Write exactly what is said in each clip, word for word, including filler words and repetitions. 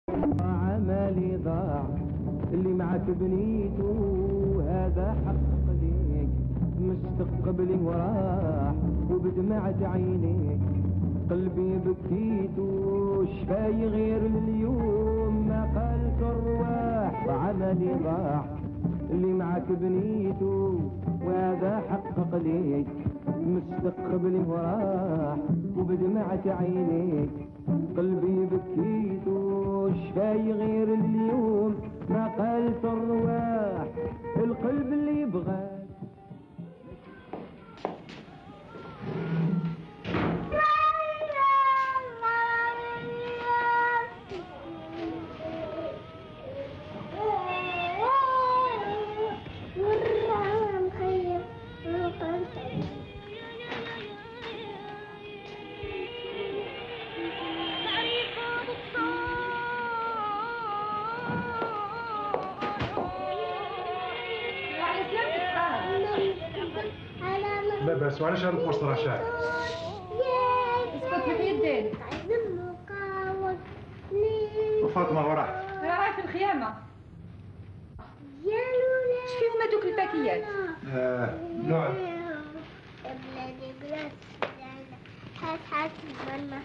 عملي ضاع اللي معك بنيته هذا حقق ليك مستقبلي وراح وبدمعة عينيك قلبي بكيته شفاي غير اليوم ما قالت الرواح وعملي ضاع اللي معك بنيته وهذا حقق ليك مستقبلي وراح وبدمعة عينيك قلبي بكيته شفاي غير اليوم ما قالت الرواح القلب اللي يبغاك لا بس معلش هذا الفرصة راه شاعر. اسكت محي الدين. وفاطمة وين راحت؟ راهي في الخيامة. اش فيهم هذوك الباكيات؟ آه نوع. يا بلادي بلاد هات هات الماما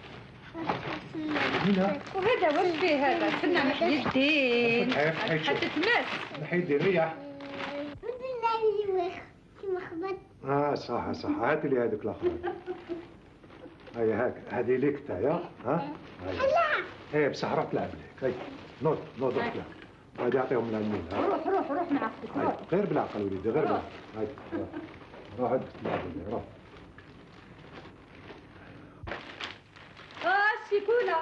هنا. وهذا واش فيه هذا؟ الفنان محي الدين. حتى تماس. محي الدين ريح. كيما خبط. اه صح صح هات لي هذوك الاخر. هيا هاك هذه ليك تايا ها؟ لا. ايه بصح روح تلعب لك هيا نوض نوض روح تلعب. غادي يعطيهم للمين ها؟ روح روح روح مع اختك روح. غير بالعقل وليدي غير بالعقل. هاي روح روح تلعب لي روح. اه الشيكولا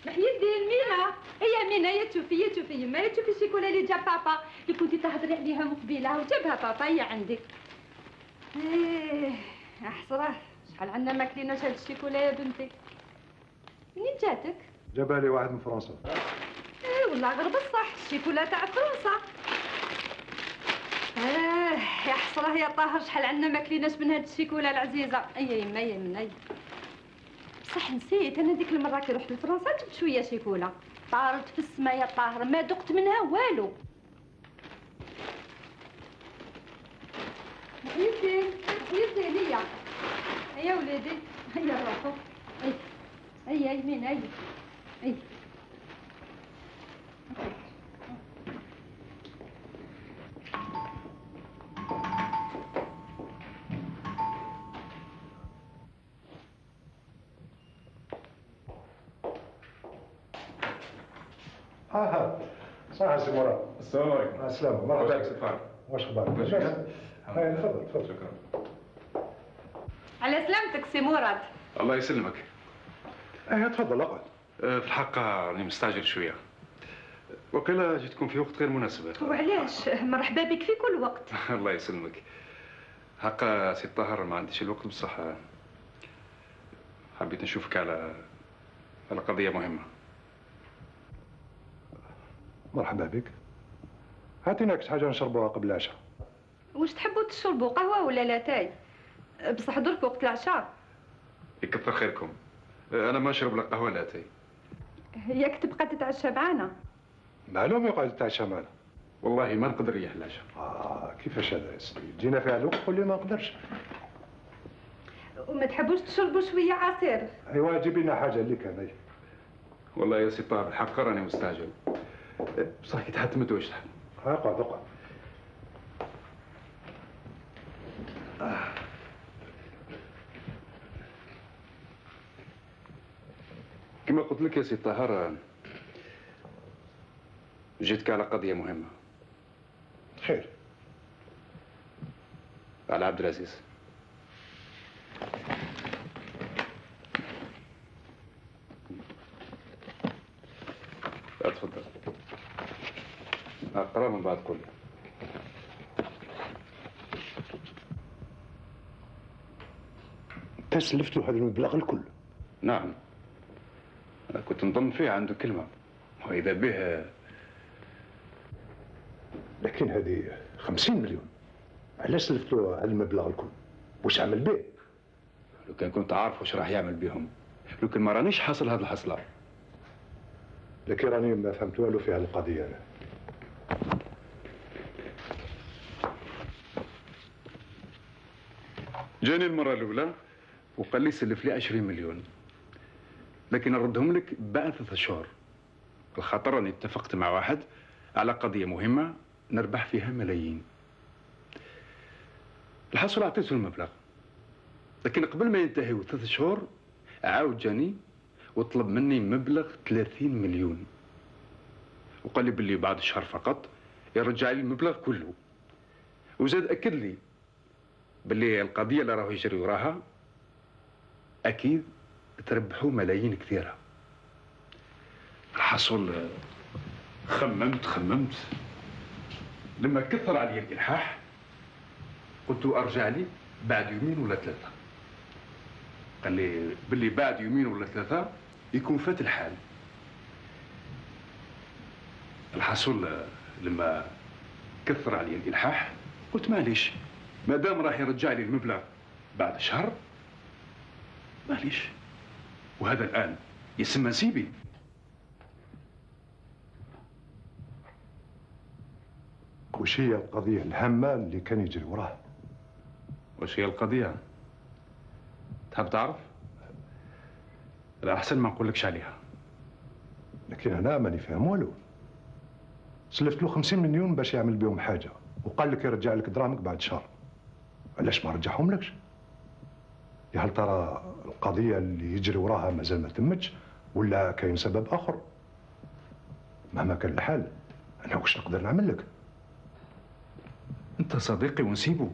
محي الدين مينا هي مينا يا تشوفي يا تشوفي يما يا تشوفي الشيكولا اللي جاب بابا اللي كنتي تهضري عليها مقبله وجابها بابا هي عندك. ايه يا حسره شحال عندنا ما كليناش هاد الشيكولا يا بنتي. منين جاتك؟ جابها لي واحد من فرنسا. ايه والله غير بصح الشيكولا تاع فرنسا. اه يا حسره يا طاهر شحال عندنا ما كليناش من هاد الشيكولا العزيزه. اي يما يا مني بصح نسيت انا ديك المره كي رحت لفرنسا جبت شويه شيكولا طارت في السما يا طاهر ما دقت منها والو. محي الدين محي الدين هيا هيا وليدي هيا روحوا اي هيا يمين هيا اي ها ها صح سي مراد. السلام عليكم. السلام مرحبا بك. واش اخبارك؟ هاي تفضل تفضل. شكرا. على سلامتك سي مراد. الله يسلمك. ايه تفضل اقعد. أه في الحق راني مستعجل شويه. وقيلا جيتكم في وقت غير مناسب. وعلاش؟ مرحبا بك في كل وقت. الله يسلمك. حقا سي الطاهر ما عنديش الوقت بصح حبيت نشوفك على على قضيه مهمه. مرحبا بك. هاتينا كاس حاجه نشربوها قبل العشاء. واش تحبوا تشربوا قهوه ولا لاتاي؟ بصح درك وقت العشاء. يكثر خيركم. انا ما نشرب لا قهوه لا تاي. ياك تبقى تتعشى معانا. معلوم يقعد يتعشى معنا. والله ما نقدر نريح العشاء. اه كيفاش هذا يا سيدي؟ جينا في الوقت قول لي ما نقدرش. وما تحبوش تشربوا شويه عصير؟ ايوا جيب لنا حاجه اللي كان هي. والله يا سي طاهر الحق راني مستعجل. بصح كي تحتمت واش تحب؟ اقعد اقعد. كما قلت لك يا سي طاهر جيتك على قضيه مهمه. خير. على عبد العزيز. لا تفضل. اقرا من بعد قول. انت سلفت له هذا المبلغ الكل؟ نعم. أنا كنت نظن فيه عنده كلمه واذا به. لكن هذه خمسين مليون. علاش سلفت له هذا المبلغ الكل؟ واش عمل به؟ لو كان كنت عارف واش راح يعمل بهم، لو كان ما رانيش حاصل هذه الحصله. لكن راني ما فهمت والو في هذه القضيه أنا. جاني المره الاولى وقال لي سلف لي عشرين مليون، لكن نردهم لك بعد ثلاثة شهور، الخاطر راني اتفقت مع واحد على قضيه مهمه نربح فيها ملايين. الحصول عطيته المبلغ، لكن قبل ما ينتهيوا ثلاث شهور عاود جاني وطلب مني مبلغ ثلاثين مليون، وقال لي باللي بعد شهر فقط يرجع لي المبلغ كله، وزاد اكد لي باللي القضيه اللي راهو يجري وراها اكيد تربحوا ملايين كثيره. الحصول خممت خممت لما كثر علي الالحاح قلت ارجع لي بعد يومين ولا ثلاثه. قال لي باللي بعد يومين ولا ثلاثه يكون فات الحال. الحصول لما كثر علي الالحاح قلت معليش، ما دام راح يرجع لي المبلغ بعد شهر معليش، وهذا الان يسمى نسيبي. وش هي القضيه الهامه اللي كان يجري وراها؟ وش هي القضيه؟ تحب تعرف؟ لا احسن ما نقولكش عليها. لكن انا ماني فاهم والو. سلفت له خمسين مليون باش يعمل بهم حاجه، وقال لك يرجع لك دراهمك بعد شهر. علاش ما رجعهم لكش؟ يا هل ترى القضيه اللي يجري وراها مازال ما تمتش، ولا كاين سبب اخر؟ مهما كان الحال انا واش نقدر نعمل لك؟ انت صديقي ونسيبه،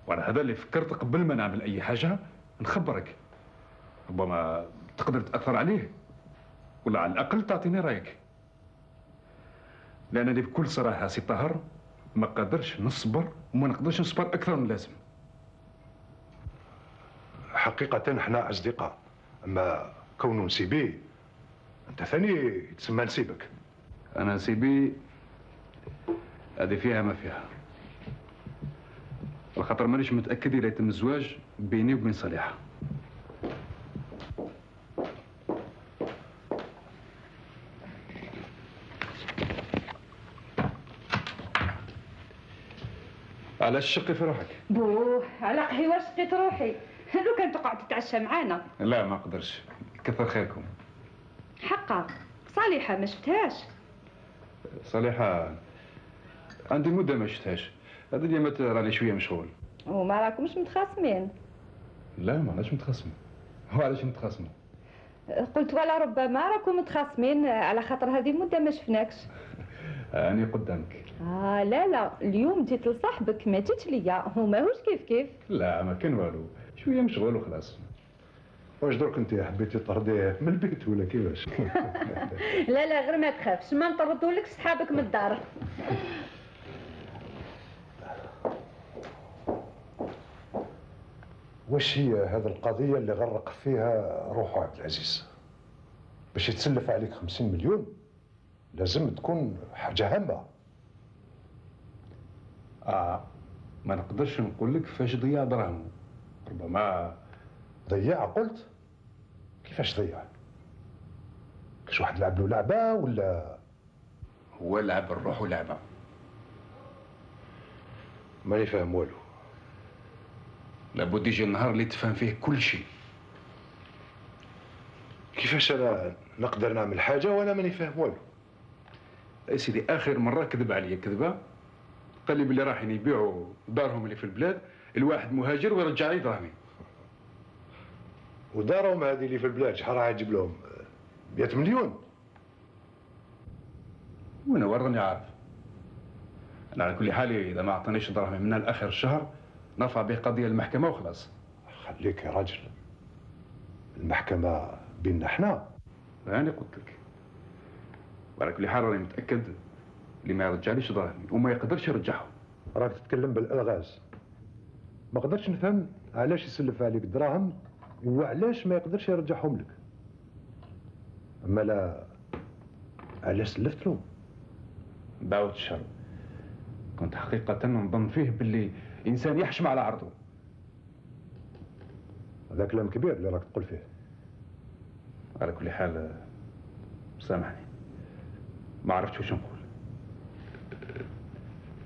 وانا هذا اللي فكرت قبل ما نعمل اي حاجه نخبرك، ربما تقدر تاثر عليه، ولا على الاقل تعطيني رايك. لانني بكل صراحه سي طاهر ما قادرش نصبر، وما نقدرش نصبر اكثر من اللازم. حقيقه احنا اصدقاء، اما كونه نسيبي انت ثاني يتسمى نسيبك. انا نسيبي هذه فيها ما فيها، الخاطر مانيش متاكد اذا يتم الزواج بيني وبين صالحه. علاش شقي في روحك؟ بوه على قهوه شقيت روحي. لو كان تقعد تتعشى معانا. لا ما اقدرش، كثر خيركم. حقا صالحه ما شفتهاش. صالحه عندي مده ما شفتهاش، هذا اليومات راني شويه مشغول. وما راكمش متخاصمين؟ لا ما علاش متخاصمين. هو علاش نتخاصموا؟ قلت ولا ربما راكم متخاصمين على خاطر هذه مده ما شفناكش. أنا قدامك. آه لا لا، اليوم جيت لصاحبك ما جيتش ليا، هو ماهوش كيف كيف. لا ما كان والو، شوية مشغول وخلاص. واش درك انت حبيتي طرديه من البيت ولا كيفاش؟ لا لا غير ما تخافش، ما نطردولكش صحابك من الدار. واش هي هذه القضيه اللي غرق فيها روحه عبد العزيز؟ باش يتسلف عليك خمسين مليون لازم تكون حاجه هامه. اه ما نقدرش نقول لك فاش ضيع دراهمه، ربما ضيع. قلت كيفاش ضيع؟ كاش واحد لعب له لعبه ولا؟ هو لعب الروح لعبه. ماني فاهم والو. لابد يجي النهار اللي تفهم فيه كل شيء. كيفاش انا نقدر نعمل حاجه وانا ماني فاهم والو؟ يا سيدي اخر مره كذب عليا كذبه، قال لي بلي رايحين يبيعوا دارهم اللي في البلاد الواحد مهاجر ويرجع لي دراهمي. ودارهم هذه اللي في البلاد شحال راح يجيب لهم؟ مئة مليون. وانا وين راني عارف؟ انا على كل حال اذا ما اعطانيش دراهمي من لاخر الشهر نرفع به قضيه للمحكمه وخلاص. خليك يا راجل، المحكمه بيننا احنا. انا قلت لك، وعلى كل حال راني متاكد اللي ما يرجعليش دراهمي وما يقدرش يرجعهم. راك تتكلم بالالغاز، ما قدرتش نفهم علاش يسلف عليك دراهم وعلاش ما يقدرش يرجعهم لك. اما لا علاش سلفت له؟ دعوة الشر، كنت حقيقة نظن فيه باللي إنسان يحشم على عرضه. هذا كلام كبير اللي راك تقول فيه. على كل حال سامحني. ما عرفتش واش نقول.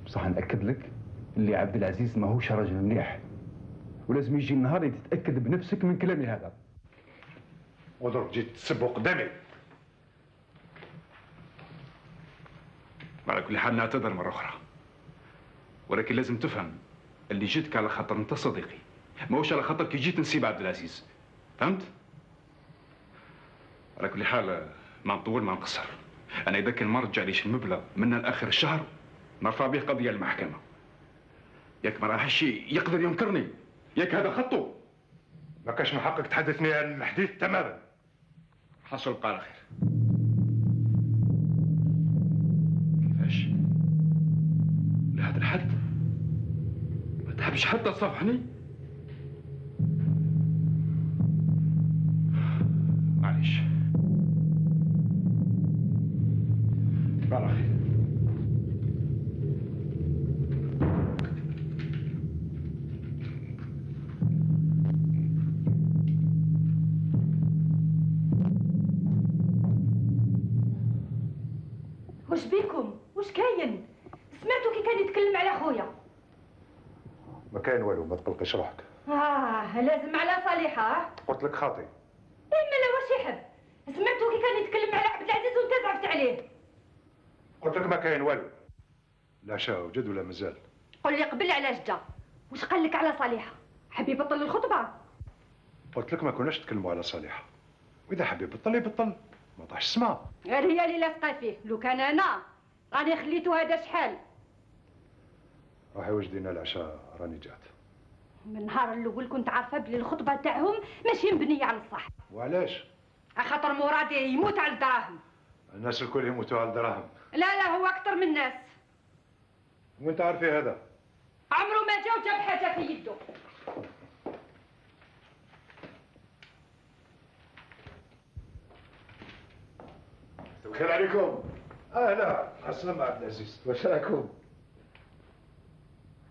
بصح نأكد لك اللي عبد العزيز ماهوش راجل مليح، ولازم يجي النهار اللي تتأكد بنفسك من كلامي هذا. ودروك جيت تسب قدامي. على كل حال نعتذر مرة أخرى، ولكن لازم تفهم اللي جيتك على خاطر أنت صديقي، ماهوش على خاطر كي جيت نسيب عبد العزيز، فهمت؟ على كل حال ما نطول ما نقصر، أنا إذا كان ما رجعليش المبلغ من الآخر الشهر نرفع به قضية للمحكمة. ياك ما راحش يقدر ينكرني، ياك هذا خطه. ما كاش من حقك تحدثني عن الحديث تماما. حصل بقى على خير. كيفاش؟ لهذا الحد؟ ما تحبش حتى تصافحني؟ معليش. بقى على خير. واش بيكم؟ واش كاين؟ سمعتوا كي كان يتكلم على خويا؟ ما كاين والو، ما تقلقيش روحك. اه لازم على صالحه. قلت لك خاطي. ايه مالا واش يحب؟ سمعتوا كي كان يتكلم على عبد العزيز وانت زعفت عليه؟ قلت لك ما كاين والو. لا شا وجد ولا مازال؟ قل لي قبل علاش جا؟ واش قال لك على صالحه؟ حب يبطل الخطبه؟ قلت لك ما كناش نتكلموا على صالحه، واذا حب يبطل يبطل، ما طاحش السما. غير هي اللي لاصقه فيه، لو كان انا راني خليتو هذا شحال. روحي وجدينا العشاء راني جات. من النهار الاول كنت عارفه بلي الخطبه تاعهم ماشي مبنيه على الصح. وعلاش؟ خاطر مرادي يموت على الدراهم. الناس الكل يموتوا على الدراهم. لا لا هو اكثر من الناس. وانت عارفي هذا؟ عمره ما جا وجاب حاجه في يده. الخير عليكم. اهلا السلام عبد العزيز، واش راكم؟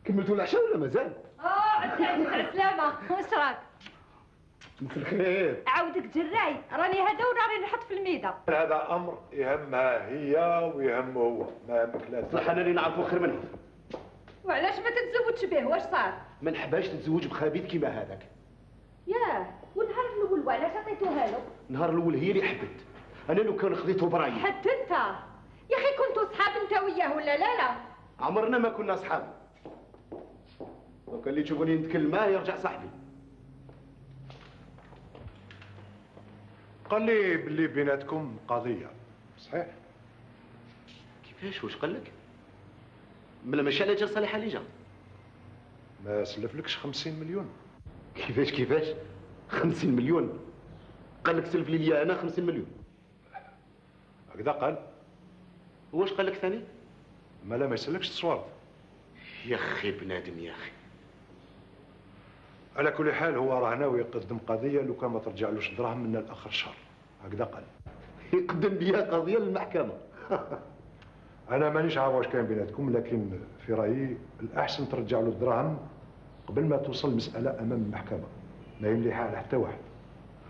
كملتوا العشاء ولا مازال؟ اه عسلامة عسلامة، واش راك؟ مساء الخير. عاودك جراي، راني هذا وراني نحط في الميده. هذا امر يهمها هي ويهمه هو، ما يهمك لا. صح انا اللي نعرفه خير منه. وعلاش ما تتزوجش به؟ واش صار؟ ما نحبهاش تتزوج بخبيث كيما هذاك. ياه والنهار الاول وعلاش عطيتوها له؟ النهار الاول هي اللي حبت، انا لو كان خذيته برايي. حتى انت يا اخي كنتوا صحاب انت وياه ولا لا لا؟ عمرنا ما كنا اصحاب. لو كان اللي تشوفوني نتكلم معاه يرجع صاحبي. قال لي باللي بيناتكم قضيه، صحيح؟ كيفاش؟ واش قال لك؟ ملا ماشي على جال صالحه اللي جا. ما سلفلكش خمسين مليون؟ كيفاش كيفاش؟ خمسين مليون؟ قال لك سلف لي ليا انا خمسين مليون. هكذا قال. واش قال لك ثاني؟ ما لا ما يسلكش تصوار. يا اخي بنادم يا اخي. على كل حال هو راه ناوي يقدم قضيه لو كان ما ترجعلوش دراهم من الاخر الشهر، هكذا قال. يقدم بها قضيه للمحكمه. انا مانيش عارف واش كاين بيناتكم، لكن في رايي الاحسن ترجع له الدراهم قبل ما توصل المساله امام المحكمه، ما يمليها على حتى واحد.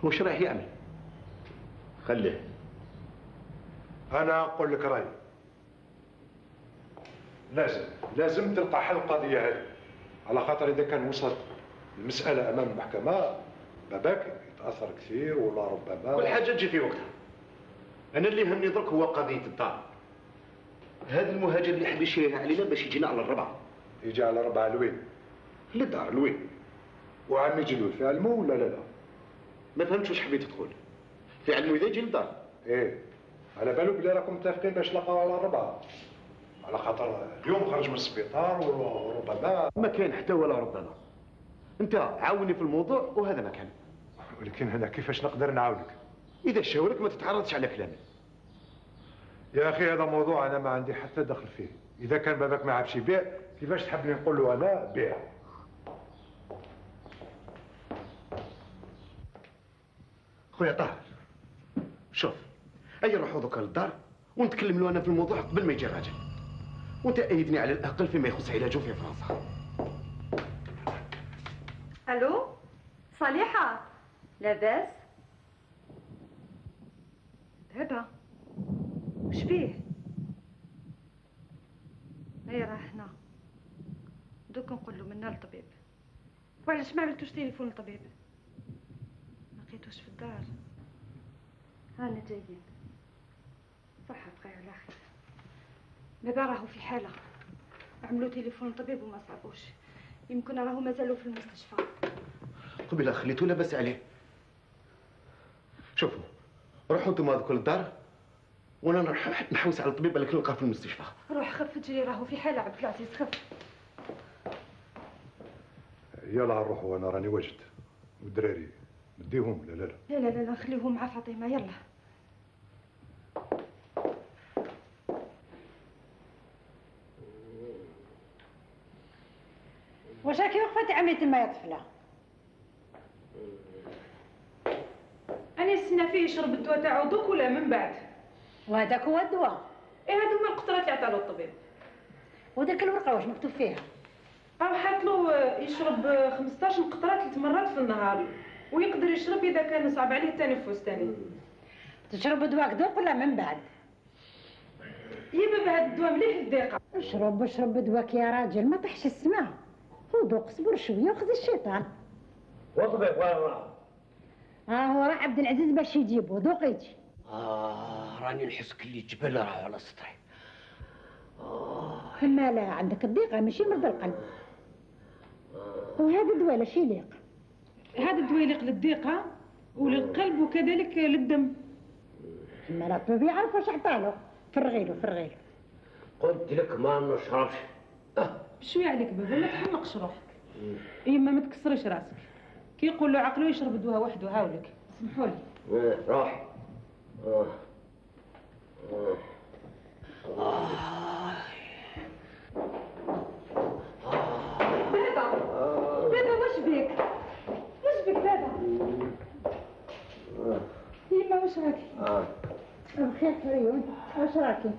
واش رايح يعمل؟ خليه. انا نقول لك رايي، لازم لازم تلقى حل القضيه هذه، على خاطر اذا كان وصلت المساله امام المحكمه باباك يتاثر كثير ولا ربما كل حاجه تجي في وقتها. انا اللي يهمني درك هو قضيه الدار. هذا المهاجر اللي حب يشريها علينا باش يجينا على الربعه. يجي على ربعه لوين؟ للدار لوين؟ وعمي جلول في علمه ولا لا لا؟ ما فهمتش واش حبيت تقول. في علمه اذا يجي للدار. ايه على بالو بلي راكم متفقين باش تلقاو على الربعه، على خاطر اليوم خرج من السبيطار وربما ما كاين حتى ولا ربما. انت عاوني في الموضوع وهذا ما كان. ولكن هنا كيفاش نقدر نعاونك؟ اذا شاورك ما تتعرضش على كلامي. يا اخي هذا موضوع انا ما عندي حتى دخل فيه، اذا كان باباك ما عرفش يبيع كيفاش تحبني نقول له انا بيع؟ خويا طاهر شوف، اي نروحوا دوكا للدار ونتكلم له انا في الموضوع قبل ما يجي الراجل، وانت ايدني على الاقل فيما يخص علاجه في فرنسا. الو صالحه لاباس؟ بابا واش فيه؟ اي راه هنا. دوك نقول له منا للطبيب. وعلاش ما عملتوش تليفون للطبيب؟ ما لقيتوش في الدار. هانا جايين. صح بقى على خير. دابا راهو في حاله. عملوا تليفون للطبيب وما صابوش. يمكن راهو مازالوا في المستشفى. قبيله خليتو لاباس عليه. شوفوا روحوا انتم هذوك للدار وانا نروح نحوس على الطبيب اللي نلقاه في المستشفى. روح خف تجري راهو في حاله عبد العزيز خف. يلا نروحوا انا راني واجد. والدراري نديهم لا لا لا لا لا لا نخليهم مع فاطمه يلا. واش راكي وقفه عمي تما يا طفله؟ أنا نستنى فيه يشرب الدواء تاعو دوك ولا من بعد؟ وهذاك هو الدواء. إيه هادو هما القطرات اللي عطالو الطبيب. وداك الورقه واش مكتوب فيها؟ أو حاطلو يشرب خمسطاش قطرة ثلاث مرات في النهار ويقدر يشرب إذا كان صعب عليه التنفس تاني. تشرب دواك دوك ولا من بعد؟ يا بابا هاد الدواء مليح للضيقة. اشرب اشرب دواك يا راجل ما طيحش السماء. وذوق صبر شويه وخذ الشيطان. وطبيب وين راه؟ ها هو راه عبد العزيز باش يجيبو ذوق يجي. آه راني نحس كلي جبل راه على سطحي. آه كما لا عندك الضيقة ماشي مرض القلب. وهذا الدواء لاش يليق؟ هذا الدواء يليق للضيقة وللقلب وكذلك للدم. كما لا الطبيب يعرف واش عطالو. فرغيلو فرغيلو. قلت لك ما نشربش. اه بشوية عليك بابا ما تحمقش روحك. يما ما تكسريش راسك. كي يقول له عقله يشرب الدواء وحده هاولك. سمحوا لي. آه روح. آه. آه. آه. بابا بابا واش بيك؟ واش بيك بابا؟ يما واش راكي؟ آه. بخير فريون واش راكي؟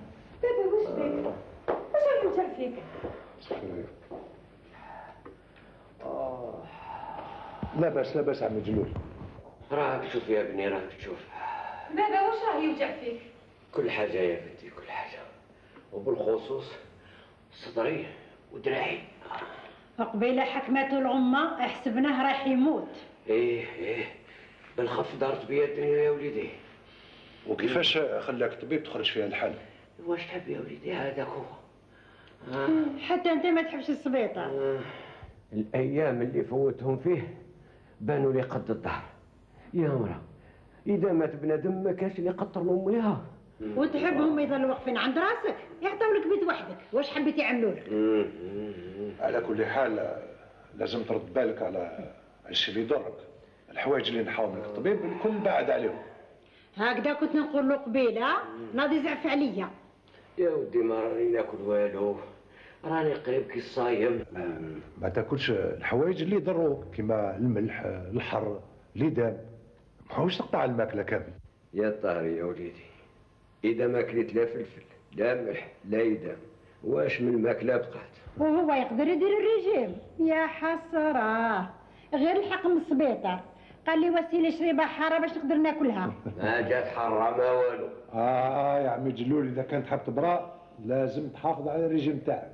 بابا واش بيك؟ واش راكي متعب فيك؟ لا باس لا باس عمي جلول. راك تشوف يا ابني راك تشوف. بابا واش راه يوجع فيك؟ كل حاجة يا بنتي كل حاجة. وبالخصوص صدري ودراعي. وقبيله حكمته العمة احسبناه راح يموت. ايه ايه بالخف دارت بيا الدنيا يا وليدي. وكيفاش خلاك الطبيب تخرج فيها الحال؟ واش تحب يا وليدي هذاك هو. آه. حتى انت ما تحبش السبيطة. آه. الايام اللي فوتهم فيه بانوا لي قد الظهر. يا مرا اذا مات بنادم ما كانش اللي يقطر امه ليها. وتحبهم يظلوا واقفين عند راسك يعطيو لك بيت وحدك. واش حبيتي يعملوا لك؟ على كل حال لازم ترد بالك على الشيء اللي يضرك. الحوايج اللي نحاول منك الطبيب الكل بعد عليهم. هكذا كنت نقول له قبيله ناضي زعف عليا. يا ودي ما راني ناكل والو راني قريب كي الصايم. ما تاكلش الحوايج اللي يضروك كيما الملح الحر ليدام. ما حاولش تقطع الماكله كامل. يا طاري يا وليدي اذا ما كليت لا فلفل لا ملح لا يدام واش من ماكله بقات؟ وهو يقدر يدير الرجيم. يا حسره غير الحق من السبيطار قال لي وسيله شريبه حاره باش نقدر ناكلها. ما جات حاره ما والو. اه يا عمي جلول اذا كانت حاب تبرا لازم تحافظ على الريجيم تاعك.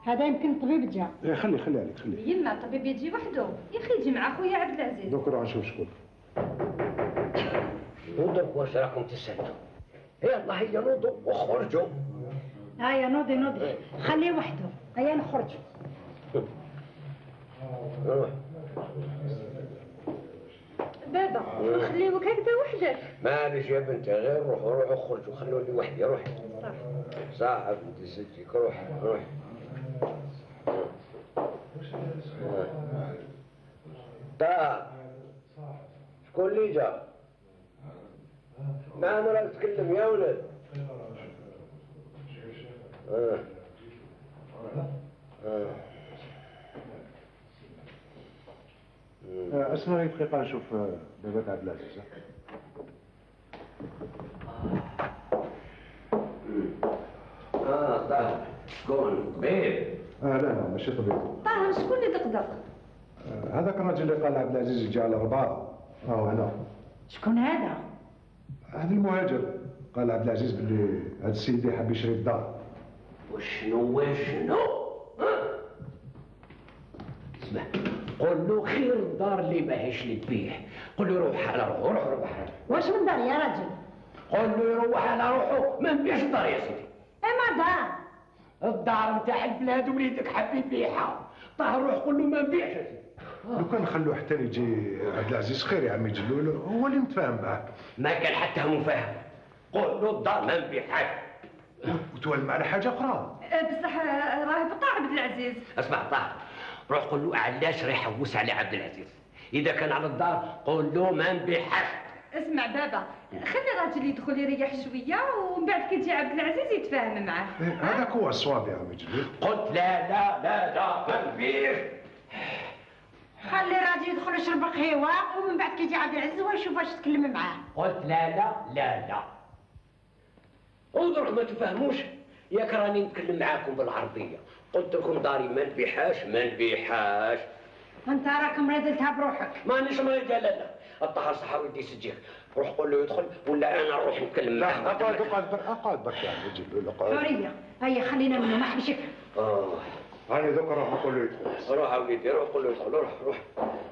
هذا يمكن الطبيب جا. ايه خلي خلي عليك خلي. يما الطبيب يجي وحده يا اخي يجي مع خويا عبد العزيز. دوك نروح نشوف شكون. نوضوا واش راكم تسالوا؟ يلا هيا نوضوا وخرجوا. هيا نوضي نوضي خليه وحده. هيا نخرجوا. روح. بابا نخليوك هكذا وحدك. معليش يا بنتي غير روحوا روحوا خرجوا خلوني وحدي روحي. صح صح بنتي ستيك روح روح. طه شكون اللي جا؟ ما راك تتكلم يا ولد. اه اه اسمع لي دقيقه نشوف بابا عبد العزيز. اه طه شكون طبيب؟ اه لا لا ماشي طبيب. طه شكون اللي دقدق؟ آه هذاك الراجل اللي قال عبد العزيز يجي على الرباط راهو هنا. شكون هذا؟ هذا المهاجر قال عبد العزيز باللي هذا السيد اللي حاب يشري الدار. وشنو وشنو؟ ها؟ اسمع، قول له خير الدار اللي ماهيش للبيع، قول له روح على روحه، روح روح على روحه. واش من دار يا راجل؟ قول له يروح على روحه، ما نبيعش الدار يا سيدي. اما دار الدار نتاع البلاد وليدك حاب يبيعها، طاه روح قول له ما نبيعش يا سيدي. لو كان نخلوه حتى يجي عبد العزيز خير يا عمي جلول، هو اللي متفاهم معاه. ما كان حتى مفاهم، قول له الدار ما نبيعهاش. وتولى معنا حاجه اخرى. بصح راه بقى عبد العزيز. اسمع طاهر، روح قول له علاش راه يحوس على عبد العزيز. اذا كان على الدار قول له ما نبيعهاش. اسمع بابا، خلي الراجل يدخل يريح شويه ومن بعد كي يجي عبد العزيز يتفاهم معاه. هذاك هو الصواب يا عمي جلول. قلت لا لا لا لا ما نبيعش. خلي الراجل يدخل يشرب قهوه ومن بعد كي يجي عبد العزيز هو يشوف واش تكلم معاه. قلت لا لا لا لا. ودرك ما تفهموش، ياك راني نتكلم معاكم بالعربيه. قلت لكم داري ما نبيعهاش ما نبيعهاش. انت راك مريضلتها بروحك. مانيش مريض لا لا. الطهر صحاوي يدي سجيك، روح قول له يدخل ولا انا نروح نتكلم معاه. لا اقعد اقعد اقعد برك يا عمي جلول اقعد. حريه، هيا خلينا منه ما حبش يفهم. اه هاني ذوك نروح نقول له يدخل. روح يا وليدي روح قول له يدخل، روح روح.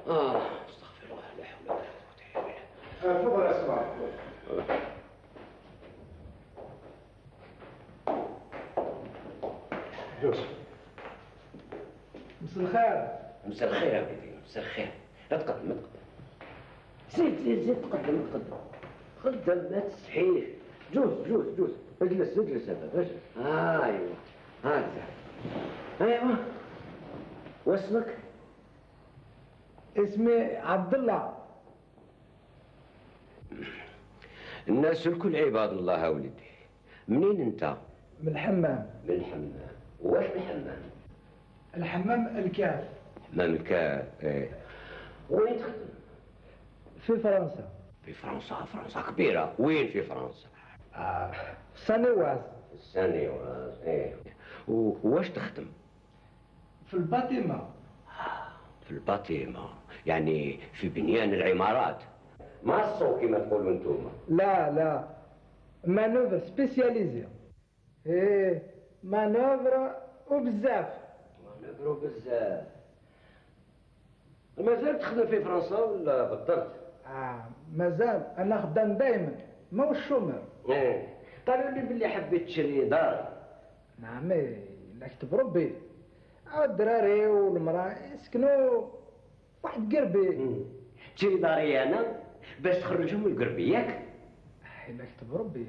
اه استغفر الله لا حول ولا قوه الا بالله. تفضل اسمع. يوسف. مساء الخير. مساء الخير يا وليدي، مساء الخير. اتقدم اتقدم. زيد زيد زيد تقدم تقدم. قدم ما تستحيش. جوز جوز جوز. اجلس اجلس هذا اجلس. آه ايوه هكذا. ايوه. واسمك؟ اسمي عبد الله. الناس الكل عباد الله يا وليدي. منين انت؟ من الحمام. من الحمام. واش من الحمام؟ الحمام الكاف. حمام الكاف ايه. وين تخدم؟ في فرنسا. في فرنسا، فرنسا كبيرة، وين في فرنسا؟ آه. سانيواز. سانيواز ايه. وواش تخدم؟ في الباتيما. في الباتيما، يعني في بنيان العمارات. ما الصو كما تقولوا انتم. لا لا، مانوفر سبيسياليزي. ايه مانوفر وبزاف. مانوفر وبزاف. مازال تخدم في فرنسا ولا بطلت؟ آه مازال، انا خدام دايما ما هو الشومر. ايه قالوا لي باللي حبيت تشري دار. نعم لا كتب ربي، الدراري والمراه يسكنوا واحد قربي. تشري داري انا باش تخرجهم القربي ياك؟ لا كتب ربي.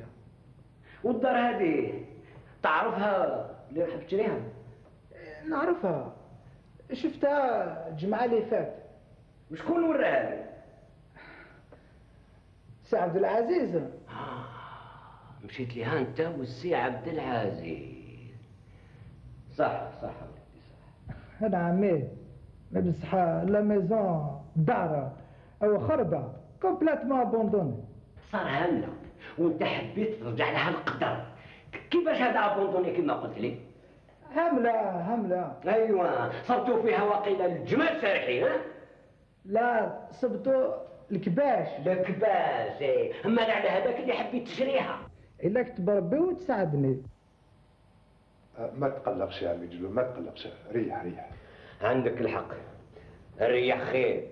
والدار هذه تعرفها اللي حاب تشريها؟ نعرفها، شفتها الجمعة اللي فات. شكون وراها لك؟ سي عبد العزيز. آه مشيت لها انت والسي عبد العزيز. صح صح ولدي صح. نعم ما بصح لا ميزون دار او خربه كومبليتمون ابوندوني. صار هملة وانت حبيت ترجع لها القدر، كيفاش هذا ابوندوني كما قلت لي؟ همله همله. ايوه صبتوا فيها وقيل الجمال سارحين. ها؟ لا صبتوا الكباش. الكباش ايه، اما على هذاك اللي حبيت تشريها. الا كتب ربي وتساعدني. ما تقلقش يا عمي جلول، ما تقلقش، ريح ريح. عندك الحق، الريح خير.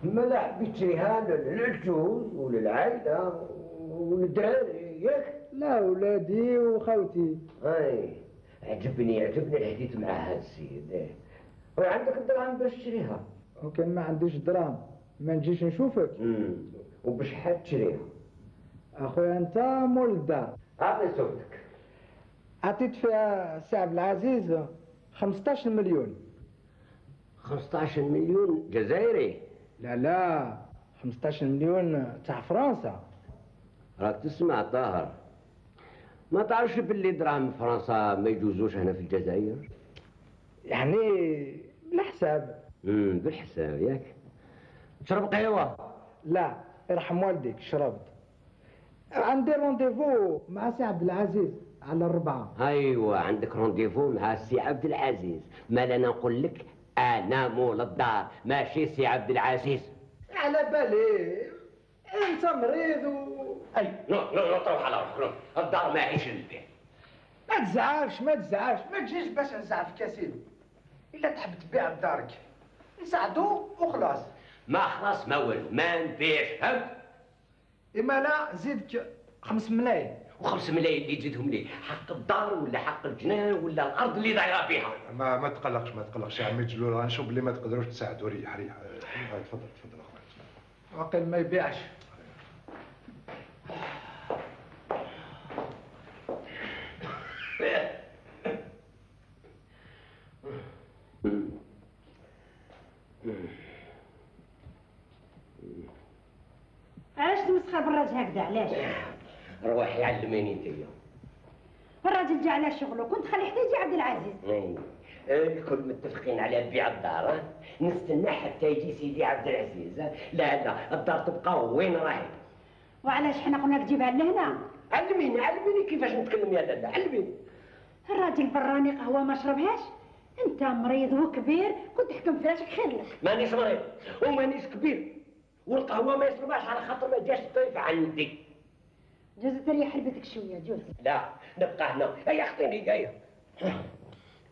ماذا حبيت تشريها للعجوز وللعائلة وللدراري ياك؟ لا ولادي وخوتي. اي عجبني عجبني الحديث مع هذا السيد. ايه وعندك الدراهم باش تشريها؟ وكان ما عنديش دراهم ما نجيش نشوفك. امم وبشحال تشريها؟ اخويا انت مول الدار. عطني صوتك. عطيت فيها سي عبد العزيز خمسطاش مليون. خمسطاش مليون جزائري؟ لا لا خمسطاش مليون تاع فرنسا. راك تسمع طاهر، ما تعرفش باللي دراهم فرنسا ما يجوزوش هنا في الجزائر؟ يعني بالحساب. امم بالحساب ياك. تشرب قهوة؟ لا يرحم والديك شربت. عندي رونديفو مع سي عبد العزيز على الربعة. ايوه عندك رونديفو مع سي عبد العزيز، ما لنا نقول لك انا مول الدار ماشي سي عبد العزيز. على بالي انت مريض و اي نو نو نو تروح على روحك، الدار ماهيش للبيع. ما تزعلش ما تزعلش، ما تجيش باش نزعفك يا سيدي. الا تحب تبيع بدارك نساعدو وخلاص. ما خلاص ما والو، ما نبيعش، فهمت؟ اما لا زيدك خمس ملايين. وخمس ملايين اللي تزيدهم لي حق الدار ولا حق الجنان ولا الارض اللي دايره فيها. ما ما تقلقش ما تقلقش يا عمي جلول، غنشوف بلي ما تقدروش تساعدوا. ريح ريح. هاي تفضل تفضل اخويا. عقل ما يبيعش. علاش تمسخر بالراجل هكذا علاش؟ روحي علميني انتيا. الراجل جا على شغله، كنت خلي حتى يجي عبد العزيز. اي الكل متفقين على بيع الدار، ها؟ نستنى حتى يجي سيدي عبد العزيز. ها؟ لا لا الدار تبقى وين راهي. وعلاش حنا قلنا لك جيبها لهنا؟ علميني علميني كيفاش نتكلم يا لاله، علميني. الراجل براني قهوه ما شربهاش، انت مريض وكبير كنت تحكم فراشك خير لك. مانيش مريض ومانيش كبير، والقهوه ما يشربهاش على خاطر ما جاش الضيف عندي. جوز تريح لبيتك شويه جوز. لا نبقى هنا. هيا اعطيني جايه.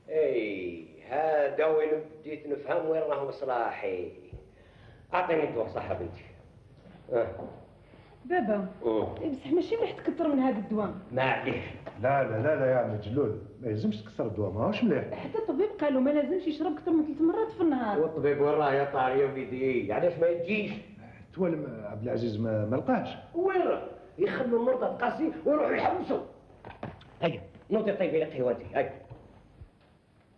اي هذا وين بديت نفهم وين راهو مصلاحي. اعطيني الدواء صح بنتي. اه بابا أوه. بصح ماشي مليح تكثر من هذا الدواء. ما عليك. لا لا لا لا يا عمي جلول، ما يلزمش تكسر الدواء، ماهوش مليح. حتى الطبيب قالوا ما لازمش يشرب اكثر من ثلاث مرات في النهار. والطبيب وين راه يا طاري يا وليدي؟ علاش ما يجيش؟ توالم عبد العزيز ما, ما لقاش. وين راه؟ يخلوا المرضى القاسي ويروحوا يحبسوا. هيا نوضي طيبي لي قهوتي. هيا.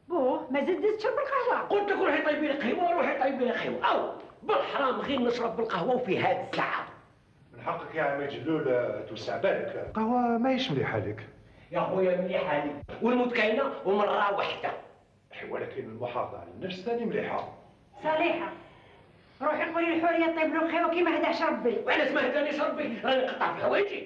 بوه ما زدت تشرب القهوه. قلت لك روحي طيبي لي قهوه روحي طيبي لي قهوه. او بالحرام غير نشرب بالقهوه وفي هذه الساعه. من حقك يا عمي جلول توسع بالك، القهوة ماهيش مليحة لك. يا خويا مليحه لي والموت كاينه ومره واحده. ولكن المحافظة على النفس ثاني مليحة. صالحه روحي قولي للحوريه طيب له القهوه كيما هداش ربي. وعلاش ما هدانيش ربي؟ راني نقطع في حوايجي.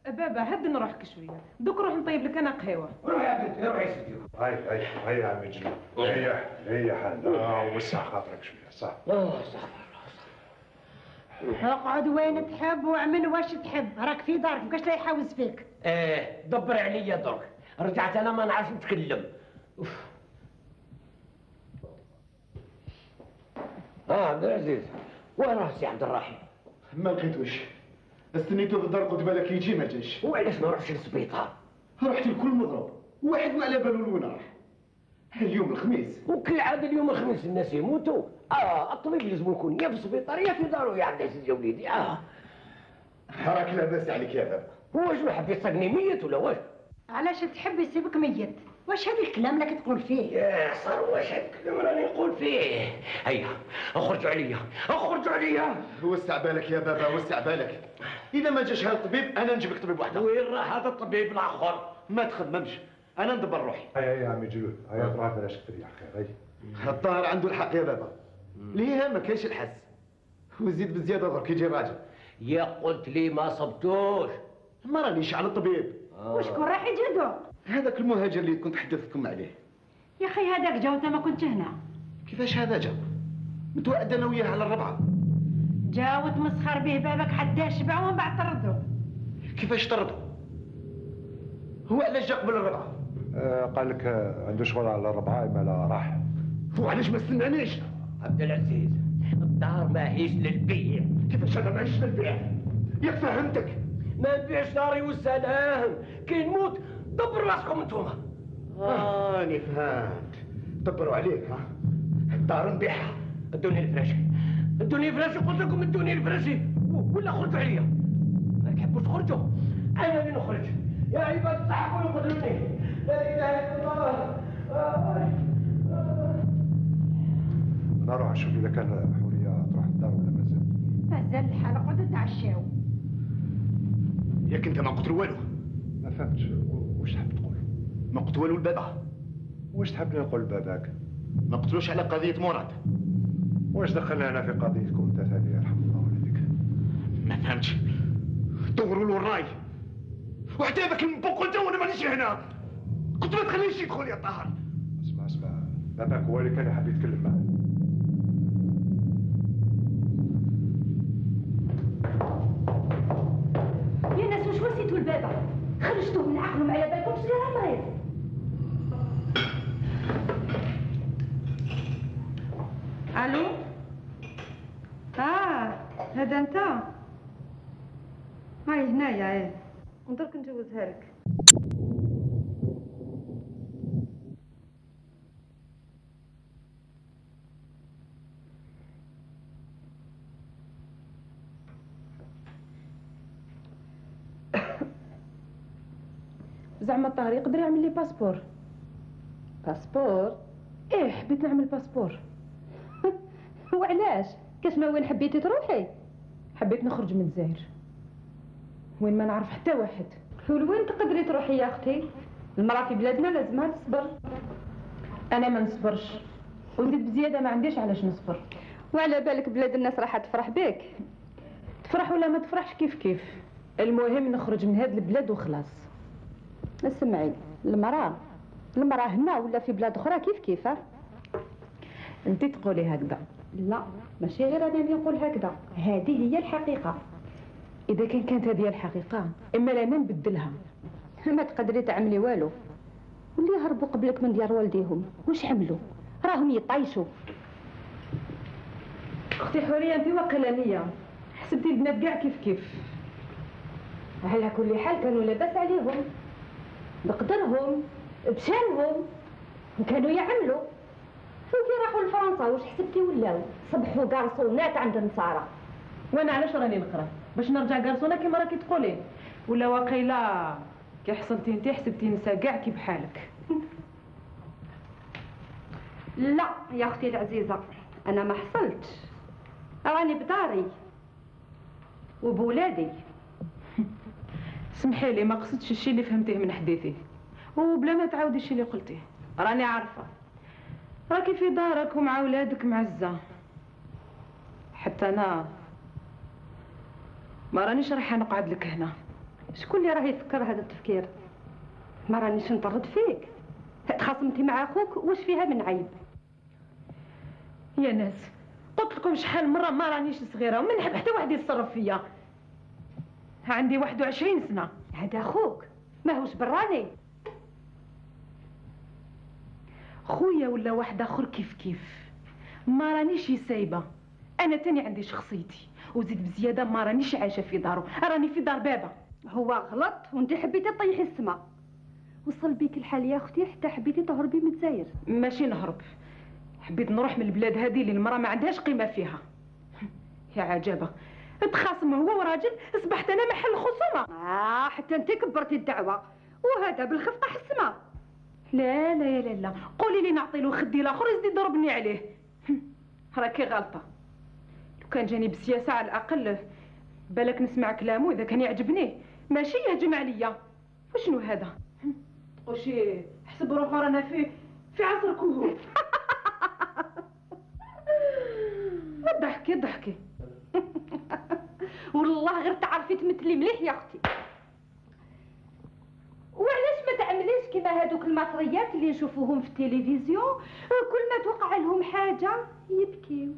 بابا هدن روحك شويه، دوك روح نطيب لك انا قهوه. روحي يا بنتي روحي يا سيدي. هاي هاي هاي يا عمي جلول، ريح ريح هذا وسع خاطرك شوية صح. اه صح. اقعد وين تحب واعمل واش تحب، راك في دارك مابقاش لا يحاوز فيك. ايه دبر عليا درك، رجعت انا ما نعرفش نتكلم. اوف. اه عبد العزيز وين راه سي عبد الرحيم؟ ما لقيتوش، استنيتو في الدار قلت بالك يجي ما جاش. وعلاش ما نروحش للسبيطار؟ رحت الكل مضروب، واحد ما على بالو لوين راح. اليوم الخميس وكالعاده اليوم الخميس الناس يموتوا. اه الطبيب لازم يكون يا في السبيطار يا في دارو يا عبد العزيز يا وليدي. اه راك لاباس عليك يا بابا. هو شنو حب يصقني ميت ولا واش؟ علاش تحب يسيبك ميت؟ واش هذا الكلام اللي كتقول فيه؟ يا صار واش هاد الكلام راني نقول فيه. هيا اخرجوا عليا اخرجوا عليا. وسع بالك يا بابا وسع بالك، اذا ما جاش هذا الطبيب انا نجيب لك طبيب واحد. وين راه هذا الطبيب الاخر؟ ما تخممش انا ندبر روحي. هيا هيا يا عمي جلول، هيا تروح بلاش تريح خير. هيا الظاهر عنده الحق يا بابا، ليها ما كاينش الحس، وزيد بزياده درك يجي راجل. يا قلت لي ما صبتوش. ما رانيش على الطبيب. آه. وشكون راح يجدو؟ هذاك المهاجر اللي كنت حدثتكم عليه. يا اخي هذاك جا وانت ما كنتش هنا. كيفاش هذا جا؟ متوعد انا وياه على الربعه. جا وتمسخر به بابك حتى شبع ومن بعد طردو. كيفاش طردوا؟ هو علاش جا قبل الربعه؟ آه قال لك آه عنده شغل على الربعة ما لا راح. هو علاش ما استنانيش؟ عبد العزيز الدار ماهيش للبيع. كيفاش انا ماهيش للبيع؟ ياك فهمتك؟ ما نبيعش داري والسلام، كي نموت دبروا راسكم انتوما. راني فهمت، دبروا عليك ها؟ الدار نبيعها، ادوني الفراشي ادوني الفراشي قلت لكم ادوني الفراشي ولا خرجوا عليا. ما تحبوش تخرجوا انا اللي نخرج. يا عباد صحوا وقدروني. لا اله الا الله. انا اروح اشوف اذا كان حورية تروح الدار ولا مازال. مازال الحال اقعدوا تعشاو. ياك انت ما قلت له والو. ما فهمتش واش تحب تقول؟ ما قلت والو لبابا. واش تحبني نقول لباباك؟ ما قلتلوش على قضيه مراد. واش دخلنا هنا في قضيتكم انت ثاني يرحم الله والديك؟ ما فهمتش، دوروا له الراي وحتى ذاك المبوك انت وانا مانيش هنا، كنت ما تخليش يدخل يا طاهر. اسمع اسمع، باباك هو اللي كان يحب يتكلم معاه. يا ناس واش وسيتوا البابا؟ خرجتوه من عقله ما على بالكمش راه مريض. هذا انت؟ هاي هنايا ايه ندرك نجوزها لك. زعما الطاهر يقدر يعمل لي باسبور؟ باسبور؟ ايه حبيت نعمل باسبور. وعلاش؟ كاش ما وين حبيتي تروحي؟ حبيت نخرج من الجزائر وين ما نعرف حتى واحد. ولوين تقدري تروحي يا اختي؟ المراه في بلادنا لازمها تصبر. انا ما نصبرش، وزيد بزياده ما عنديش علاش نصبر. وعلى بالك بلاد الناس راح تفرح بك؟ تفرح ولا ما تفرحش كيف كيف، المهم نخرج من هاد البلاد وخلاص. اسمعي، المراه المراه هنا ولا في بلاد اخرى كيف كيف. انت تقولي هكذا. لا ماشي غير انا اللي نقول هكذا، هذه هي الحقيقه. اذا كان كانت هذه الحقيقه اما لانا نبدلها. ما تقدري تعملي والو. واللي هربوا قبلك من ديار والديهم واش عملوا؟ راهم يطيشوا. اختي حوريه انت وقلانيه، حسبتي البنات كاع كيف كيف. على كل حال كانوا لاباس عليهم، بقدرهم بشانهم وكانوا يعملوا. وكي راحوا لفرنسا واش حسبتي ولاو؟ صبحوا قارصونات عند النصارى. وانا علاش راني نقرا؟ باش نرجع قارصونه كيما راكي تقولي؟ ولا واقيلا كي حصلتي انت حسبتي نسا كاع كي بحالك؟ لا يا اختي العزيزه، انا ما حصلتش، راني بداري وبولادي. سمحي لي ما قصدتش الشيء اللي فهمتيه من حديثي، وبلا ما تعاودي الشيء اللي قلتيه. راني عارفه راكي في دارك ومع ولادك معزه، حتى انا ما رانيش رايحه نقعد لك هنا. شكون اللي راه يفكر هذا التفكير؟ ما رانيش نطرد فيك، تخاصمتي مع اخوك واش فيها من عيب؟ يا ناس قلت لكم شحال مره ما رانيش صغيره وما نحب حتى واحد يتصرف فيا. عندي واحد وعشرين سنه. هذا اخوك ماهوش براني. خويا ولا واحد اخر كيف كيف، ما رانيش سايبه. انا تاني عندي شخصيتي، وزيد بزياده ما رانيش عايشه في دارو، راني في دار بابا. هو غلط وانت حبيتي تطيحي السما. وصل بيك الحال يا اختي حتى حبيتي تهربي من الجزائر. ماشي نهرب، حبيت نروح من البلاد هذه اللي المراه ما عندهاش قيمه فيها. يا عجبه، تخاصم هو وراجل اصبحت انا محل خصومه. اه حتى انت كبرتي الدعوه، وهذا بالخف طاح السما. لا لا لا لا، قولي لي نعطي له خدي الاخر يزيد يضربني عليه. راكي غلطه. لو كان جاني بالسياسه على الاقل بالك نسمع كلامه اذا كان يعجبني، ماشي يهجم عليا. وشنو هذا؟ وشي حسب روحو رانا في في عصر كهوف. ضحكي ضحكي. والله غير تعرفي تمثلي مليح يا اختي. وعلاش ما تعمليش كيما هذوك المصريات اللي نشوفوهم في التلفزيون، كل ما توقع لهم حاجه يبكيو.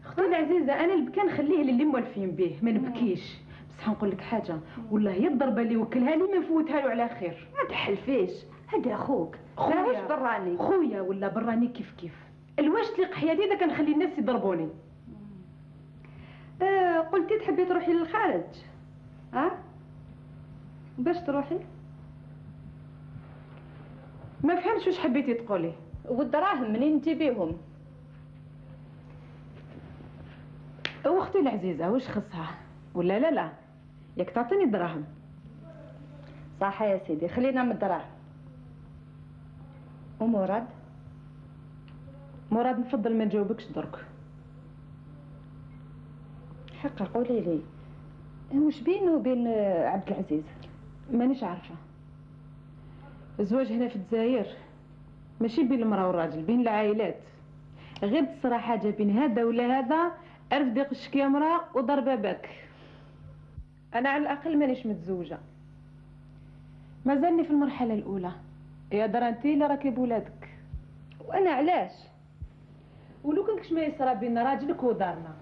اختي العزيزه انا البكا نخليه للي موالفين به، ما نبكيش. بصح نقول لك حاجه، والله هي الضربه اللي وكلها لي ما نفوتها له على خير. ما تحلفيش، هذا اخوك ماهوش براني. خويا ولا براني كيف كيف، الواش تليق حياتي اذا كنخلي الناس يضربوني. آه قلتي تحبي تروحي للخارج، ها؟ أه؟ باش تروحي؟ ما فهمتش واش حبيتي تقولي. والدراهم منين تجيبيهم؟ واختي العزيزه واش خصها ولا لا لا، ياك تعطيني الدراهم. صح يا سيدي، خلينا من الدراهم. ومراد؟ مراد نفضل ما نجاوبكش درك. حقا قولي لي واش بينه وبين عبد العزيز؟ مانيش عارفه. الزواج هنا في الجزائر ماشي بين المراه والراجل، بين العائلات. غير تصرى حاجه بين هذا ولا هذا عرف يقشك يا مراه وضرب باباك. انا على الاقل مانيش متزوجه، مازالني في المرحله الاولى. يا درا انتي اللي راكي بولادك. وانا علاش؟ ولو كان كش ما يصرى بين راجلك ودارنا،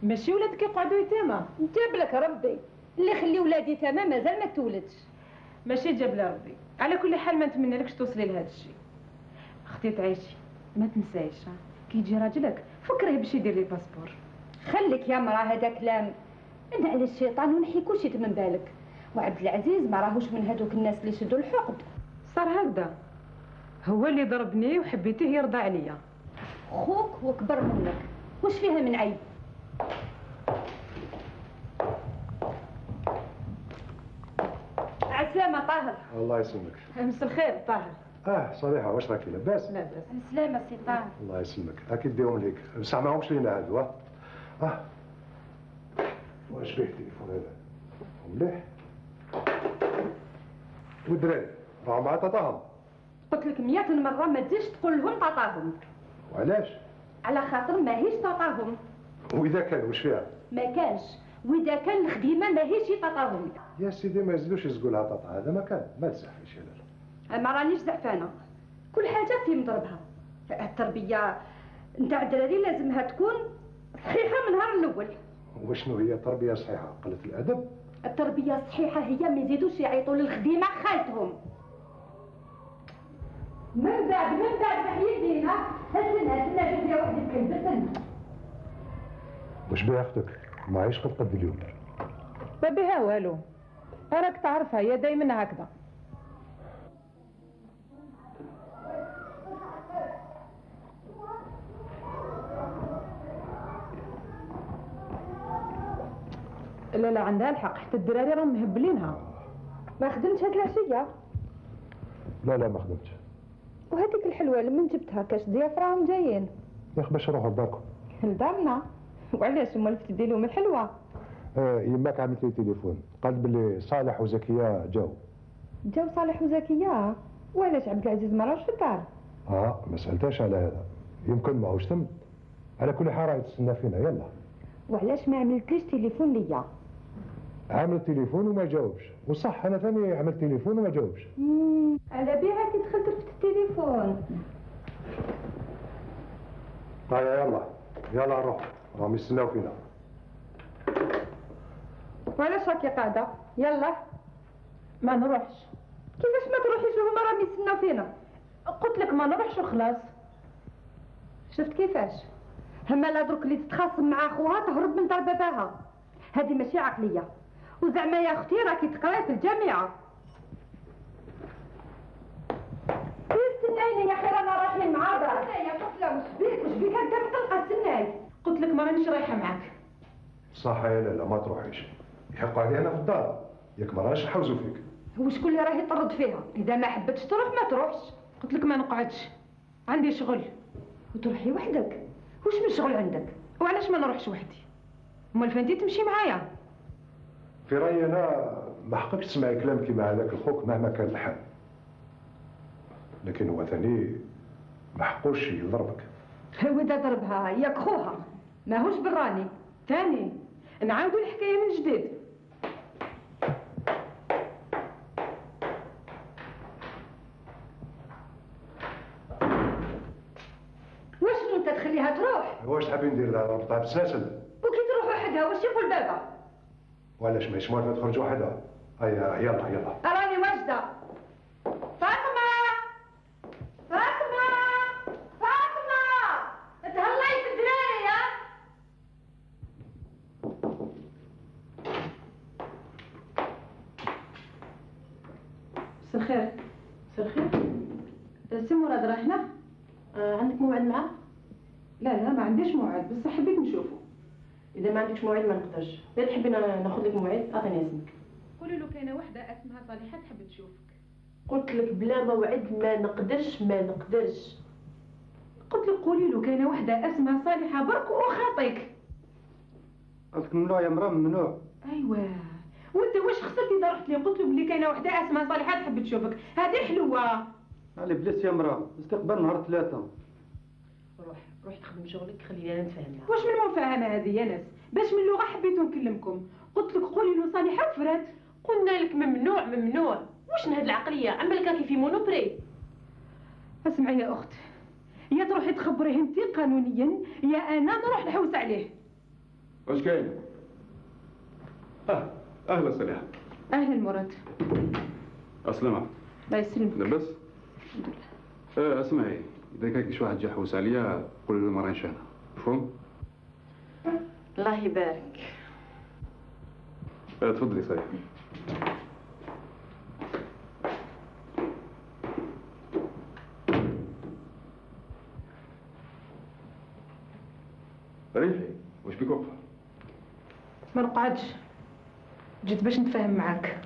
ماشي ولادك يقعدوا يتامى. جاب لك ربي اللي خلي ولادي يتامى مازال ما تولدش. ماشي جاب لي ربي. على كل حال ما نتمنى لكش توصلي لهذا الشيء. اختي تعيشي ما تنسايش كي يجي راجلك فكريه باش يدير لي باسبور. خليك يا مراه هذا كلام، انا على الشيطان ونحي كل شيء من بالك. وعبد العزيز ما راهوش من هذوك الناس اللي يشدوا الحقد. صار هكذا، هو اللي ضربني وحبيته يرضى عليا. خوك وكبر منك، وش فيها من عيب؟ عسلامة طاهر. الله يسلمك. مسا الخير طاهر. اه صالحة، واش راكي لاباس؟ لاباس. سلامة سي طاهر. الله يسلمك، اكيد ديهم ليك، بصح ماهمش لينا هادو. اه اه واش فيه التليفون هذا؟ مليح. والدراري راهم مع طاطاهم. قلت لك مئة مرة ما تجيش تقول لهم طاطاهم. وعلاش؟ على خاطر ماهيش طاطاهم. واذا كان واش فيها؟ ما كانش، واذا كان الخديمة ماهيش طاطاهم. يا سيدي ما يزيدوش يزقوا لها طاطا، هذا ما كان، ما تزعفيش يا لالا. ما رانيش زعفانة، كل حاجة في مضربها. التربية نتاع الدراري لازمها تكون صحيحة من النهار الأول. وشنو هي تربية صحيحة؟ قلة الأدب؟ التربية الصحيحة هي ما يزيدوش يعيطوا للخديمة خالتهم. من بعد من بعد محيدينا هزنا هزنا شوف يا وحدة الكلب هزنا. واش بها اختك؟ معيش قد قد اليوم. ما بها والو، راك تعرفها هي دايما هكذا. لا لا عندها الحق، حتى الدراري راهم مهبلينها. ما خدمتش هاد العشية؟ لا لا ما خدمتش. وهذيك الحلوة اللي من جبتها كاش ضياف راهم جايين. يا اخي باش نروحوا لداركم. لدارنا؟ وعلاش امال تدي لهم الحلوة؟ آه يماك عملت لي تليفون، قالت باللي صالح وزكية جاو. جاو صالح وزكية؟ وعلاش عبد العزيز ما راهش في الدار؟ اه ما سالتهاش على هذا، يمكن ماهوش تم. على كل حال راهي تستنى فينا. يلا. وعلاش ما عملتليش تليفون ليا؟ عملت تليفون وما جاوبش، وصح انا ثاني عملت تليفون وما جاوبش. امم على بها كي دخلت رفت التليفون. هيا يلا يلا نروح، راهم يستناو فينا. وعلاش راكي قاعدة؟ يلا. ما نروحش. كيفاش ما تروحيش وهما راهم يستناو فينا؟ قلت لك ما نروحش وخلاص. شفت كيفاش؟ هما لا درك اللي تتخاصم مع خوها تهرب من دار باباها. هذه ماشي عقلية. وزعما يا اختي راكي تقراي في الجامعة. استنايني يا اخي رانا رايحين مع بعض. يا طفلة وش بيك وش بيك هكا مقلقة؟ استناي. قلت لك ما رانيش رايحة معاك. صح يا لالا ما تروحيش، يحق علي انا في الدار، ياك ما راهش نحوزوا فيك. وشكون اللي راه يطرد فيها؟ اذا ما حبتش تروح ما تروحش. قلت لك ما نقعدش، عندي شغل. وتروحي وحدك؟ وش من شغل عندك؟ وعلاش ما نروحش وحدي؟ امال فانتي تمشي معايا؟ في رايي انا ما حقكش تسمعي كلام كيما هذاك الخوك مهما كان الحال، لكن هو ثاني ما حقوش يضربك. واذا ضربها ياك خوها ماهوش براني. ثاني نعاودوا الحكايه من جديد. واشنو انت تخليها تروح؟ واش تحبي ندير لها؟ ربطها بسلاسل. وكي تروح وحدها واش يقول بابا؟ وعلاش ماهيش موالفه تخرج وحدها؟ هيا يلا يلا. راني واجده. فاطمه فاطمه فاطمه تهلاي في الدراري يا. مسا الخير. مسا الخير. سي مراد راه هنا؟ آه عندك موعد معاه؟ لا لا ما عنديش موعد، بس حبيت نشوفه. اذا ما عندكش موعد ما نقدرش. اذا تحبي ناخذ لك موعد اعطيني اسمك. قولي له كاينه وحده اسمها صالحه تحب تشوفك. قلت لك بلا موعد ما نقدرش ما نقدرش. قلت لك قولي له كاينه وحده اسمها صالحه برك وخاطيك. قلت ممنوع يا مرا ممنوع. ايوا وانت واش خسرتي اذا رحت لي قلت له بلي كاينه وحده اسمها صالحه تحب تشوفك؟ هذه حلوه. علي بلاش يا مرا، استقبال نهار ثلاثة. روح روح تخدم شغلك خليني انا نتفاهم معاك. واش من مفاهمه هذه يا ناس؟ باش من لغه حبيت نكلمكم، قلت لك قولي له صالحه وفرات. قلنا لك ممنوع ممنوع، واش من هاد العقليه؟ عمالك راكي في مونوبري. اسمعي يا اخت، يا تروحي تخبريه انت قانونيا يا انا نروح نحوس عليه. واش كاين؟ اه اهلا صالحه. اهلا مراد. اسلمة. الله يسلمك. لاباس؟ اه اسمعي، اذا كان كاش واحد جا يحوس عليا قولي له ما رانيش انا، مفهوم؟ الله يبارك. تفضلي صحيح. ريحي واش بيك واقفه؟ ما نقعدش، جيت باش نتفاهم معاك.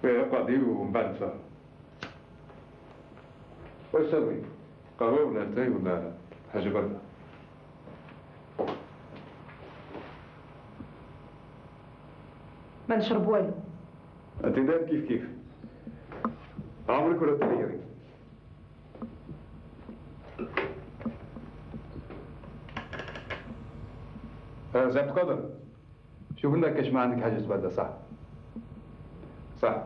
اقعدي ومن بعد نتفاهم. واش تبغي؟ قهوه ولا اتاي ولا حاجه برده؟ ما نشرب والو. انت داير كيف كيف عمرك ولا تغيري. اه زعما تقدر شوف لنا كاش ما عندك حاجه تبدا. صح صح.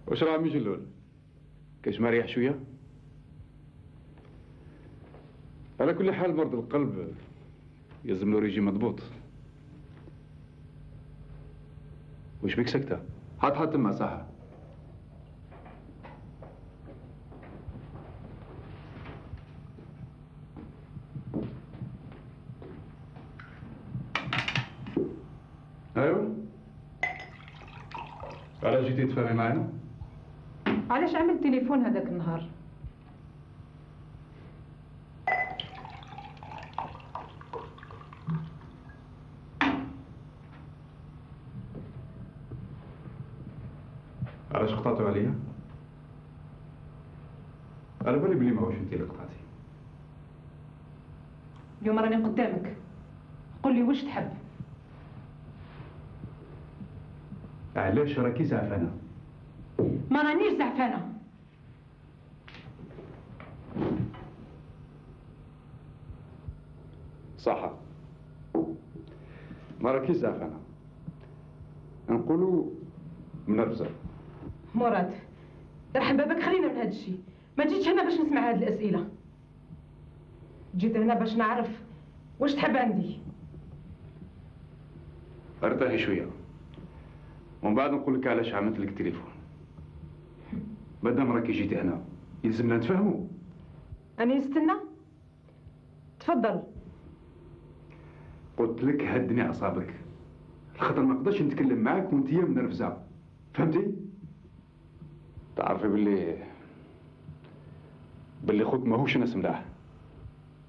واش راه مجلول؟ كاش ما ريح شويه؟ على كل حال مرض القلب يلزم له ريجيم مضبوط. وش بيك سكتة؟ حط حط تما صح. ايوه علاش جيتي تفهمي معنا؟ علاش عملت تليفون هذاك النهار؟ علاش قطعتوا عليا؟ على بالي بلي ماهوش انت اللي قطعتي. اليوم راني قدامك، قول لي واش تحب؟ علاش راكي زعفانه؟ ما رانيش زعفانه. صح ما راكيش زعفانه، نقولوا منرفزه. مراد يرحم بابك خلينا من هذا الشيء، ما جيتش هنا باش نسمع هذه الاسئله، جيت هنا باش نعرف واش تحب عندي. ارتاحي شويه ومن بعد نقول لك علاش عملت لك التليفون. مادام راكي جيتي هنا يلزمنا نتفاهموا. أنا نستنى؟ تفضل. قلت لك هدني اعصابك، خاطر ما نقدرش نتكلم معاك وانت منرفزه، فهمتي؟ تعرفي باللي باللي خوك ماهوش ناس ملاح.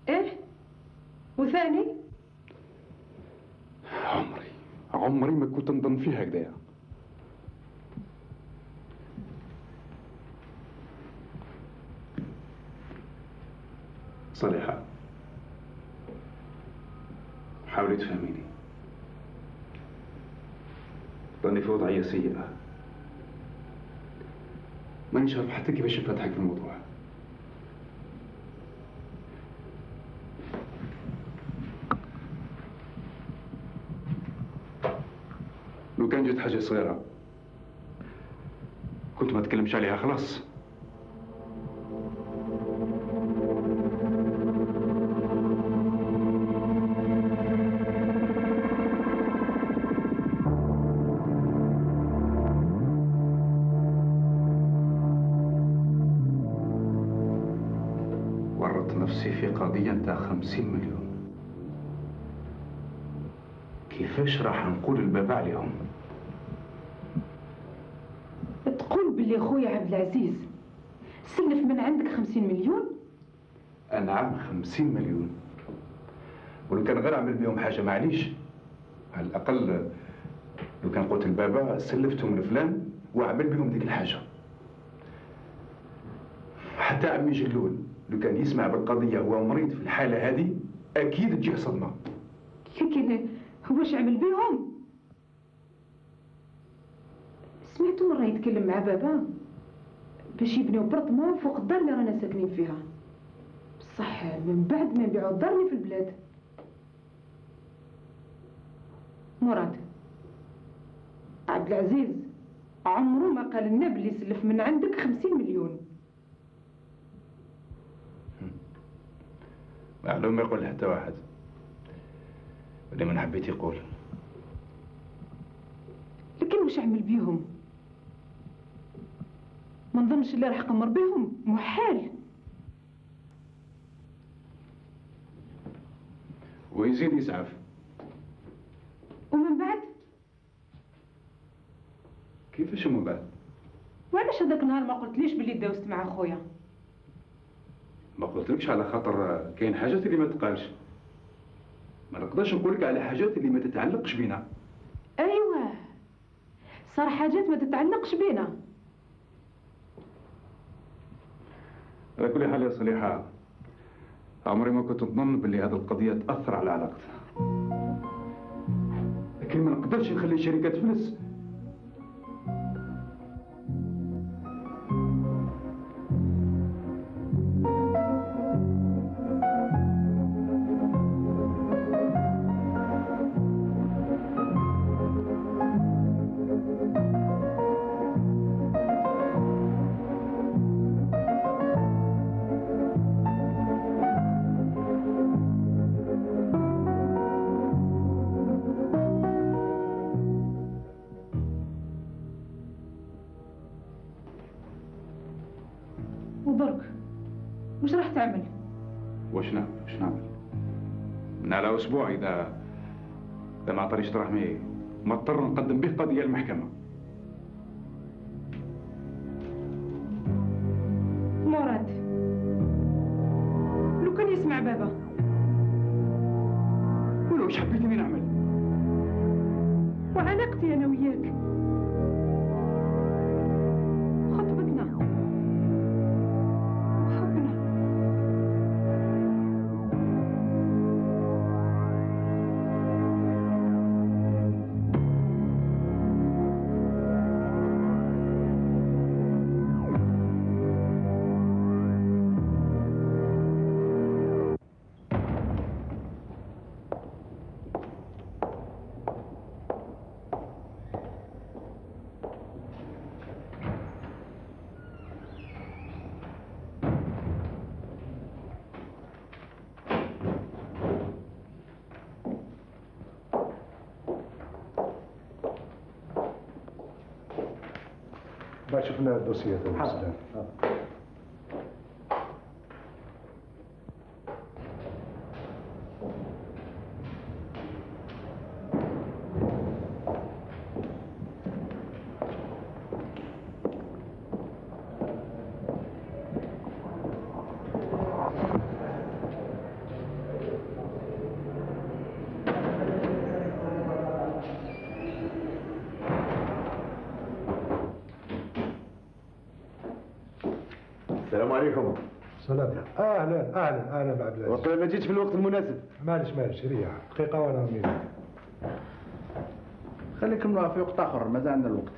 ايه؟ وثاني؟ عمري عمري ما كنت نظن فيها هكذايا. صالحة حاولي تفهميني، راني في وضعية سيئة، مانيش عارف حتى كيفاش نفتحك في الموضوع. لو كان جات حاجة صغيرة كنت ما تكلمش عليها خلاص. ورطت نفسي في قضية نتاع خمسين مليون، كيفاش راح نقول البابا عليهم؟ تقول باللي خويا عبد العزيز سلف من عندك خمسين مليون؟ نعم خمسين مليون، ولو كان غير عمل بهم حاجة معليش، على الأقل لو كان قلت البابا سلفتهم لفلان وعمل بهم ديك الحاجة. حتى عمي جلول لو كان يسمع بالقضية هو مريض في الحالة هذه أكيد تجيه صدمة. لكن واش عمل بهم؟ سمعتو مرة يتكلم مع بابا باش يبنيو برطمان فوق الدار اللي رانا ساكنين فيها، بصح من بعد ما يبيعوا الدار اللي في البلاد. مراد عبد العزيز عمره ما قال لنا بلي سلف من عندك خمسين مليون. معلوم ما يقول حتى واحد، اللي من حبيت يقول. لكن واش عمل بيهم؟ ما نظنش اللي راح قمر بهم، محال. ويزيد يسعف. ومن بعد؟ كيفاش ومن بعد؟ وعلاش هذاك النهار ما قلتليش باللي داوزت مع خويا؟ ما قلتلكش على خاطر كاين حاجات اللي ما تقالش. ما نقدرش نقولك على حاجات اللي ما تتعلقش بينا. ايوه، صار حاجات ما تتعلقش بينا. على كل حال يا صليحة، عمري ما كنت نظن باللي هذه القضية تأثر على علاقتنا. لكن ما نقدرش نخلي الشركة تفلس. ودرك وش راح تعمل؟ واش نعمل؟ واش نعمل؟ من على اسبوع اذا اذا ما عطانيش دراهمي مضطر نقدم به قضيه للمحكمه. مراد، لو كان يسمع بابا. ولو واش حبيتني نعمل؟ وعلاقتي انا وياك خطبتنا وحبنا. بعد شفنا الدوسيه تاع السلام. السلام عليكم. سلام. اهلا اهلا اهلا بعبد العزيز. وقيلا ما جيتش في الوقت المناسب. معلش معلش ريح دقيقه وانا ميلك. خلي نكملوها في وقت اخر، مازال عندنا الوقت.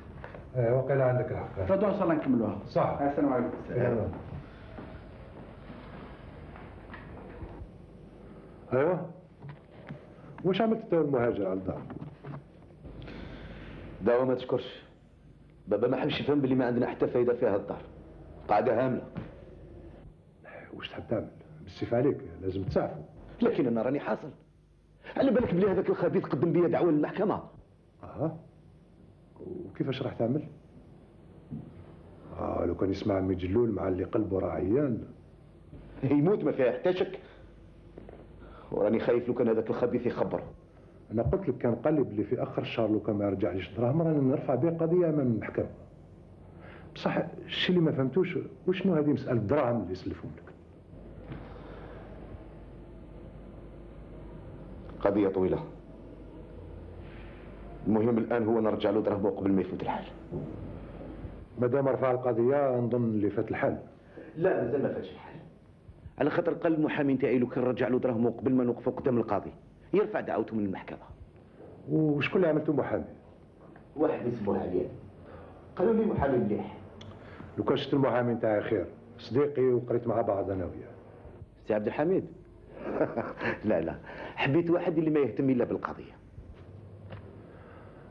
ايه وقيلا عندك الحق. غدوه ان شاء الله نكملوها. صح. السلام عليكم. السلام. ايوه واش عملت تو المهاجر على الدار؟ دعوة ما تشكرش. بابا ما حبش يفهم باللي ما عندنا حتى فايده في هذا الدار. قاعده هامله. واش تحب تعمل؟ بالسيف عليك لازم تسعفوا. لكن انا راني حاصل. على بالك بلي هذاك الخبيث قدم بيا دعوه للمحكمه. اه وكيفاش راح تعمل؟ اه لو كان يسمع عمي جلول مع اللي قلبه راه عيان يموت ما فيها حتى شك. وراني خايف لو كان هذاك الخبيث يخبره. انا قلت لك كان قلب اللي في اخر الشهر لو كان ما يرجعليش دراهم راني نرفع به قضيه امام المحكمه. بصح الشيء اللي ما فهمتوش وشنو هذه مساله دراهم اللي يسلفهم لك. قضيه طويله. المهم الان هو نرجع له دراهمه قبل ما يفوت الحال. مادام رفع القضيه نظن اللي فات الحال. لا مازال ما فاتش الحال. على خاطر قال المحامي نتاعي لو كان رجع له دراهمه قبل ما نوقفوا قدام القاضي يرفع دعوته من المحكمه. وشكون اللي عملته محامي؟ واحد اسمه عليان. قالوا لي محامي مليح. لو كان شفت المحامي نتاعي خير صديقي وقريت مع بعض انا وياه. سي عبد الحميد. لا لا حبيت واحد اللي ما يهتم الا بالقضيه.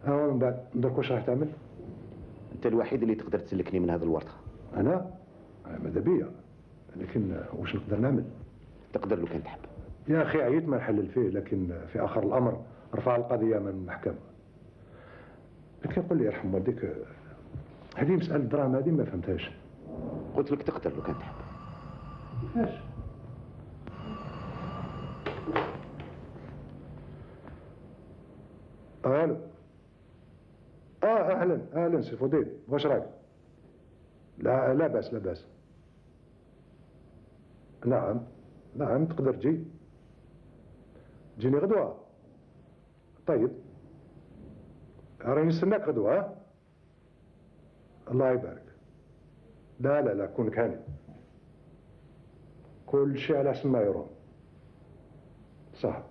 اه من بعد درك واش راح تعمل؟ انت الوحيد اللي تقدر تسلكني من هذه الورطه. انا؟ ماذا بيا لكن واش نقدر نعمل؟ تقدر لو كان تحب. يا اخي عييت ما نحلل فيه لكن في اخر الامر رفع القضيه من المحكمه. لكن قل لي يرحم والديك هذه مساله دراهم هذه ما فهمتهاش. قلت لك تقدر لو كان تحب. كيفاش؟ الو. اه اهلا اهلا سي فضيل، واش رايك؟ لا لا باس لا باس. نعم نعم تقدر تجي. تجيني غدوة. طيب راني نستناك غدوة. ها الله يبارك. لا لا لا كونك هاني، كل شيء على حسن ما يرام. صح،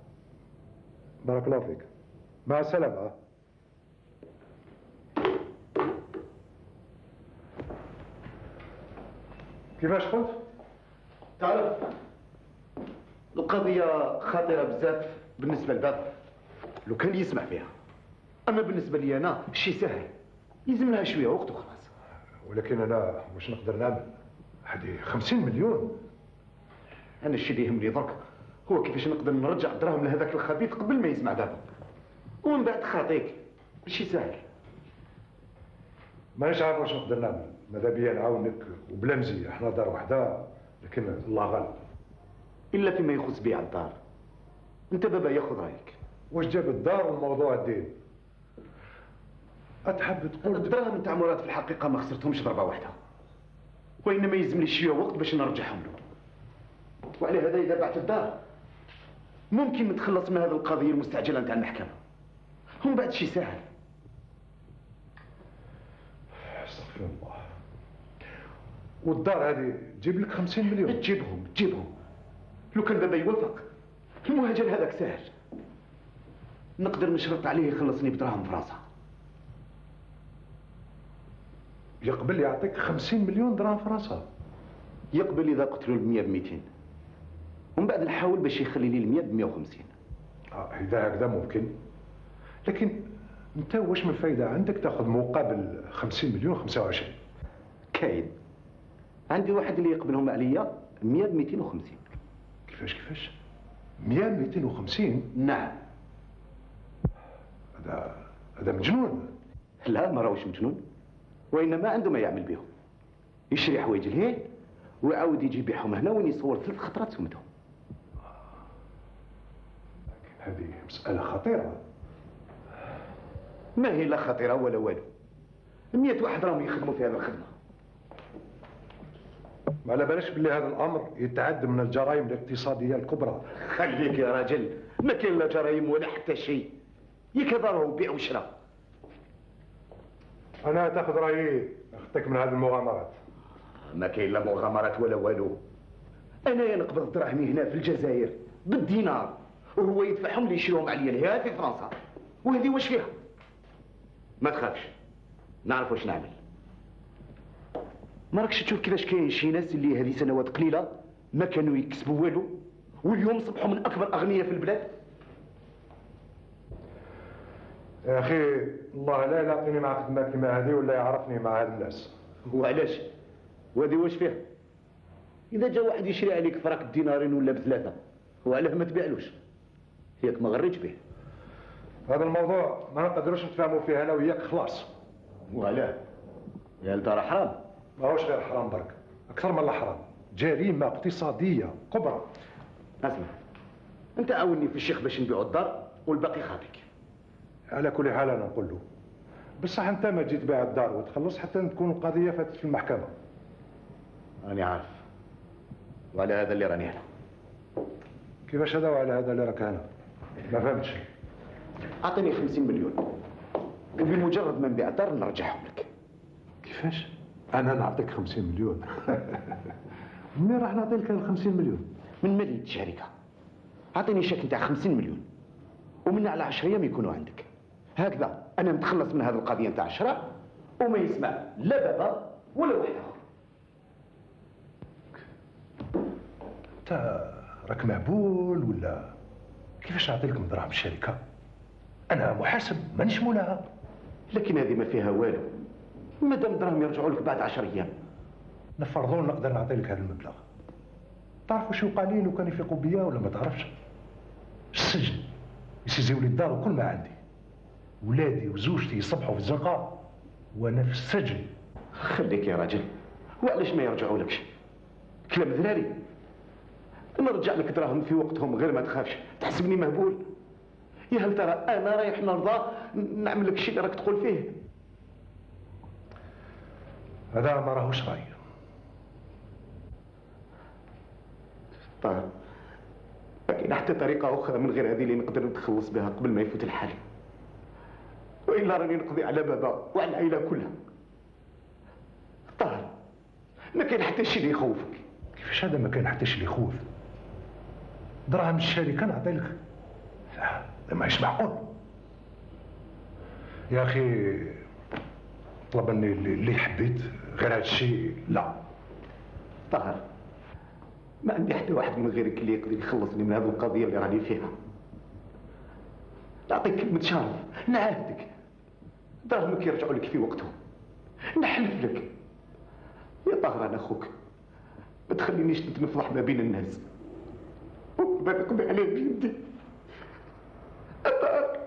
بارك الله فيك، مع السلامة. كيفاش قلت؟ تعرف القضية خطيرة بزاف بالنسبة لباب لو كان يسمع فيها، أما بالنسبة لي أنا شي سهل، يلزم لها شوية وقت وخلاص. ولكن أنا واش نقدر نعمل؟ هذه خمسين مليون. أنا الشيء اللي يهمني درك هو كيفاش نقدر نرجع الدراهم لهذاك الخبيث قبل ما يسمع بابا، ومن بعد خاطيك ماشي سهل. مانيش عارف واش نقدر نعمل، ماذا بيا نعاونك وبلا مزيه، احنا دار وحده، لكن الله غالب. إلا فيما يخص بيع الدار، أنت بابا ياخذ رأيك. واش جاب الدار والموضوع الدين؟ أتحب تقول الدراهم نتاع مراد في الحقيقة ما خسرتهمش ضربة واحدة، وإنما يلزمني شوية وقت باش نرجعهم له. وعلى هذا إذا بعت الدار ممكن نتخلص من هذه القضية المستعجلة نتاع المحكمة، ومن بعد شي سهل. استغفر الله. والدار هذه تجيب لك خمسين مليون؟ تجيبهم تجيبهم لو كان بابا يوافق. المهاجر هذاك سهل، نقدر نشرط عليه يخلصني بدراهم في راسه. يقبل يعطيك خمسين مليون درهم في راسها؟ يقبل إذا قلت له المية بميتين، ومن بعد نحاول باش يخلي لي المية بمية وخمسين. آه إذا هكذا ممكن، لكن أنت واش من فايدة عندك تاخذ مقابل خمسين مليون خمسة وعشرين؟ كاين عندي واحد اللي يقبلهم عليا مية بميتين وخمسين. كيفاش كيفاش؟ مية بميتين وخمسين؟ نعم. هذا هذا مجنون. لا ما راهوش مجنون، وإنما عنده ما يعمل بهم. يشري حوايج الهين ويعاود يجي يبيعهم هنا وين يصور ثلاث خطرات سمتهم. لكن هذه مسألة خطيرة. ما هي لا خطيرة ولا والو، مية واحد راهم يخدموا في هذه الخدمة. ما على بالش باللي هذا الأمر يتعد من الجرائم الاقتصادية الكبرى. خليك يا راجل، ما كاين لا جرائم ولا حتى شيء، ياك هذا راهو بيع وشراء. أنا تاخذ رأيي أخذتك من هذه المغامرات. ما كاين لا مغامرات ولا والو. أنا نقبض دراهمي هنا في الجزائر بالدينار، وهو يدفعهم لي يشريهم عليا لهنا في فرنسا، وهذه واش فيها؟ ما تخافش، نعرف واش نعمل. ما راكش تشوف كيفاش كاين شي ناس اللي هذه سنوات قليلة ما كانوا يكسبوا والو، واليوم صبحوا من أكبر أغنياء في البلاد؟ يا أخي الله لا يعطيني مع خدمة كيما هذه ولا يعرفني مع هاد الناس. وعلاش؟ وهذه واش فيها؟ إذا جا واحد يشري عليك فراك بدينارين ولا بثلاثة، وعلاه ما تبيعلوش؟ ياك ما غريتش به. هذا الموضوع ما نقدروش نتفاهموا فيه أنا وياك خلاص. وعلاه؟ يا الدار حرام. ماهوش غير حرام برك، أكثر من الحرام، جريمة اقتصادية كبرى. اسمع، أنت عاوني في الشيخ باش نبيعوا الدار والباقي خاطيك. على كل حال أنا نقول له بصح أنت ما تجي تبيع الدار وتخلص حتى تكون القضية فاتت في المحكمة. راني عارف، وعلى هذا اللي راني هنا. كيفاش هذا وعلى هذا اللي راك هنا؟ ما فهمتش. أعطيني خمسين مليون وبمجرد ما نبيع الدار نرجعهم لك. كيفاش؟ أنا نعطيك خمسين مليون؟ منين راح نعطي لك الخمسين مليون؟ من مالية الشركة. أعطيني شيك نتاع خمسين مليون ومن على عشرة أيام يكونوا عندك. هكذا أنا نتخلص من هذه القضية نتاع الشراء وما يسمع لا بابا ولا واحد آخر. أنت راك مهبول ولا كيفاش نعطي لك دراهم الشركة؟ أنا محاسب مانيش مولاها. لكن هذه ما فيها والو، مادام دراهم يرجعوا لك بعد عشر أيام. نفرضوا نقدر نعطي لك هذا المبلغ. تعرف واش يوقع لي لو كان يفيقوا بيا ولا ما تعرفش؟ السجن، يسيزيو لي الدار وكل ما عندي. ولادي وزوجتي يصبحوا في الزنقة وأنا في السجن. خليك يا راجل، وعلاش ما يرجعوا لكش؟ كلام ذراري. نرجع لك دراهم في وقتهم غير ما تخافش، تحسبني مهبول؟ يا هل ترى انا رايح نرضى نعمل لك الشيء اللي راك تقول فيه؟ هذا ما راهوش راي. طيب ما كاين حتى طريقه اخرى من غير هذه اللي نقدر نتخلص بها قبل ما يفوت الحال، والا راني نقضي على بابا وعلى العائله كلها. طاهر ما كاين حتى شيء اللي يخوفك. كيفاش هذا ما كاين حتى شيء اللي يخوف؟ دراهم الشركه نعطي لك، لا ماهيش معقول يا اخي. طلب مني اللي حبيت، غير هذا الشيء لا. طاهر ما عندي حتى واحد من غيرك اللي يقدر يخلصني من هذه القضيه اللي راني فيها. نعطيك كلمه شرف، نعاهدك دراهمك يرجعوا لك في وقتهم، نحلف لك. يا طاهر انا اخوك، ما تخلينيش نتنفضح ما بين الناس وما نقضي عليه بيدي. يا طاهر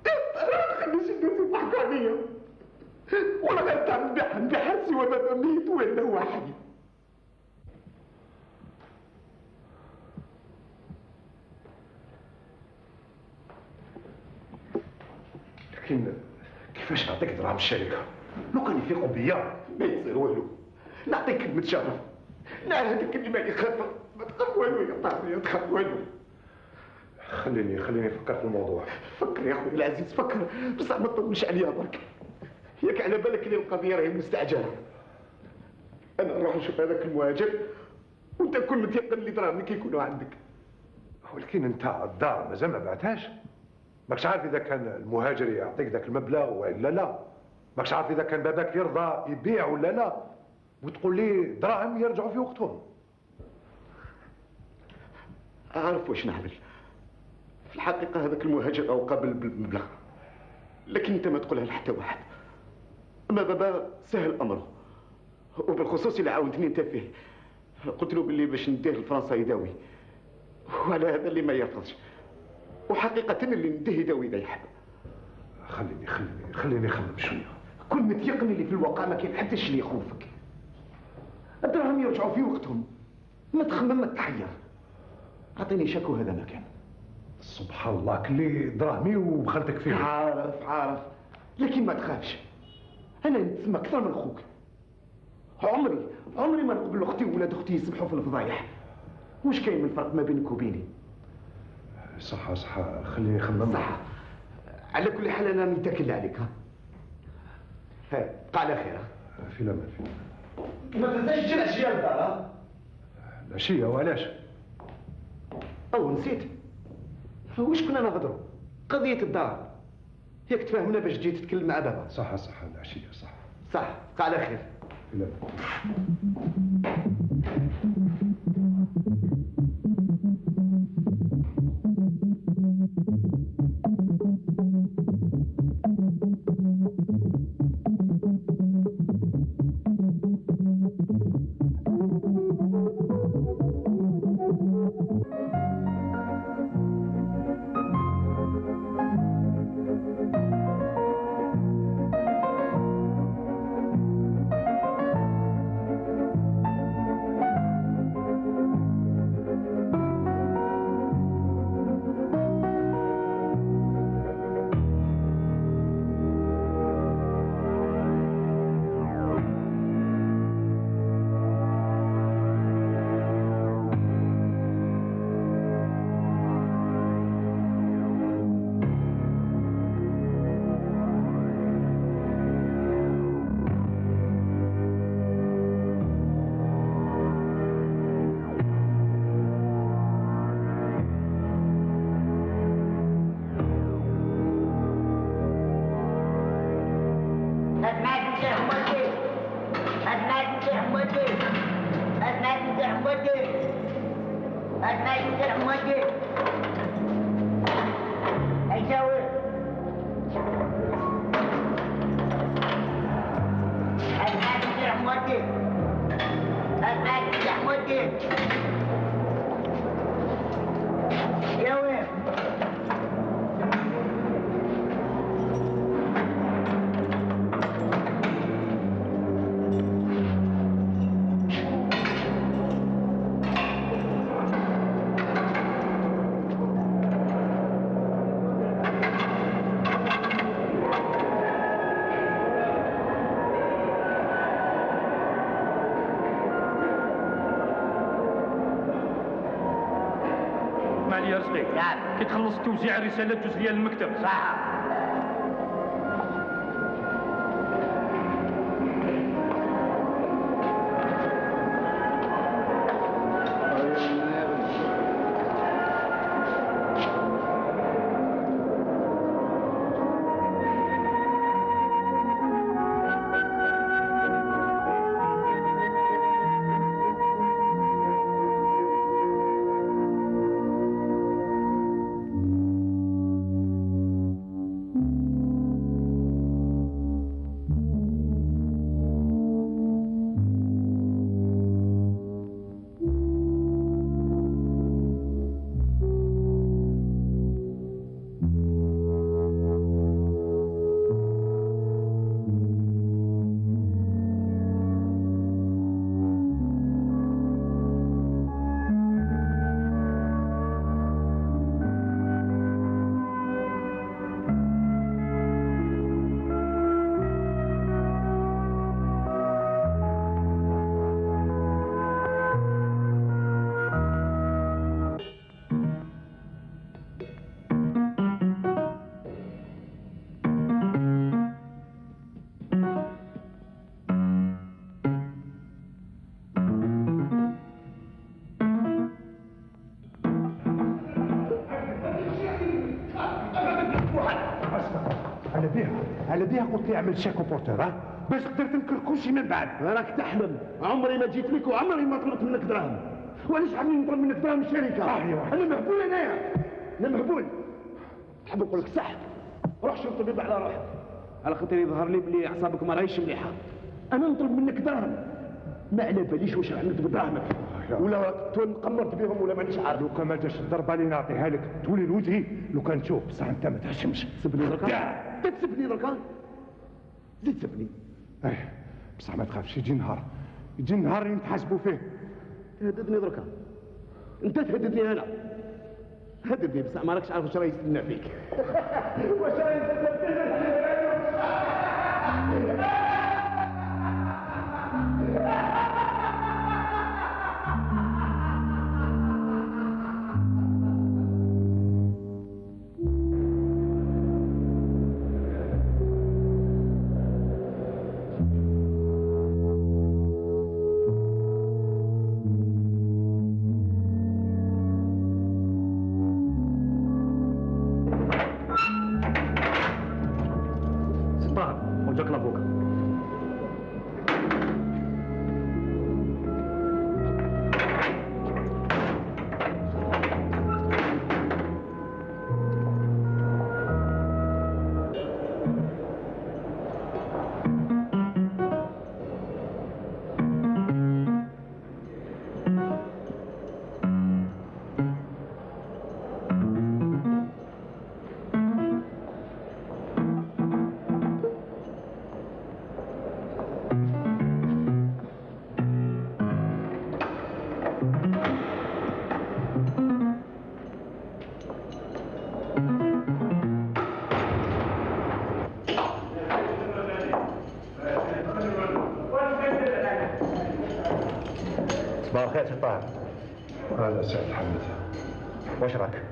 يا طاهر ما تخليش الناس يضحكوا عليا، ولا غنتعمل بحال سوى بابا ميت ولا هو حي. لكن كيفاش نعطيك دراهم الشركه؟ لو كان يفيقوا بيا ما يصير والو، نعطيك كلمة شرف، نعاهدك اني ماني خاطر، ما تخاف والو يا طاهر، ما تخاف والو. خليني خليني نفكر في الموضوع. فكر يا خويا العزيز، فكر بصح ما تطولش عليا برك. ياك على بالك اللي القضية راهي مستعجلة. أنا نروح نشوف هذاك المهاجر وأنت كون متيقن اللي دراهمك يكونوا عندك. ولكن أنت الدار مازال ما بعتهاش، ماكش عارف إذا كان المهاجر يعطيك ذاك المبلغ ولا لا، ماكش عارف إذا كان باباك يرضى يبيع ولا لا، وتقول لي دراهم يرجعوا في وقتهم. أعرف واش نعمل. في الحقيقة هذاك المهاجر أو قابل بالمبلغ، لكن أنت ما تقولها لحتى واحد. أما بابا سهل أمره، وبالخصوص اللي عاونتني أنت فيه. قلت له باللي باش نديه لفرنسا يداوي، وعلى هذا اللي ما يرفضش، وحقيقة اللي نديه يداوي إذا يحب. خليني خليني خليني نخمم شوية. كن متيقن اللي في الواقع ما كاين حتى شي اللي يخوفك. الدراهم يرجعوا في وقتهم، ما تخمم ما تحير. أعطيني شكو هذا مكان. سبحان الله، كلي دراهمي وبخلتك فيه. عارف عارف، لكن ما تخافش، أنا نتسمى أكثر من خوك. عمري عمري ما نقبل أختي وولاد أختي يسبحوا في الفضايح. وش كاين من فرق ما بينك وبيني؟ صح صح، خليني نخمم. صح. على كل حال أنا نتكل عليك. ها ها بقى على خير. في الأمان في الأمان. ما تنساش تجي العشية للدار. العشية وعلاش؟ أو نسيت، واش كنا نهضروا؟ قضية الدار. ياك تفاهمنا باش تجي تتكلم مع بابا. صح صح، العشية صح. صح، بقى على خير. في الأمان. اسمع لي يا رزقي. نعم. كي تخلص توزيع الرسالات جوز ليا للمكتب. صح. على بيها على بيها قلت لي اعمل شيك بورتور ها باش تقدر تنكر كلشي من بعد. راك تحلم، عمري ما جيت لك وعمري ما طلبت منك دراهم. وعلاش حابني نطلب منك دراهم الشركه؟ اه ايوا انا مهبول انايا، انا مهبول. نحب نقول لك صح، روح شوف طبيب على روحك، على خاطر يظهر لي بلي اعصابك ما راهيش مليحه. انا نطلب منك دراهم، ما على باليش واش عملت بدراهمك، ولا تون قمرت بهم ولا مانيش عارف. لو كان ما جاش الضربه اللي نعطيها لك تولي لوجهي، لو كان تشوف بصح انت ما تهشمش. سبني دركا، تسبني دركا، زيد سبني. ايه بصح ما تخافش، يجي نهار يجي النهار اللي نتحاسبوا فيه. تهددني دركا، انت تهددني انا، هددني بصح ما راكش عارف واش راه يستنى فيك. واش راه يستنى فيك؟ صباح الخير سي طاهر. هذا سعد حمد. واش راك؟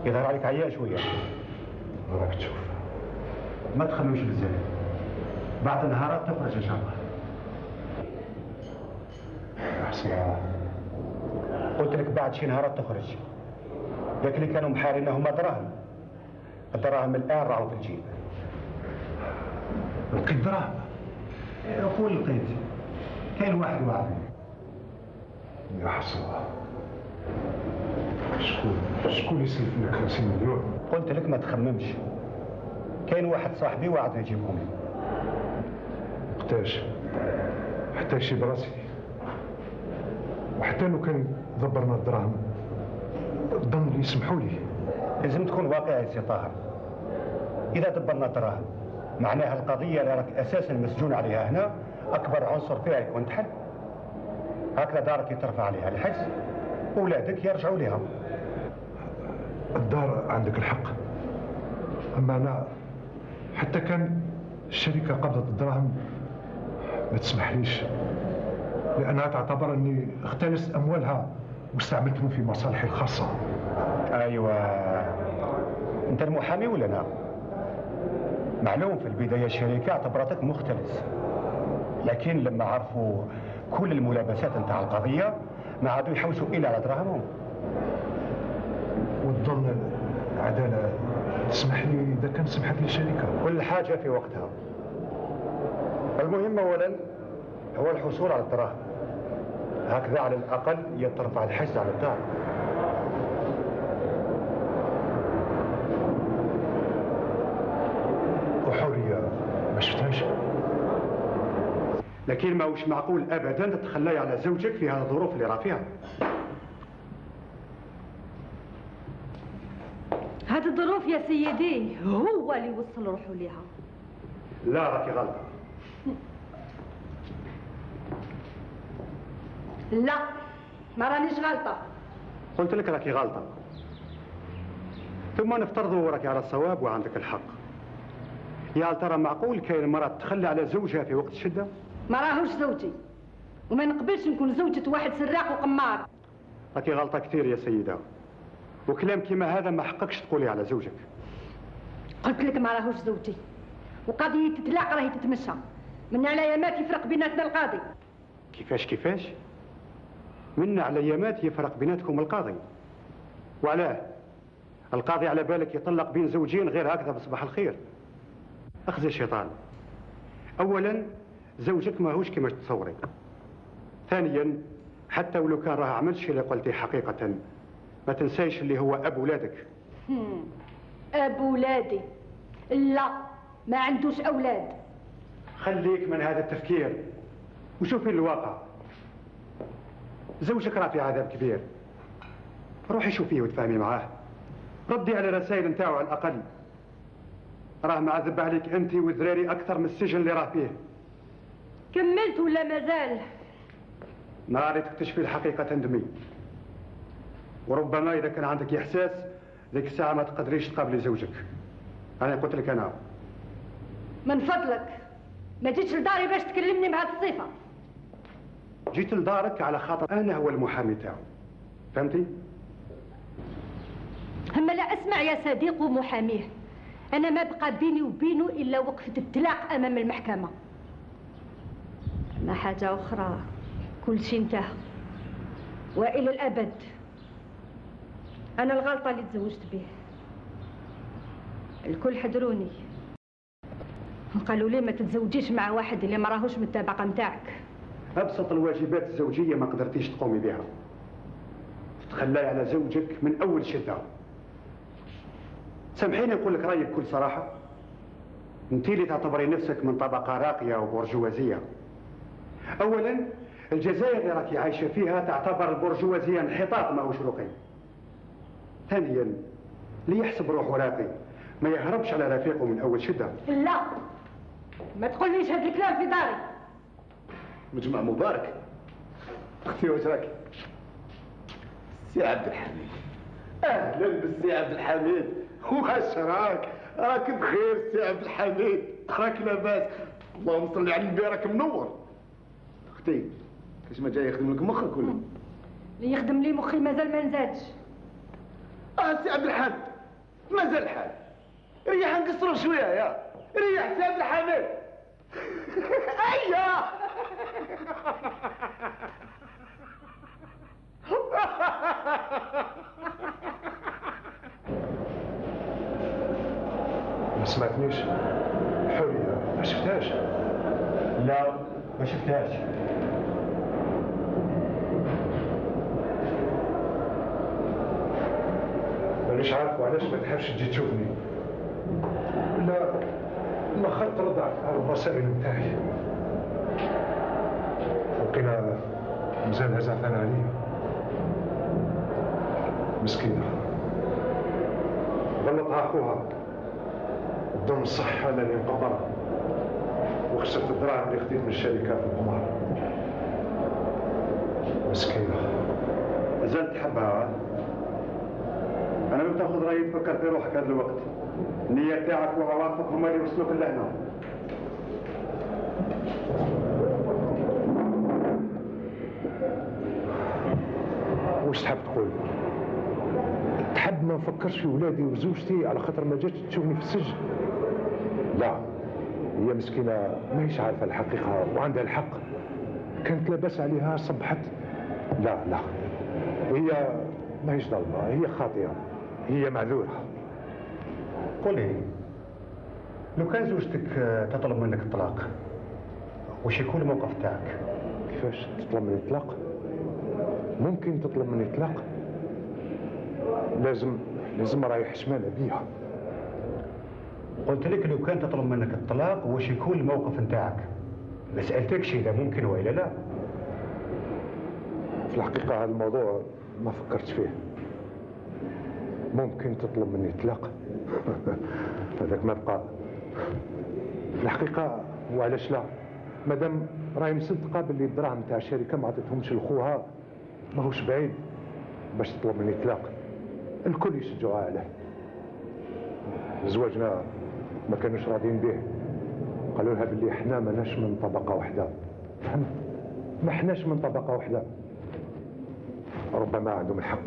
يظهر عليك عيان شويه. راك تشوف. ما تخممش بزاف، بعد نهارات تخرج ان شاء الله. احسن. قلت لك بعد شي نهارات تخرج. ذاك اللي كانوا محارين هما دراهم، الدراهم الان راهو في الجيب. لقيت دراهم؟ قول لقيت، كاين واحد وعدني. يا حسرة، شكون شكون يسلف لك خمسين مليون؟ قلت لك ما تخممش، كاين واحد صاحبي وعدني يجيبهم لي. وقتاش؟ حتى يشي براسي، وحتى لو كان دبرنا الدراهم ظن لي يسمحوا لي. لازم تكون واقعي سي طاهر. اذا دبرنا الدراهم معناها القضيه اللي راك اساسا مسجون عليها هنا اكبر عنصر فيها يكون تحل. هكذا دارك يترفع عليها الحجز، اولادك يرجعوا لها. الدار عندك الحق، اما انا حتى كان الشركه قبضت الدراهم ما تسمحليش، لانها تعتبر اني اختلست اموالها واستعملتهم في مصالحي الخاصة. ايوه، انت المحامي ولا لا؟ معلوم في البداية الشركة اعتبرتك مختلس، لكن لما عرفوا كل الملابسات نتاع القضية ما عادوا يحوسوا إلا على دراهمهم. وتظل عدالة تسمح لي إذا كان سمحت لي الشركة؟ كل حاجة في وقتها. المهم أولا هو الحصول على الدراهم، هكذا على الأقل يترفع الحجز على الدار. وحورية ما شفتهاش، لكن ما هوش معقول أبدا تتخلي على زوجك في هذه الظروف اللي راه فيها. هذه الظروف يا سيدي هو اللي وصل روحه ليها. لا راكي غلطة. لا ما رانيش غلطة. قلت لك راكي غلطة. ثم نفترضوا راكي على الصواب وعندك الحق. يا هل ترى معقول كاين مرأة تخلي على زوجها في وقت الشدة؟ ما راهوش زوجي وما نقبلش نكون زوجة واحد سراق وقمار. راكي غلطة كثير يا سيدة، وكلام كيما هذا ما حقكش تقولي على زوجك. قلت لك ما راهوش زوجي، وقضية الطلاق راهي تتمشى من على يامات يفرق بيناتنا القاضي. كيفاش كيفاش؟ من على يامات يفرق بيناتكم القاضي؟ وعلاه؟ القاضي على بالك يطلق بين زوجين غير هكذا بصباح الخير؟ اخزي الشيطان. اولا زوجك ماهوش كما تتصوري. ثانيا حتى ولو كان راه عملش اللي قلتي حقيقة ما تنسايش اللي هو اب ولادك. اب ولادي؟ لا ما عندوش اولاد. خليك من هذا التفكير وشوفي الواقع. زوجك راه في عذاب كبير، روحي شوفيه وتفاهمي معاه، ردي على الرسائل نتاعو على الاقل. راه معذب عليك انت وذراري اكثر من السجن اللي راه فيه. كملت ولا مازال؟ نهار تكتشفي الحقيقة تندمي، وربما إذا كان عندك إحساس ذيك الساعة ما تقدريش تقابلي زوجك. أنا قلت لك أنا من فضلك ما جيتش لداري باش تكلمني بهذه الصفة. جيت لدارك على خاطر أنا هو المحامي تاعو، فهمتي؟ أما لا أسمع يا صديق ومحاميه، أنا ما بقى بيني وبينه إلا وقفة الطلاق أمام المحكمة. ما حاجة أخرى، كل شيء انتهى وإلى الأبد. أنا الغلطة اللي تزوجت به. الكل حذروني قالوا لي ما تتزوجيش مع واحد اللي ما راهوش من الطبقة نتاعك. أبسط الواجبات الزوجية ما قدرتيش تقومي بها، تخلاي على زوجك من أول شدة. سامحيني نقول لك رأيي بكل صراحة، انت اللي تعتبري نفسك من طبقة راقية وبرجوازية. أولا الجزائر اللي راكي عايشة فيها تعتبر البرجوازية انحطاط ماهوش رقي. ثانيا اللي يحسب روحه راقي ما يهربش على رفيقه من أول شدة. لا ما تقوليش هذا الكلام في داري. مجمع مبارك. اختي واش راكي؟ سي عبد الحميد. اهلا بالسي عبد الحميد. واش راك؟ راك بخير سي عبد الحميد؟ راك لاباس؟ اللهم صل على النبي راك منور. اختي كاش ما جاي يخدم لك مخك ولا؟ اللي يخدم لي مخي مازال ما نزادش. اه سي عبد الحميد مازال الحال. ريح نقصروا شويه يا ريح سي عبد الحميد. ايوه ما سمعتنيش؟ حورية ما شفتهاش؟ لا ما شفتهاش. مانيش عارف وعلاش ما تحبش تجي تشوفني. لا ما خلت ترد على الرسائل نتاعي. وقيلا مازال زعلان عليا. مسكينة غلطها أخوها، بدون الصحة لاني انقطع وخسرت الدراهم اللي خديت من الشركة في القمار. مسكينة. مازال تحبها؟ أنا لو تاخذ رأيي تفكر في روحك هذا الوقت. النية تاعك وعواطفك هما اللي يوصلوك لهنا. وش واش تحب تقول؟ تحب ما نفكرش في ولادي وزوجتي على خاطر ما جاتش تشوفني في السجن؟ لا، هي مسكينة ماهيش عارفة الحقيقة وعندها الحق. كانت لاباس عليها صبحت. لا لا، هي ماهيش ظالمة، هي خاطئة، هي معذورة. قل لي، لو كان زوجتك تطلب منك الطلاق وش يكون الموقف تاعك؟ كيفاش تطلب مني الطلاق؟ ممكن تطلب مني الطلاق؟ لازم لازم رايح حشمانة بيها. قلت لك لو كان تطلب منك الطلاق وش يكون الموقف نتاعك؟ ما سألتكش إذا ممكن وإلا لا. في الحقيقة هذا الموضوع ما فكرت فيه. ممكن تطلب مني الطلاق؟ هذاك ما بقى. في الحقيقة وعلاش لا؟ مادام راهي مصدقة باللي الدراهم تاع الشركة ما عطيتهمش لخوها، ماهوش بعيد باش تطلب مني الطلاق. الكل يشجعوها عليه. زواجنا ما كانوش راضيين به، قالوا لها باللي احنا ماناش من طبقة واحدة. فهمت؟ ما احناش من طبقة واحدة. ربما عندهم الحق،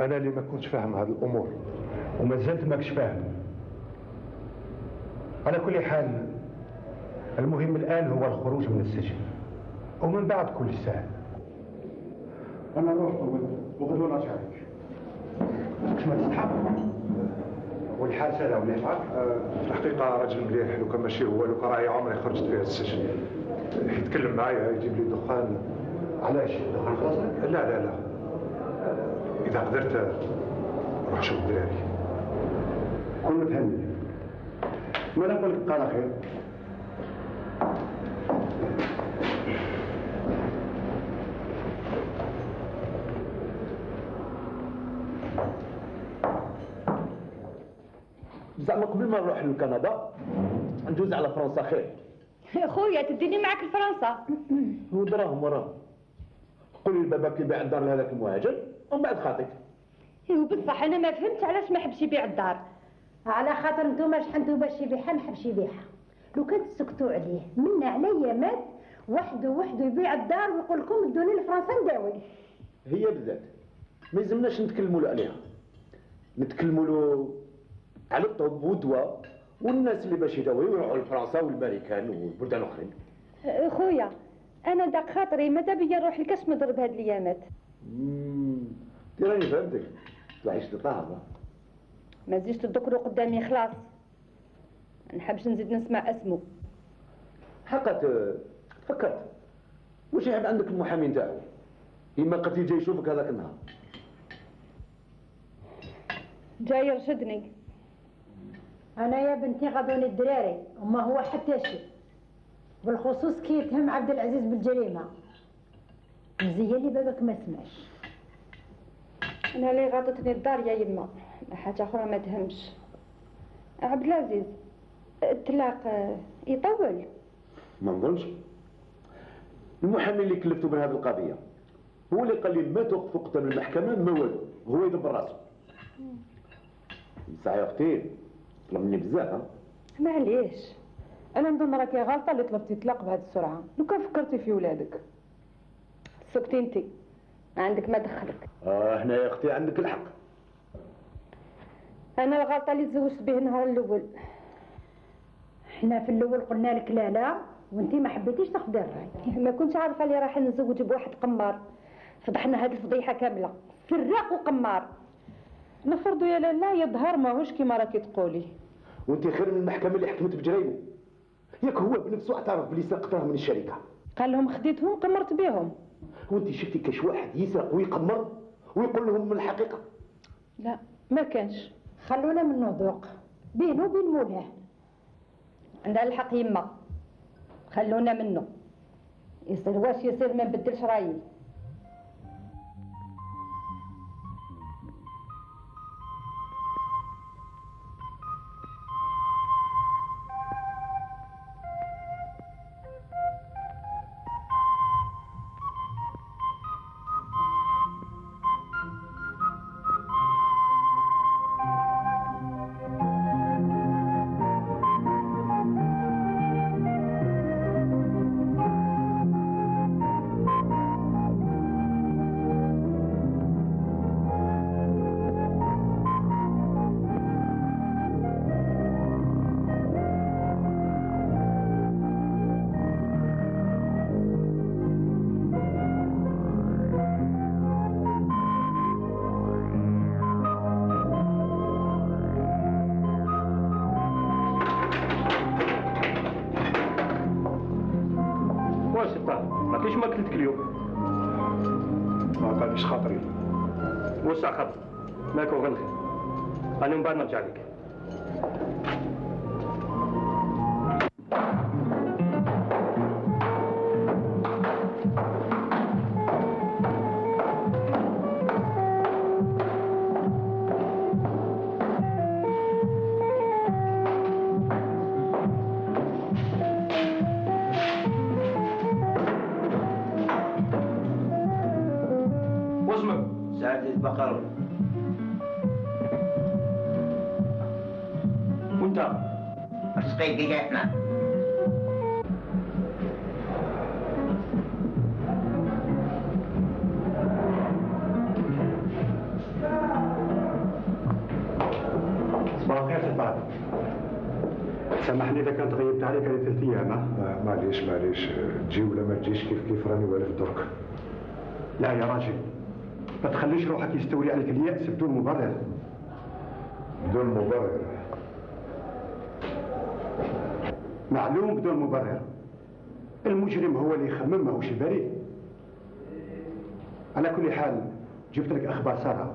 انا اللي ما كنتش فاهم هذه الامور. وما زلت ماكش فاهم. على كل حال المهم الان هو الخروج من السجن، ومن بعد كل سهل. انا نروح وغدوه نرجع لك. مش ما تستحق والحال سهله ولا يفعل؟ في الحقيقة راجل مليح، لو كان ماشي هو، لو كان راهي عمري خرجت فيها السجن. يتكلم معايا، يجيب لي دخان. علاش؟ دخان خلاص؟ لا لا لا، إذا قدرت روح شوف الدراري. كل فهمني. ما نقول لك قال خير. زعما قبل ما نروح لكندا ندوز على فرنسا خير. خويا تديني معك لفرنسا. ودراهم وراهم. قولي لبابا كي يبيع الدار لهذاك المهاجر ومن بعد خاطيك. ايوا بصح انا ما فهمتش علاش ما حبش يبيع الدار. على خاطر نتوما شحال باش يبيعها ما حبش يبيعها. لو كان تسكتوا عليه منا عليا مات وحده وحده يبيع الدار ويقول لكم ادوني لفرنسا نداوي. هي بالذات ما يلزمناش نتكلموا له عليها، نتكلموا له على الطب والدواء والناس اللي باش يداويو يروحوا لفرنسا والامريكان والبلدان الاخرين. خويا انا داك خاطري ماذا بيا نروح لكاش نضرب هاد الايامات. امم راني فهمتك، تعيش لطاهر. ما تزيدش تذكروا قدامي خلاص، ما نحبش نزيد نسمع اسمه. حقا تفكرت واش يحب عندك المحامي نتاعو؟ إما قد يجي يشوفك هذاك النهار. جاي يرشدني. انا يا بنتي غضوني الدراري وما هو حتى شيء، بالخصوص كي يتهم عبد العزيز بالجريمه. مزيان لي بابك ما سمعش. انا اللي غاضتني الدار يا يما، حاجه اخرى ما تهمش. عبد العزيز الطلاق يطول؟ ما نظنش. المحامي اللي كلفته بهذه القضيه هو اللي قال لي ما توقفوا قدام المحكمه ما والو، هو يدبر راسه. بصح يا اختي طلب مني بزاف. ها معليش، انا نظن راكي غلطه اللي طلبتي طلاق بهذه السرعه. لو كان فكرتي في ولادك. سكتي انت، ما عندك ما دخلك. اه هنا يا اختي عندك الحق. انا الغلطه اللي تزوجت به النهار الاول. احنا في الاول قلنا لك لا لا وانتي ما حبيتيش تاخذي الراي. ما كنتش عارفه اللي راح نتزوج بواحد قمار. فضحنا هذه الفضيحه كامله، سراق وقمار. نفرضوا يا لالا يظهر ماهوش كيما راكي تقولي. وانت خير من المحكمه اللي حكمت بجريمه. ياك هو بنفسه اعترف بلي سرق دراهم من الشركه. قال لهم خديتهم قمرت بهم. وانت شفتي كاش واحد يسرق ويقمر ويقول لهم من الحقيقه؟ لا ما كانش. خلونا منه ذوق بينه وبين مولاه. عندها الحق يما، خلونا منه. يصير واش يصير ما نبدلش رايي. قطع خبز ماك وغنخي، انا من بعد نرجع لك. بقر. وانت اسقي دقيقنا. صباح الخير سي طارق. سامحني اذا كانت غيبت عليك هذه ثلاث ايام. معليش معليش، تجي ولا ما تجيش كيف كيف راني والف درك. لا يا راجل، ما تخليش روحك يستولي عليك اليأس بدون مبرر. بدون مبرر؟ معلوم بدون مبرر. المجرم هو اللي يخمم، ماهوش البريء. على كل حال جبت لك اخبار ساره.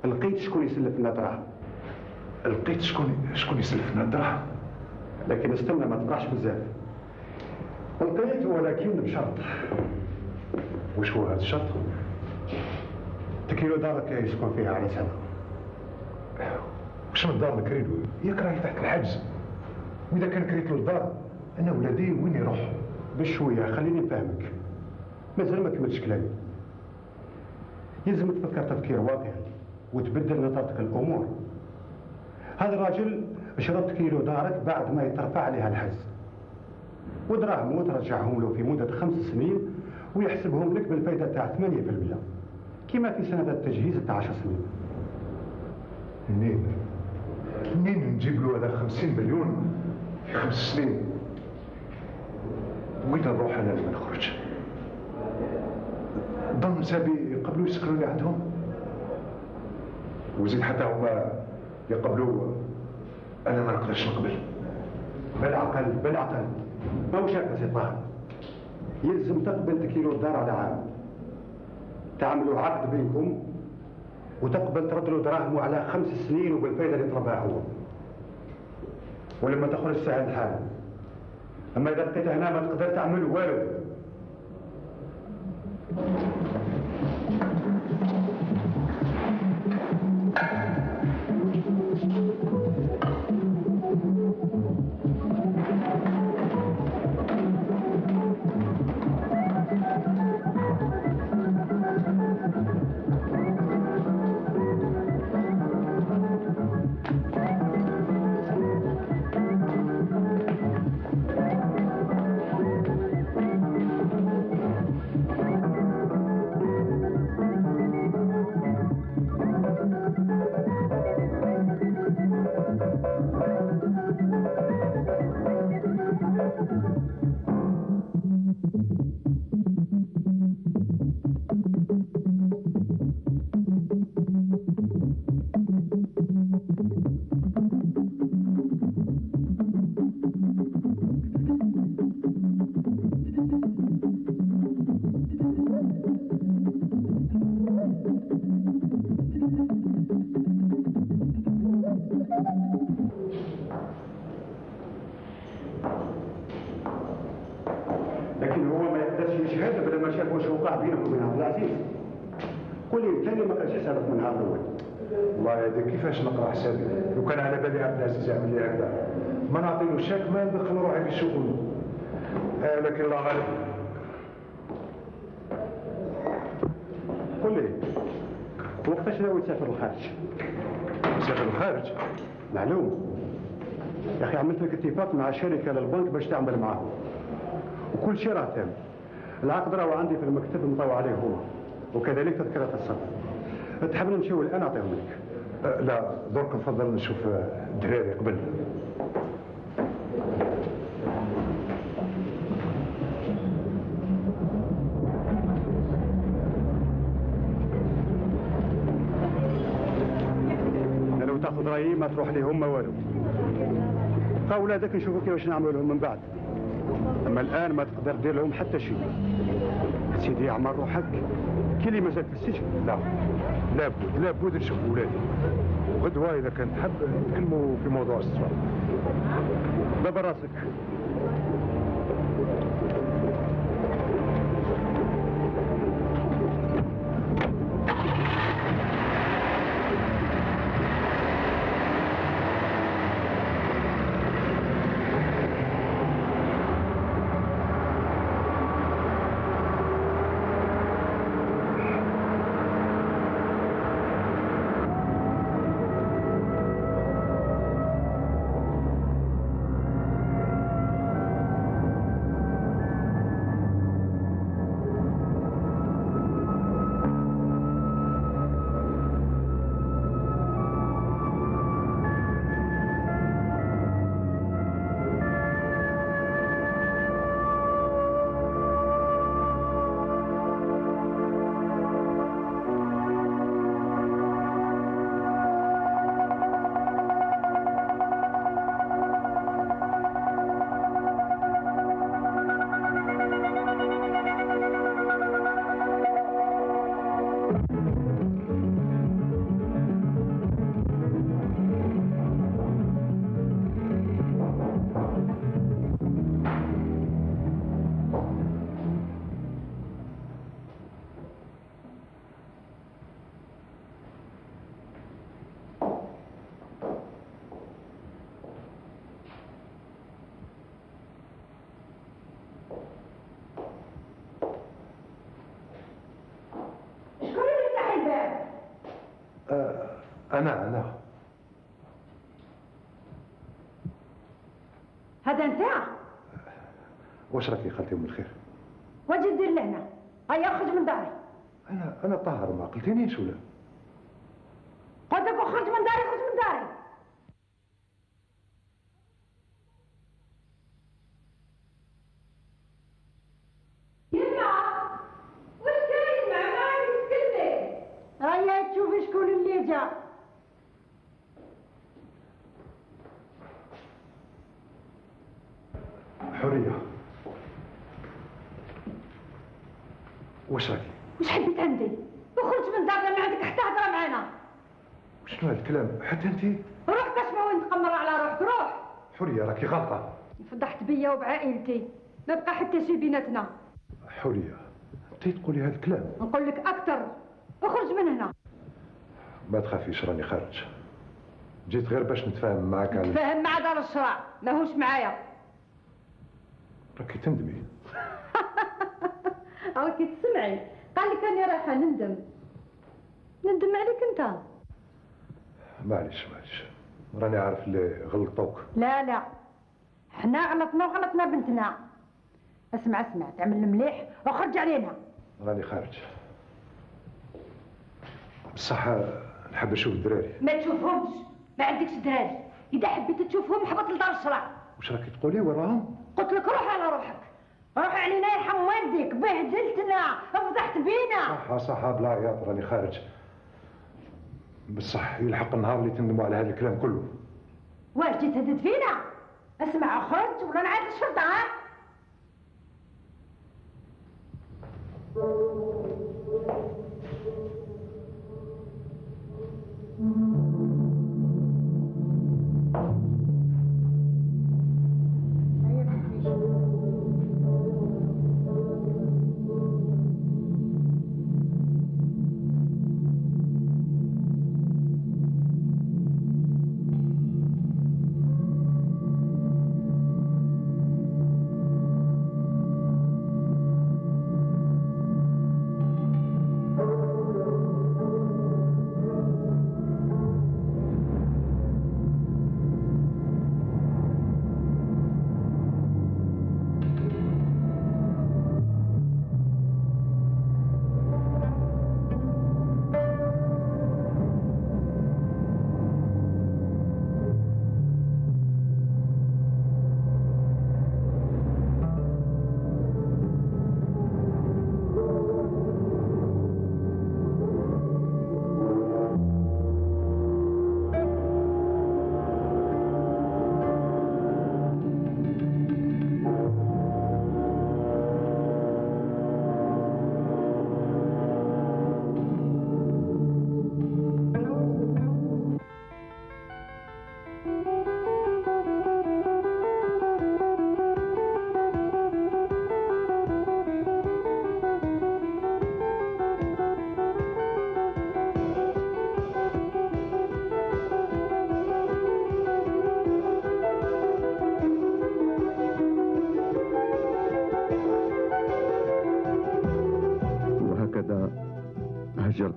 لقيت شكون يسلف لنا دراهم. لقيت شكون شكون يسلف لنا دراهم؟ لكن استنى ما تفرحش بزاف. لقيت ولكن بشرط. وش هو هذا الشرط؟ تكيلو دارك يسكن فيها على سنة. وش من دار نكريلو؟ ياك راهي تحت الحجز. وإذا كان كريت له الدار أنا ولادي وين يروحوا؟ بشوية خليني نفهمك. مازال ما كملتش كلامي. يلزم تفكر تفكير واقعي وتبدل نظرتك الأمور. هذا الراجل شرط كيلو دارك بعد ما يترفع عليها الحجز. ودراهمه ترجعهم له في مدة خمس سنين ويحسبهم لك بالفائدة تاع ثمانية بالمئة. كما في سنة التجهيز تاع عشر سنين. منين؟ منين نجيب له هذا خمسين مليون في خمس سنين؟ وين نروح انا لما نخرج؟ ضم سابي يقبلوا يسكنوا لي عندهم؟ وزيد حتى هما يقبلوا انا ما نقدرش نقبل. بالعقل بالعقل ماهوش هكا سي طاهر. يلزم تقبل تكيلو الدار على عام. تعملوا عقد بينكم وتقبل ترد له دراهمه على خمس سنين وبالفائده اللي ترباها هو. ولما تخرج سهل الحال. اما اذا بقيت هنا ما تقدر تعمل والو. لكن هو ما يقدرش يشهد بلا ما شاف واش وقع بينك وبين عبد العزيز. قول لي انت اللي ما كانش حسابك من النهار الاول. والله هذا كيفاش نقرا حسابي؟ لو كان على بالي عبد العزيز يعمل لي هكذا ما نعطيلو شاك ما ندخل روحي في الشغل. آه لكن الله غالب. قول لي وقتاش ناوي تسافر للخارج؟ تسافر للخارج؟ معلوم. يا اخي عملت لك اتفاق مع شركه للبنك باش تعمل معاهم. وكل شيء راه تام. العقد راهو عندي في المكتب مطوع عليه هما. وكذلك تذكرة السفر. تحب نمشيو الان اعطيهم لك. أه لا درك نفضل نشوف الدراري قبل. لو تاخذ رايي ما تروح لهم ما والو. بقى ولادك نشوفوا كيفاش نعملوا لهم من بعد. اما الان ما تقدر دير لهم حتى شيء. سيدي اعمل روحك كي اللي مازال في السجن؟ لا لابد لابد نشوف ولادي، وغدوه اذا كان تحب نتكلموا في موضوع السفر. دبر راسك. أنا أنا هذا أنت؟ واش راكي خالتي أم الخير؟ واش دير لهنا؟ هيا اخرج من داري. أنا أنا طاهر، ما قلتينيش ولا؟ قلت لك اخرج من داري، اخرج من داري. يما واش كاين مع ما تتكلمي؟ هيا تشوفي شكون اللي جا. حورية، واش راكي؟ واش حبيت عندي؟ اخرج من دارنا، ما عندك حتى هضره معانا. شنو هذا الكلام؟ حتى انت؟ روح تسمع وين تقمر على روحك، روح. حورية راكي غلطة. فضحت بيا وبعائلتي، ما بقى حتى شي بيناتنا. حورية، انت تقولي هذا الكلام؟ نقول لك أكثر، اخرج من هنا. ما تخافيش راني خارج. جيت غير باش نتفاهم معاك على نتفاهم مع دار الشرع، ماهوش معايا. راكي تندمي. راكي تسمعي، قال لك راني رايحة نندم. نندم عليك أنت. معليش معليش، راني عارف اللي غلطوك. لا لا، حنا غلطنا وغلطنا بنتنا. اسمع اسمع، تعمل المليح وخرج علينا. راني خارج. بصح نحب نشوف الدراري. ما تشوفهمش، ما عندكش دراري. إذا حبيت تشوفهم حبط لدار الشرع. واش راكي تقولي وراهم؟ قلت لك روح على روحك، روح علينا يرحم والديك، بهدلتنا، فضحت بينا. صح صح بلا عياط، راني خارج. بصح يلحق النهار اللي تندموا على هذا الكلام كله. واش جيت تهدد فينا؟ اسمع خرج ولا نعاد الشرطة. ها؟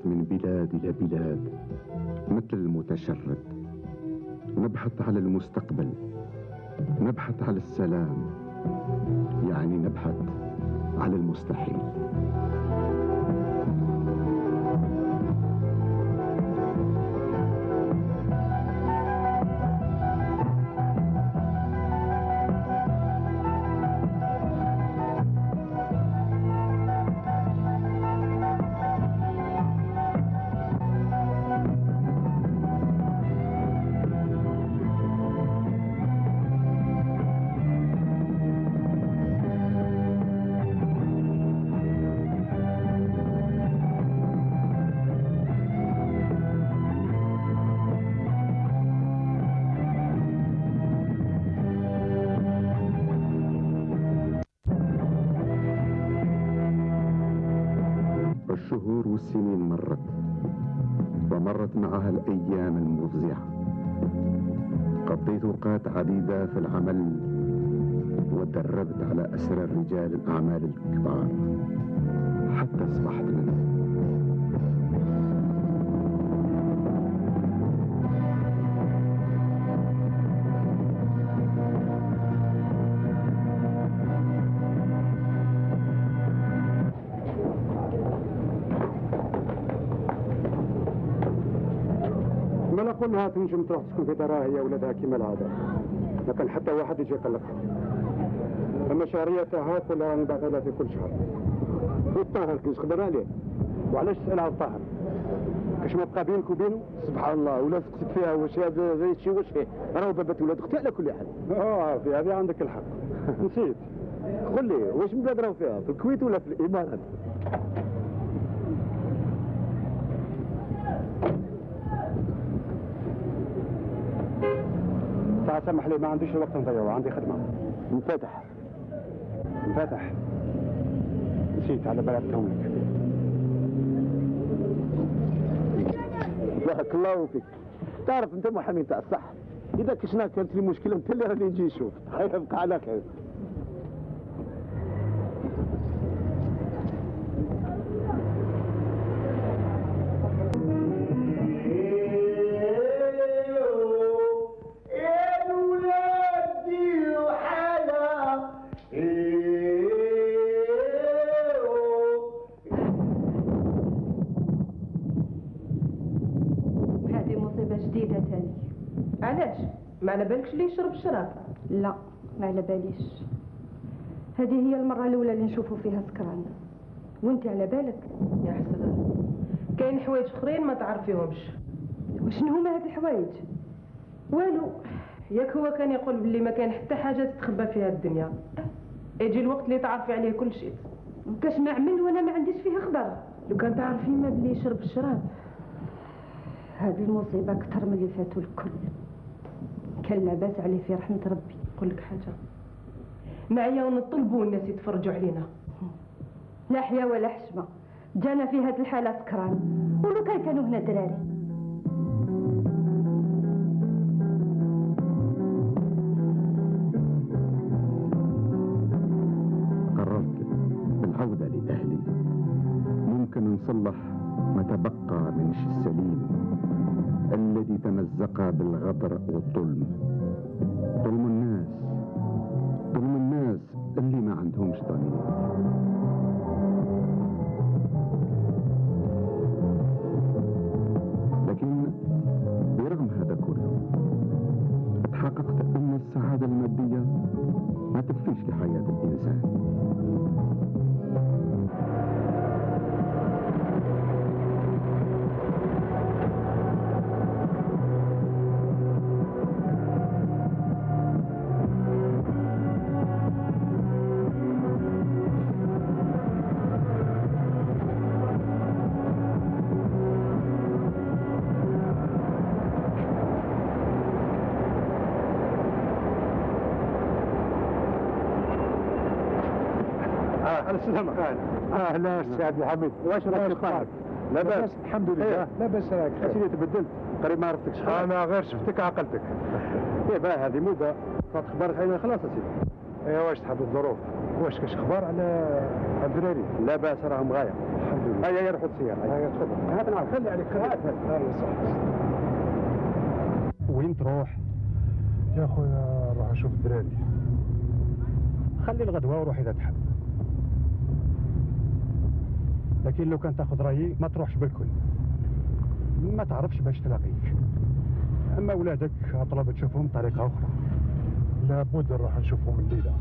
من بلاد إلى بلاد مثل المتشرد، نبحث على المستقبل، نبحث على السلام، يعني نبحث على المستحيل. الشهور والسنين مرت، ومرت معها الأيام المفزعة. قضيت أوقات عديدة في العمل، وتدربت على أسرار رجال الأعمال الكبار حتى أصبحت منهم. قلنا تنجم تروح تسكن في دارها هي ولادها كيما العاده، ما كان حتى واحد يجي يقلقها. اما شهريه تاعها ولا راني باعثها لها في كل شهر. والطاهر كي تقدر عليه، وعلاش تسال على الطاهر؟ كاش ما بقى بينك وبينه؟ سبحان الله، ولا تقصد فيها واش هذا زي شي واش فيه، راهو بابات ولاد اختي على كل حال. اه في هذه عندك الحق. نسيت. قل لي واش من بلاد راهو فيها؟ في الكويت ولا في الامارات؟ سامح لي ما عنديش الوقت نضيعه، عندي خدمة. انفتح انفتح نسيت على بالك لك. بارك الله فيك. تعرف انت محامي تاع الصح، اذا كشنا كانت لي مشكله انت اللي راني نجي نشوف. خير ابقى على خير. علاش؟ ما على بالكش اللي يشرب الشراب؟ لا ما على باليش. هذه هي المرة الأولى اللي نشوفه فيها سكران. وانت على بالك؟ يا حسن، كاين حوايج اخرين ما تعرفيهمش. وشنو هما هاد الحوايج؟ والو، ياك هو كان يقول بلي ما كان حتى حاجة تتخبى في هاد الدنيا. يجي الوقت اللي تعرفي عليه كل شيء. وكاش ما عمل وانا ما عنديش فيه خبر. لو كان تعرفي ما بلي يشرب الشراب. هذه المصيبة أكثر من اللي فاتوا الكل. كان لاباس عليه في رحمة ربي. نقول لك حاجة، معايا ونطلبوا الناس يتفرجوا علينا. لا حيا ولا حشمة، جانا في هذه الحالة سكران، ولو كان كانوا هنا دراري. قررت بالعودة لأهلي، ممكن نصلح ما تبقى من السليم الذي تمزق بالغدر والظلم. ظلم الناس، ظلم الناس اللي ما عندهمش ضمير. لكن برغم هذا كله اتحققت ان السعادة المادية ما تكفيش لحياة الإنسان. السلام عليكم. اهلا سي عبد الحميد، واش راك طالب؟ لاباس الحمد لله. لاباس راك؟ اسيدي تبدلت، قريب ما عرفتكش. انا غير شفتك عقلتك. ايه باه هذه مده فات خبرك علينا خلاص اسيدي. ايه واش تحب الظروف؟ واش كاش اخبار على الدراري؟ لا باس راهم غاية. الحمد لله. هيا يا رحوا السيارة. هيا تفضل. هات نعرف. خلي عليك خلي. هات هات. صح. وين تروح؟ يا خويا نروح نشوف الدراري. خلي الغدوة وروح إذا تحب. لكن لو كان تاخذ رأيي ما تروحش بالكل. ما تعرفش باش تلاقيك. أما أولادك أطلب تشوفهم بطريقة أخرى. لابد نروح نشوفهم الليلة.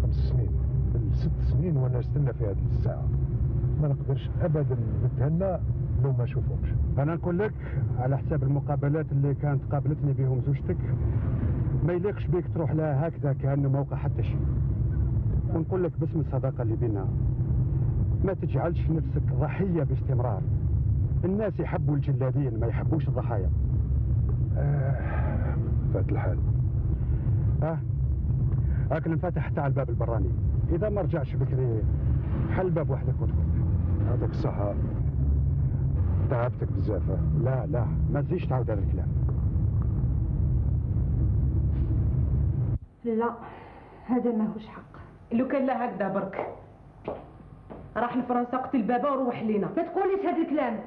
خمس سنين. ست سنين وانا نستنى في هذه الساعة. ما نقدرش أبدا نتهنى لو ما نشوفهمش. أنا نقول لك على حساب المقابلات اللي كانت قابلتني بهم زوجتك ما يليقش بيك تروح لها هكذا كأنه ما وقع حتى شيء. ونقول لك باسم الصداقة اللي بينا ما تجعلش نفسك ضحية باستمرار. الناس يحبوا الجلادين ما يحبوش الضحايا. آه فات الحال. اه لكن انفتح تاع الباب البراني، اذا ما رجعش بكري حل باب وحدك وادخل. هذاك الصحة تعبتك بزاف. لا لا ما تزيدش تعاود هذا الكلام. لا هذا ماهوش حق. لو كان لا هكذا برك راح لفرنسا قتل بابا وروح لينا. ما تقوليش هذا الكلام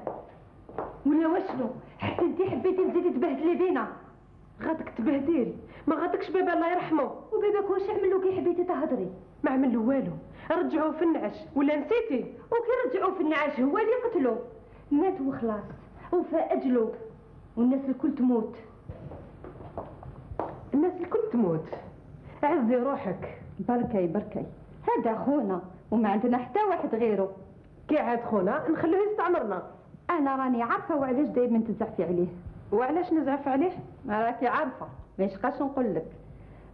ولا واشنو. حتى انت حبيتي تزيدي تبهدلي بينا. غادك تبهدل ما غادكش بابا الله يرحمه. وباباك واش عمل له كي حبيتي تهضري؟ ما عمل له والو. رجعوه في النعش ولا نسيتي؟ وكي رجعوه في النعاش هو اللي قتلو. مات وخلاص وفاء اجله والناس الكل تموت. الناس الكل تموت. عزي روحك. بركي بركي هذا خونا وما عندنا حتى واحد غيره. كي عاد خونا نخلوه يستعمرنا. انا راني عارفه وعلاش دايما تزعفي عليه. وعلاش نزعف عليه؟ راكي عارفه ما يشقاش نقول لك.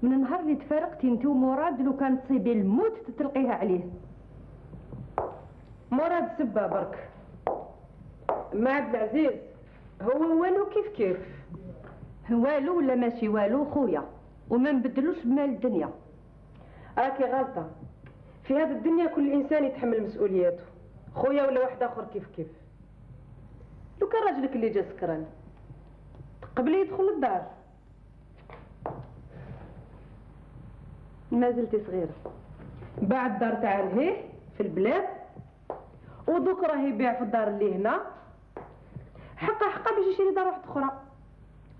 من النهار اللي تفارقتي انت ومراد لو كان تصيبي الموت تتلقيها عليه. مراد سبه برك. ما عبد العزيز هو والو كيف كيف. والو ولا ماشي والو خويا وما نبدلوش بمال الدنيا. راكي غلطه. في هذه الدنيا كل انسان يتحمل مسؤولياته. خويا ولا واحد اخر كيف كيف. لو كان راجلك اللي جا سكران قبل يدخل الدار. ما زلتي صغيره. باع الدار تاع لهيه في البلاد ودوك راه يبيع في الدار اللي هنا. حقا حقا باش يشري دار واحده اخرى.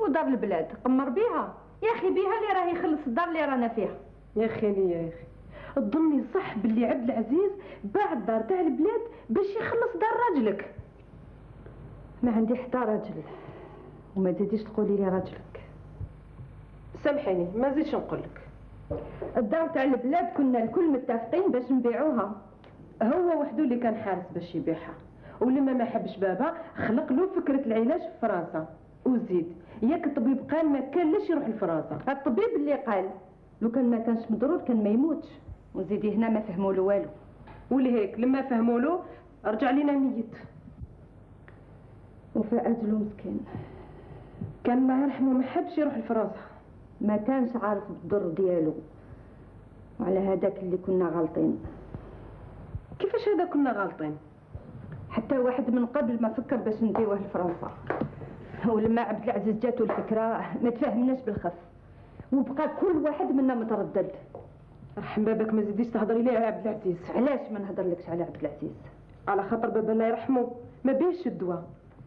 ودار البلاد قمر بيها يا اخي بيها اللي راه يخلص الدار اللي رانا فيها. يا اخي ليا يا اخي تظني صح باللي عبد العزيز باع الدار تاع البلاد باش يخلص دار راجلك؟ ما عندي حتى راجل وما تزيديش تقولي لي راجلك. سامحيني ما زيدش نقول لك. الدار تاع البلاد كنا الكل متفقين باش نبيعوها. هو وحده اللي كان حارس باش يبيعها ولما ما حبش بابا خلق له فكره العلاج في فرنسا. وزيد ياك الطبيب قال ما كان لاش يروح لفرنسا. الطبيب اللي قال لو كان ما كانش مضرور كان ما يموتش. وزيدي هنا ما فهموا له والو. ولهيك لما فهموا له رجع لينا ميت. وفاء اجله مسكين كان الله يرحمه ما حبش يروح لفرنسا. ما كانش عارف بالضر ديالو وعلى هذاك اللي كنا غالطين. كيفاش هذا كنا غالطين؟ حتى واحد من قبل ما فكر باش نديوه لفرنسا ولما عبد العزيز جاتو الفكره ما تفاهمناش بالخف وبقى كل واحد منا متردد. رحم بابك ما زيديش تهضري ليه على عبد العزيز. علاش ما نهضرلكش على عبد العزيز؟ على خاطر بابا الله يرحمه ما بيهش الدواء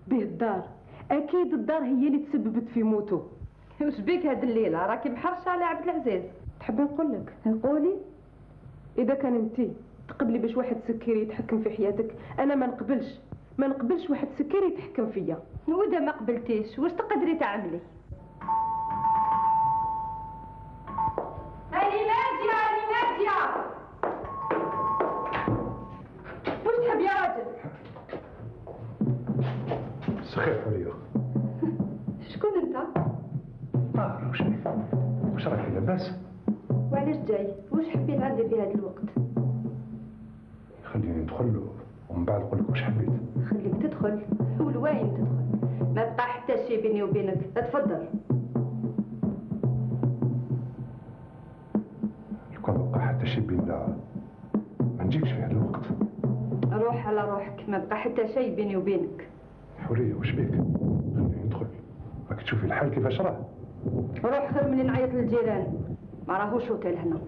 به الدار. اكيد الدار هي اللي تسببت في موته. واش بيك هاد الليله راكي محرشه على عبد العزيز؟ تحبي نقول لك؟ نقولي اذا كان انتي تقبلي باش واحد سكري يتحكم في حياتك انا ما نقبلش. ما نقبلش واحد سكري يتحكم فيا. واذا ما قبلتيش واش تقدري تعملي؟ هاني ناديه هاني ناديه واش تحب يا راجل؟ سخيف عليا. شكون انت؟ طاهر واش بيك؟ واش راكي لاباس؟ وعلاش جاي؟ واش حبيت عندي في هذا الوقت؟ خليني ندخل ومن بعد نقول لك واش حبيت. خليك تدخل والواين تدخل ما بقى حتى شي بيني وبينك. تفضل. لو كان بقى حتى شي بيننا ما نجيكش في هذا الوقت. روح على روحك ما بقى حتى شيء بيني وبينك. حوريه واش بيك؟ خليني ندخل راك تشوفي الحال كيفاش راه. روح خير من نعيط للجيران ما راهوش اوتيل هنا.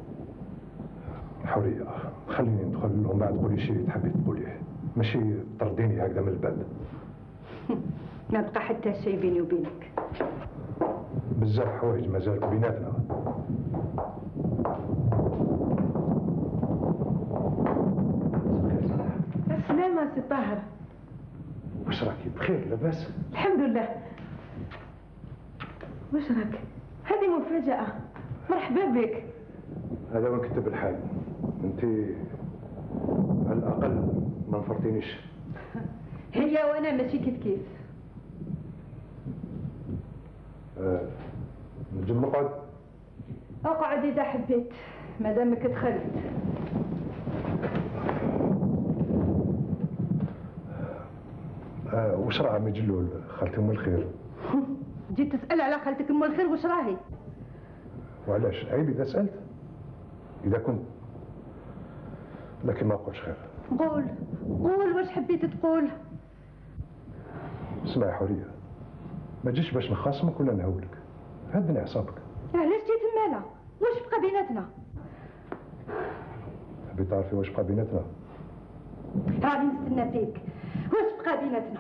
حوريه خليني ندخل ومن بعد قولي شي اللي تحبي تقوليه، ماشي ترديني هكذا من الباب. ما بقى حتى شيء بيني وبينك. بزاف حوايج مازال بيناتنا. السلامة سي طاهر. واش راكي بخير لاباس؟ الحمد لله. واش راك؟ هذه مفاجأة. مرحبا بك. هذا وين كتب الحال. انت على الاقل ما نفرتينيش. هي وانا ماشي كيف كيف. آه. نجم نقعد؟ اقعد اذا حبيت ما دامك دخلت. آه وش راه عمي جلول خالتي ام الخير؟ جيت تسأل على خالتك ام الخير وش راهي؟ وعلاش؟ عيب اذا سألت؟ اذا كنت لكن ما نقولش خير. قول قول واش حبيت تقول؟ اسمعي حوريه، ما تجيش باش نخاصمك ولا نهولك، هدني اعصابك. علاش جيت مالا؟ واش بقى بيناتنا؟ تبي تعرفي واش بقى بيناتنا؟ راني نستنى فيك. واش بقى بيناتنا؟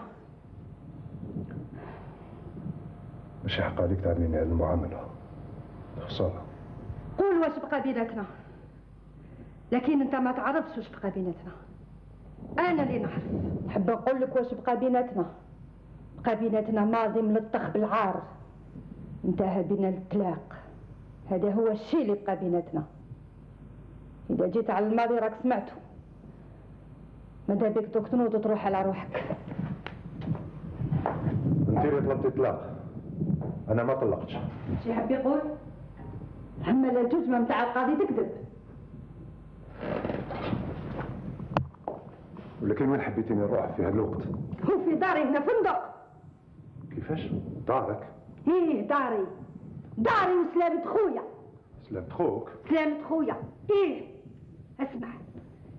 ماشي حق عليك تعلميني هذه المعامله، خساره. قول واش بقى بيناتنا، لكن انت ما تعرفش واش بقى بيناتنا. انا اللي نعرف. نحب نقول لك واش بقى بيناتنا. بقى بيناتنا ماضي ملطخ بالعار، انتهى بنا الطلاق. هذا هو الشيء اللي بقى بيناتنا. اذا جيت على الماضي راك سمعته. ماذا بك دوك تنوض وتروح على روحك. انت اللي طلبتي الطلاق، انا ما طلقتش. شي يحب يقول؟ اما الجزمه نتاع القاضي تكذب. ولكن وين حبيتيني نروح في هذا الوقت؟ هو في داري هنا فندق. كيفاش؟ دارك؟ ايه داري. داري وسلامة خويا. سلامة خوك؟ سلامة خويا، ايه. اسمع،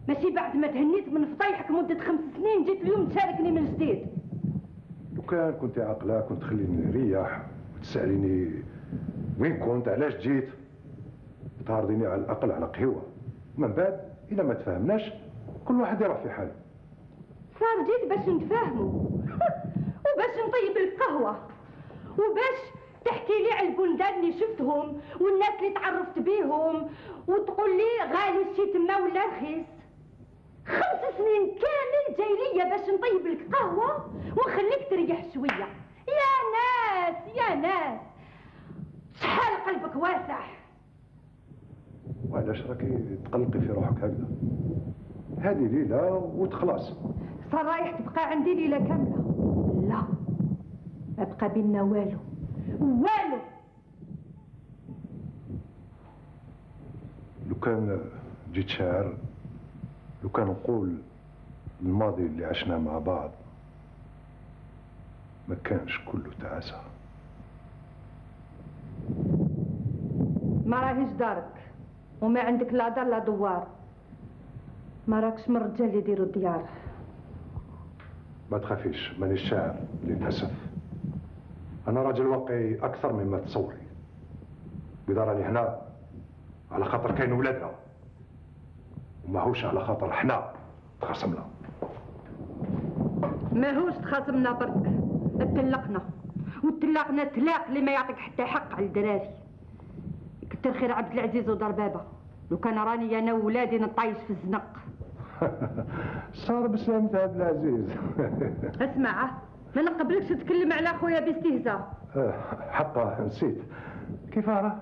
ماشي بعد ما تهنيت من فضيحك مدة خمس سنين جيت اليوم تشاركني من جديد. لو كان كنت عاقلة كنت تخليني نريح وتسأليني وين كنت، علاش جيت، تعرضيني على الأقل على قهوة. من بعد إذا ما تفاهمناش كل واحد يروح في حاله. صار جيت باش نتفاهموا وباش نطيب القهوة وباش تحكي لي على البلدان اللي شفتهم والناس اللي تعرفت بيهم وتقول لي غالي الشي تما ولا رخيص. خمس سنين كامل جاي ليا باش نطيب لك قهوة ونخليك تريح شوية. يا ناس يا ناس شحال قلبك واسع. وعلاش راكي تقلقي في روحك هكذا؟ هذه ليلة وتخلص. صار رايح تبقى عندي ليلة كاملة؟ لا، ما بقى بينا والو والو. لو كان جيت شاعر، لو كان نقول الماضي اللي عشناه مع بعض ما كانش كله تعاسة. ما راهيش دارك وما عندك لا دار لا دوار. ما راكش من الرجال اللي يديروا الديار. ما تخافيش، مانيش شاعر للأسف. أنا راجل واقعي أكثر مما تصوري. وإذا راني هنا على خاطر كاين ولادنا وماهوش على خاطر حنا تخاصمنا. ماهوش تخاصمنا برك، اتلقنا وتلقنا تلاق اللي ما يعطيك حتى حق على الدراري. كتر خير عبد العزيز ودار بابا، لو كان راني انا وولادي نطايش في الزنق. صار بسلامة عبد العزيز. اسمع، ما نقبلكش تتكلم على خويا باستهزاء. حقا نسيت. كيف راه؟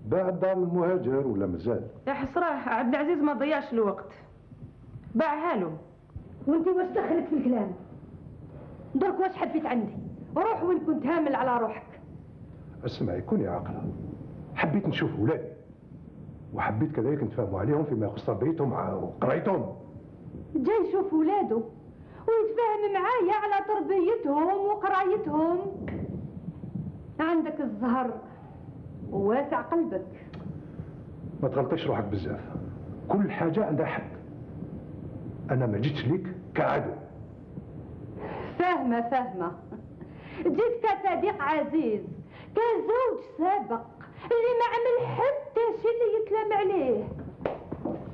باع دار المهاجر ولا مازال؟ يا حسراه عبد العزيز ما ضيعش الوقت، باعها له. وانت واش دخلك في الكلام؟ درك واش حبيت عندي؟ روح وين كنت هامل على روحك. اسمعي كوني عاقله. حبيت نشوف ولادي وحبيت كذلك نتفاهموا عليهم فيما يخص تربيتهم وقرايتهم. جاي يشوف ولاده ويتفاهم معايا على تربيتهم وقرايتهم. عندك الزهر وواسع قلبك. ما تغلطيش روحك بزاف، كل حاجة عندها حد. أنا ما جيتش ليك كعدو. فاهمة فاهمة. جيت كصديق عزيز، كزوج سابق اللي ما عمل حتى شي اللي يتلام عليه.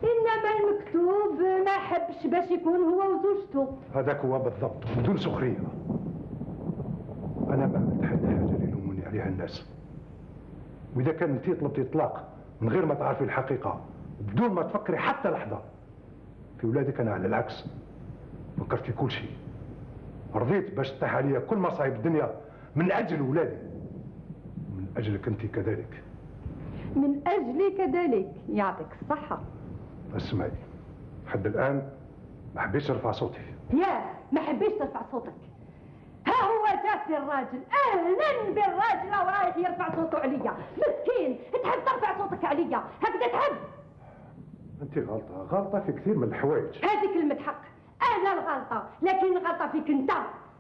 انما المكتوب ما حبش باش يكون هو وزوجته. هذاك هو بالضبط، بدون سخريه. انا ما عملت حتى حاجه اللي يلوموني عليها الناس. واذا كان انت طلبتي طلاق من غير ما تعرفي الحقيقه بدون ما تفكري حتى لحظه في ولادك، انا على العكس فكرت في كل شيء. رضيت باش تطيح عليا كل مصايب الدنيا من اجل ولادي، من اجلك انت كذلك. من اجلي كذلك، يعطيك الصحه. اسمعي، لحد الان ما حبيتش نرفع صوتي. يا ما حبيتش ترفع صوتك. ها هو جات الراجل، اهلا بالراجل وراه يرفع صوته عليا. مسكين، تحب ترفع صوتك عليا هكذا تحب؟ انت غلطه، غلطه في كثير من الحوايج. هذه كلمه حق، انا الغلطه، لكن الغلطه فيك انت.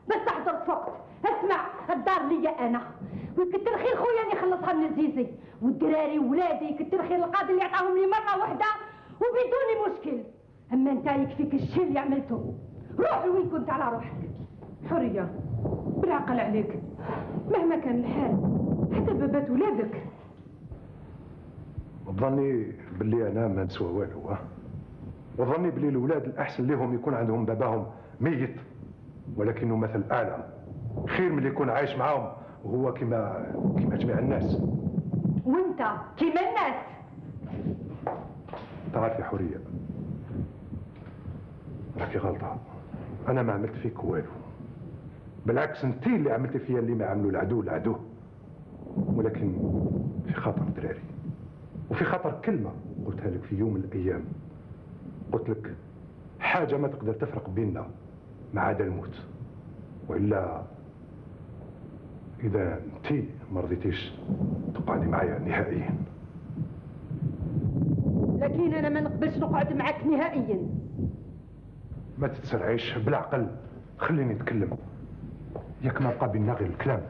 بس تحضر فوق. اسمع، الدار ليا انا، ويكتر خير خويا اللي خلصها من الزيزي، والدراري وولادي يكتر خير القاضي اللي عطاهم لي مره واحده وبدون مشكل. اما انت يكفيك الشيء اللي عملته. روح وين كنت على روحك. حريه بالعقل عليك، مهما كان الحال حتى بابات ولادك. وظني باللي انا ما نسوى والو، ها؟ وظني باللي الاولاد الاحسن لهم يكون عندهم باباهم ميت ولكنه مثل اعلى، خير من اللي يكون عايش معاهم وهو كما كما جميع الناس. وانت كما الناس. تعرفي حريه، راكي غلطه. انا ما عملت فيك والو، بالعكس انت اللي عملتي فيا اللي ما عملوا العدو العدو. ولكن في خطر دراري، وفي خطر كلمه قلتها لك في يوم من الايام. قلت لك حاجه ما تقدر تفرق بيننا ما عدا الموت، والا اذا انت ما رضيتيش تقعدي معايا نهائيا. لكن انا ما نقبلش نقعد معك نهائيا. ما تتسرعيش، بالعقل خليني نتكلم. ياك ما بقى بينا غير الكلام.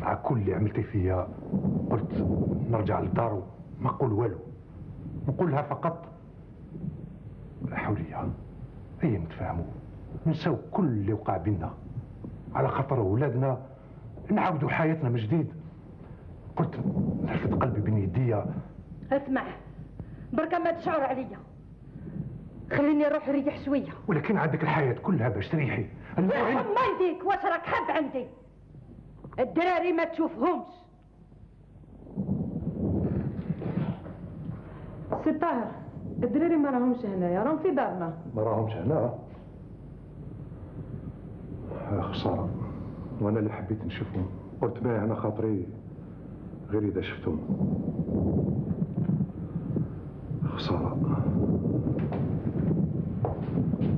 مع كل اللي عملتي فيا قلت نرجع للدار وما نقول والو، نقولها فقط حريه، هيا نتفاهموا نساو كل اللي وقع بينا على خاطر ولادنا، نعاودوا حياتنا من جديد. قلت نرفد قلبي بين يديا. اسمع، بركه ما تشعر عليا، خليني نروح نريح شويه. ولكن عندك الحياه كلها باش تريحي. يرحم والديك، واش راك حاب عندي؟ الدراري ما تشوفهمش. سي طاهر، الدراري ما راهمش هنايا، راهم في دارنا. ما راهمش هنا؟ خساره، وانا اللي حبيت نشوفهم. قلت باه انا خاطري غير اذا شفتهم. خساره.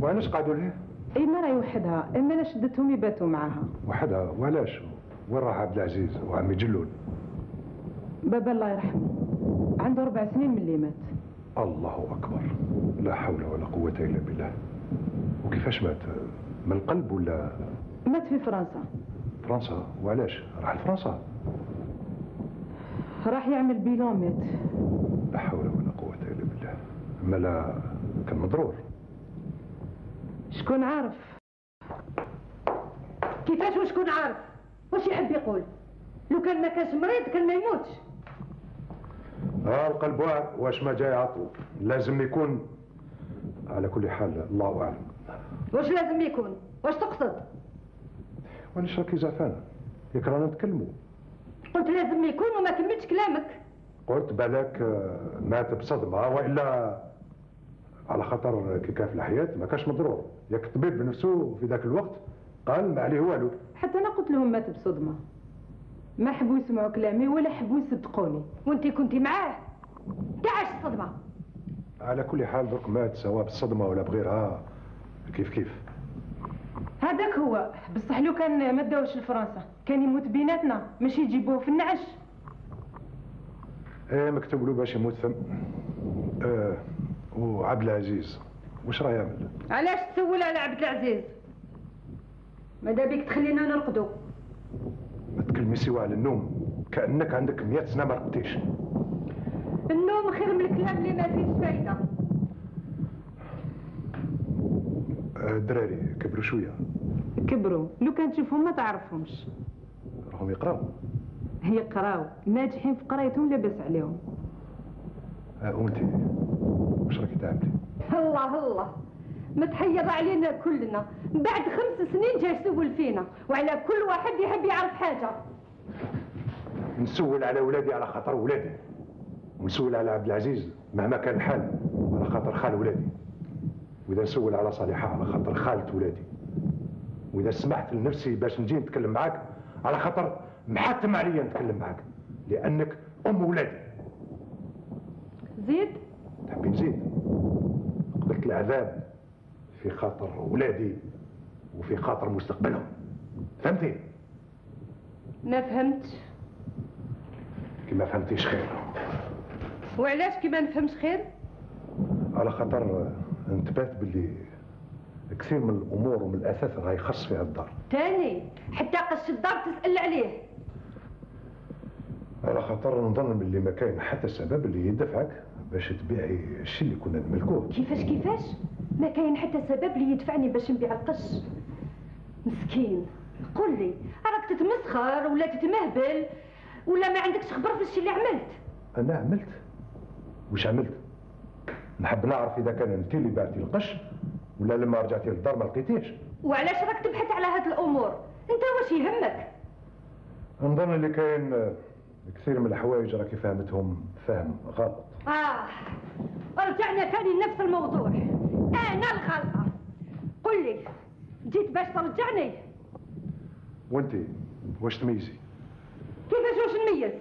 وعلاش قعدوا ليه؟ اي مرة وحدها، اما انا شدتهم يباتوا معاها. وحدها؟ وعلاش؟ وين راح عبد العزيز وعمي جلول؟ بابا الله يرحمه عنده اربع سنين من اللي مات. الله اكبر، لا حول ولا قوه الا بالله. وكيفاش مات؟ من القلب ولا؟ مات في فرنسا. فرنسا؟ وعلاش؟ راح لفرنسا؟ راح يعمل بيلون مات. لا حول ولا قوه الا بالله. اما لا كان مضرور. شكون عارف؟ كيفاش وشكون عارف؟ واش يحب يقول؟ لو كان ما كانش مريض كان ما يموتش. ها القلب واعر، واش ما جاي عطو، لازم يكون. على كل حال الله اعلم. واش لازم يكون؟ واش تقصد؟ وعلاش راكي زعفانه؟ ياك رانا نتكلموا. قلت لازم يكون وما كملتش كلامك. قلت بالك مات بصدمه، والا على خاطر كي كان في الحياه ما كانش مضرور. ياك الطبيب بنفسه في ذاك الوقت قال ما عليه والو. حتى انا قلت لهم مات بصدمه، ما حبوا يسمعوا كلامي ولا حبوا يصدقوني. وانت كنتي معاه؟ تعاش الصدمه. على كل حال درك مات سواء بالصدمه ولا بغيرها، كيف كيف. هذاك هو، بصح لو كان ما داوش لفرنسا كان يموت بيناتنا، ماشي يجيبوه في النعش. ايه مكتوب له باش يموت فم. آه وعبد العزيز واش راه يعمل؟ علاش تسول على عبد العزيز؟ ماذا بيك تخلينا نرقدوا؟ ما تكلمي سوا على النوم، كأنك عندك مئة سنة ما رقدتيش. النوم خير من الكلام اللي ما فيهش فايدة. الدراري كبروا شوية. كبروا، لو كان تشوفهم ما تعرفهمش. راهم يقراو؟ يقراو، ناجحين في قرايتهم لاباس عليهم. اه وانتي؟ واش راكي تعملي؟ الله الله ما تحير علينا كلنا، بعد خمس سنين جاي تسول فينا، وعلى كل واحد يحب يعرف حاجه. نسول على ولادي على خاطر ولادي، ونسول على عبد العزيز مهما كان الحال على خاطر خال ولادي، واذا نسول على صالحه على خاطر خالة ولادي، واذا سمحت لنفسي باش نجي نتكلم معاك على خاطر محتم عليا نتكلم معاك لانك ام ولادي. زيد؟ تحبين نزيد؟ قبلت العذاب في خاطر ولادي وفي خاطر مستقبلهم، فهمتي؟ ما فهمتش. كي ما فهمتيش خير. وعلاش كي ما نفهمش خير؟ على خاطر انتبهت باللي كثير من الامور ومن الاثاث راهي خاص فيها الدار. تاني حتى قش الدار تسأل عليه. على خاطر نظن باللي ما كاين حتى سبب اللي يدفعك باش تبيعي الشيء اللي كنا نملكوه. كيفاش كيفاش؟ ما كاين حتى سبب اللي يدفعني باش نبيع القش. مسكين، قول لي راك تتمسخر ولا تتمهبل ولا ما عندكش خبر في الشيء اللي عملت؟ انا عملت؟ واش عملت؟ نحب نعرف اذا كان انت اللي بعتي القش ولا لما رجعتي للدار ما لقيتيش. وعلاش راك تبحث على هاد الامور؟ انت واش يهمك؟ نظن اللي كاين كثير من الحوايج راكي فهمتهم فهم غلط. اه رجعنا ثاني لنفس الموضوع، انا الغلطه. قل لي جيت باش ترجعني؟ وانت واش تميزي؟ كيفاش واش نميز؟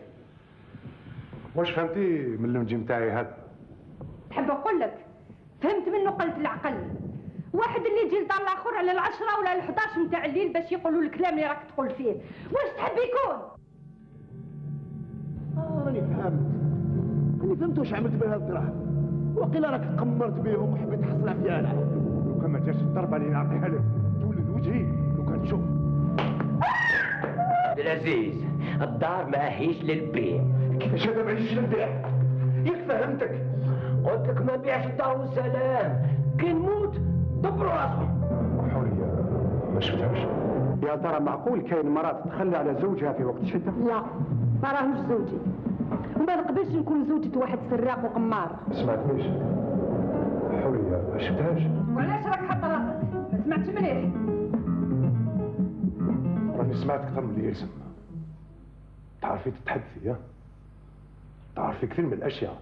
واش فهمتي من المنجم نتاعي هذا؟ تحب نقول لك فهمت منه قلة العقل. واحد اللي يجي لدار الاخر على العشرة ولا الحداش نتاع الليل باش يقولوا الكلام اللي راك تقول فيه، واش تحب يكون؟ اه راني فهمت، راني فهمت واش عملت بهذا الدراهم، وقيلا راك قمرت بهم وحبيت تحصل عفيانة. لو كان ما جاش الضربة اللي نعطيها لك تولد وجهي لو كان تشوف. عبد العزيز الدار ماهيش للبيع. كيفاش هذا ماهيش للبيع؟ ياك فهمتك؟ قلت لك ما بيعش الدار والسلام، كي نموت دبروا راسهم. حورية ما شفتهاش؟ يا ترى معقول كاين مرات تخلي على زوجها في وقت الشدة؟ لا ما راهوش زوجي، وما نقبلش نكون زوجة واحد سراق وقمار. ما سمعتنيش؟ حورية ما شفتهاش؟ وعلاش راك حاط راسك؟ ما سمعتش مليح. راني سمعت اكثر من اللي يلزم. تعرفي تتحدثي ها؟ تعرفي كثير من الاشياء،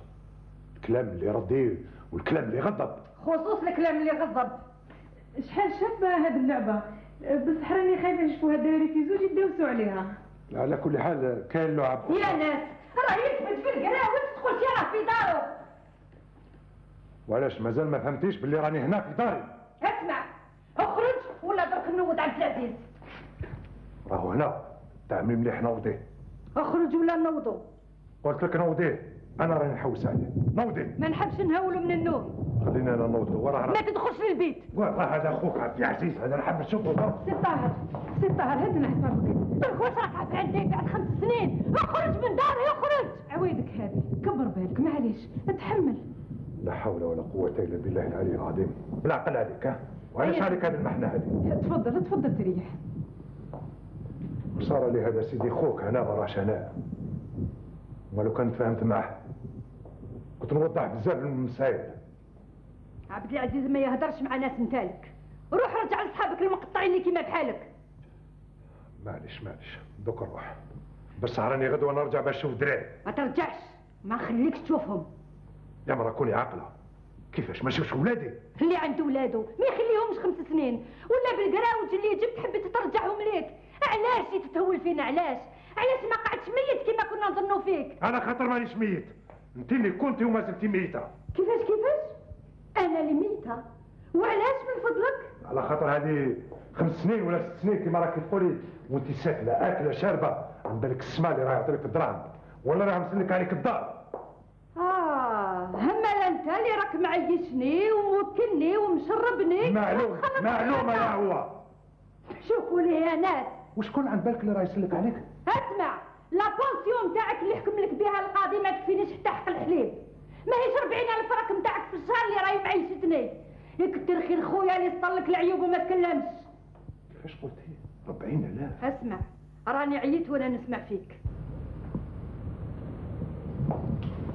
الكلام اللي يرضي والكلام اللي يغضب. خصوص الكلام اللي يغضب. شحال شابه هذه اللعبه، بصح راني خايفه نشوفوها دايره في زوج يدوسوا عليها. على كل حال كاين لعب. يا ناس راه يثبت في القراوه تدخل شي في دارو. وعلاش مازال ما فهمتيش باللي راني هنا في داري؟ اسمع اخرج ولا درك نوض عبد العزيز. راهو هنا تعمل مليح نوضيه. اخرج ولا نوضو. قلت لك نوضيه، انا راني نحوس عليه. نوضي. ما نحبش نهولو من النوم. خلينا انا نوضو وراه. ما تدخلش للبيت. وراه هذا اخوك عبد العزيز، هذا نحب نشوفه. سي طاهر سي طاهر هدنا حسابك. درك واش راك عارف عندي بعد خمس سنين؟ اخرج من داري اخرج. عويدك هذه كبر بالك معليش اتحمل. لا حول ولا قوة الا بالله العلي العظيم. بالعقل عليك ها؟ وعلاش عليك هذه المحنة هذه؟ تفضل تفضل تريح. صار لي هذا سيدي خوك هنا ما راهش هنا. ولو كنت فهمت معه كنت نوضح بزاف من المسائل. عبد العزيز ما يهدرش مع ناس نتالك، روح رجع لصحابك المقطعين اللي كيما بحالك. معليش معليش دوك نروح، بس راني غدوه نرجع باش نشوف دراري. ما ترجعش، ما نخليكش تشوفهم. يا مرا كوني عاقله، كيفاش ما نشوفش ولادي؟ اللي عنده ولادو ما يخليهمش خمس سنين، ولا بالقراوج اللي جبت حبيت ترجعهم ليك. علاش تتهول فينا؟ علاش؟ علاش ما قعدتش ميت كيما كنا نظنوا فيك؟ انا خاطر مانيش ميت، انت اللي كنتي وما زلتي ميته. كيفاش كيفاش؟ انا اللي ميته؟ وعلاش من فضلك؟ على خاطر هذه خمس سنين ولا ست سنين كيما راكي تقولي وانت ساكنه اكله شاربه عن بالك السما اللي راه يعطيك الدراهم ولا راه مسلك عليك الدار. اه هما انت اللي راك معيشني وموكلني ومشربني. معلوم معلومه يا هو. شوفوا لي يا ناس، وشكون عند بالك اللي راه يسلك عليك؟ اسمع، لا بونسيون تاعك اللي حكم لك بها القاضي ما تكفينيش حتى حق الحليب. ماهيش أربعين ألف راك نتاعك في الشهر اللي راهي معيشتني. يكتر خير خويا اللي صلك العيوب وما تكلمش. كيفاش قلتي؟ أربعين آلاف؟ اسمع، راني عييت وانا نسمع فيك.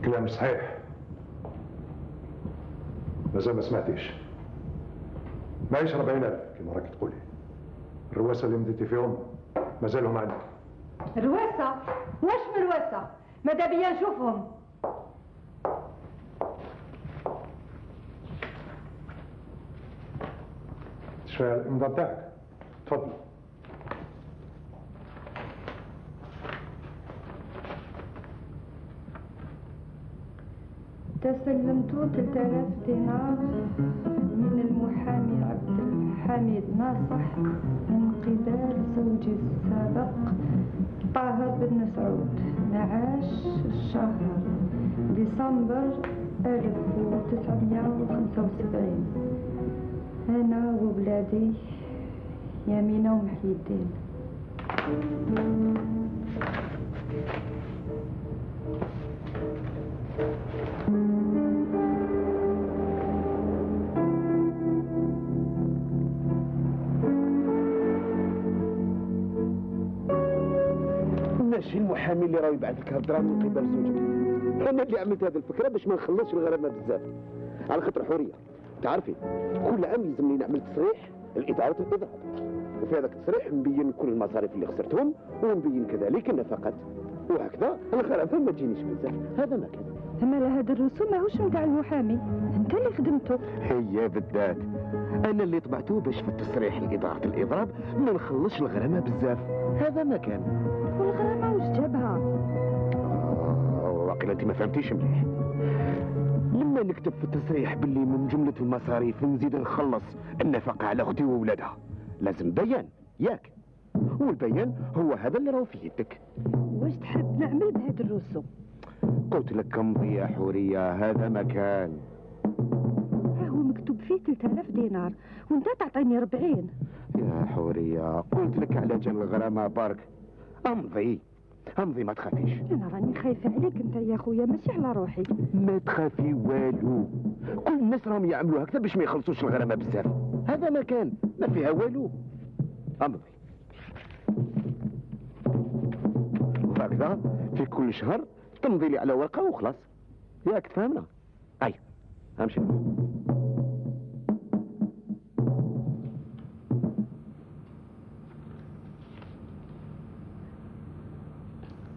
كلام صحيح، مازال ما سمعتيش. معيش أربعين ألف كما راكي تقولي. الرواسة اللي مديتي فيهم مازالهم عندك. الرواسة؟ واش من رواسة؟ ماذا بيا نشوفهم. شوية الإمضاء بتاعك. تفضل. تسلمت ثلاثة آلاف دينار من المحامي عبد الحميد ناصح من قبل زوجي السابق طاهر بن مسعود معاش الشهر ديسمبر ألف وتسعمائة وخمسة وسبعين. أنا وولادي يمينة ومحي الدين. ماشي المحامي اللي راه يبعث لك هالدراهم من قبل زوجك. انا اللي عملت هذه الفكره باش ما نخلصش الغرامه بزاف على خاطر حوريه. تعرفي كل عام يلزمني نعمل تصريح لاداره الاضراب، وفي هذاك التصريح نبين كل المصاريف اللي خسرتهم ونبين كذلك النفقات، وهكذا الغرامه ما تجينيش بزاف. هذا ما كان. اما هذا الرسوم ماهوش نتاع المحامي، انت اللي خدمته. هي بالذات انا اللي طبعته باش في التصريح لاداره الاضراب ما نخلصش الغرامه بزاف. هذا ما كان. والغرامه واش جابها؟ آه واقيلا انت ما فهمتيش مليح. لما نكتب في التصريح باللي من جمله المصاريف نزيد نخلص النفقه على اختي وولادها، لازم بيان ياك، والبيان هو هذا اللي راهو في يدك. واش تحب نعمل بهذا الرسوم؟ قلت لك امضي يا حوريه، هذا مكان. هو مكتوب فيه ثلاثة آلاف دينار وانت تعطيني أربعين. يا حوريه قلت لك على جال الغرامه برك. امضي امضي ما تخافيش. انا راني خايفه عليك انت يا خويا ماشي على روحي. ما تخافي والو، كل الناس راهم يعملوا هكذا باش ما يخلصوش الغرامه بزاف. هذا مكان ما فيها والو. امضي. وهكذا في كل شهر تمضي لي على ورقه وخلاص. ياك تفهمنا؟ اي امشي.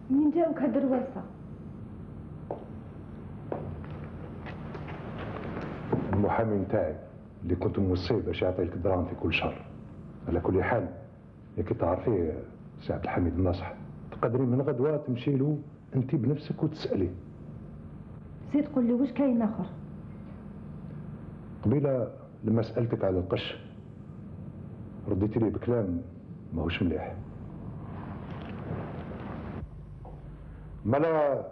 منين جاوك هاد الرواسه؟ المحامي نتاعي اللي كنت موصيه باش يعطي لك دراهم في كل شهر. على كل حال يا كي تعرفيه سي عبد الحميد الناصح، تقدري من غدوه تمشي له انت بنفسك وتساليه. زيد قول لي واش كاين اخر؟ قبيله لما سالتك على القش رديتي لي بكلام ماهوش مليح. مالا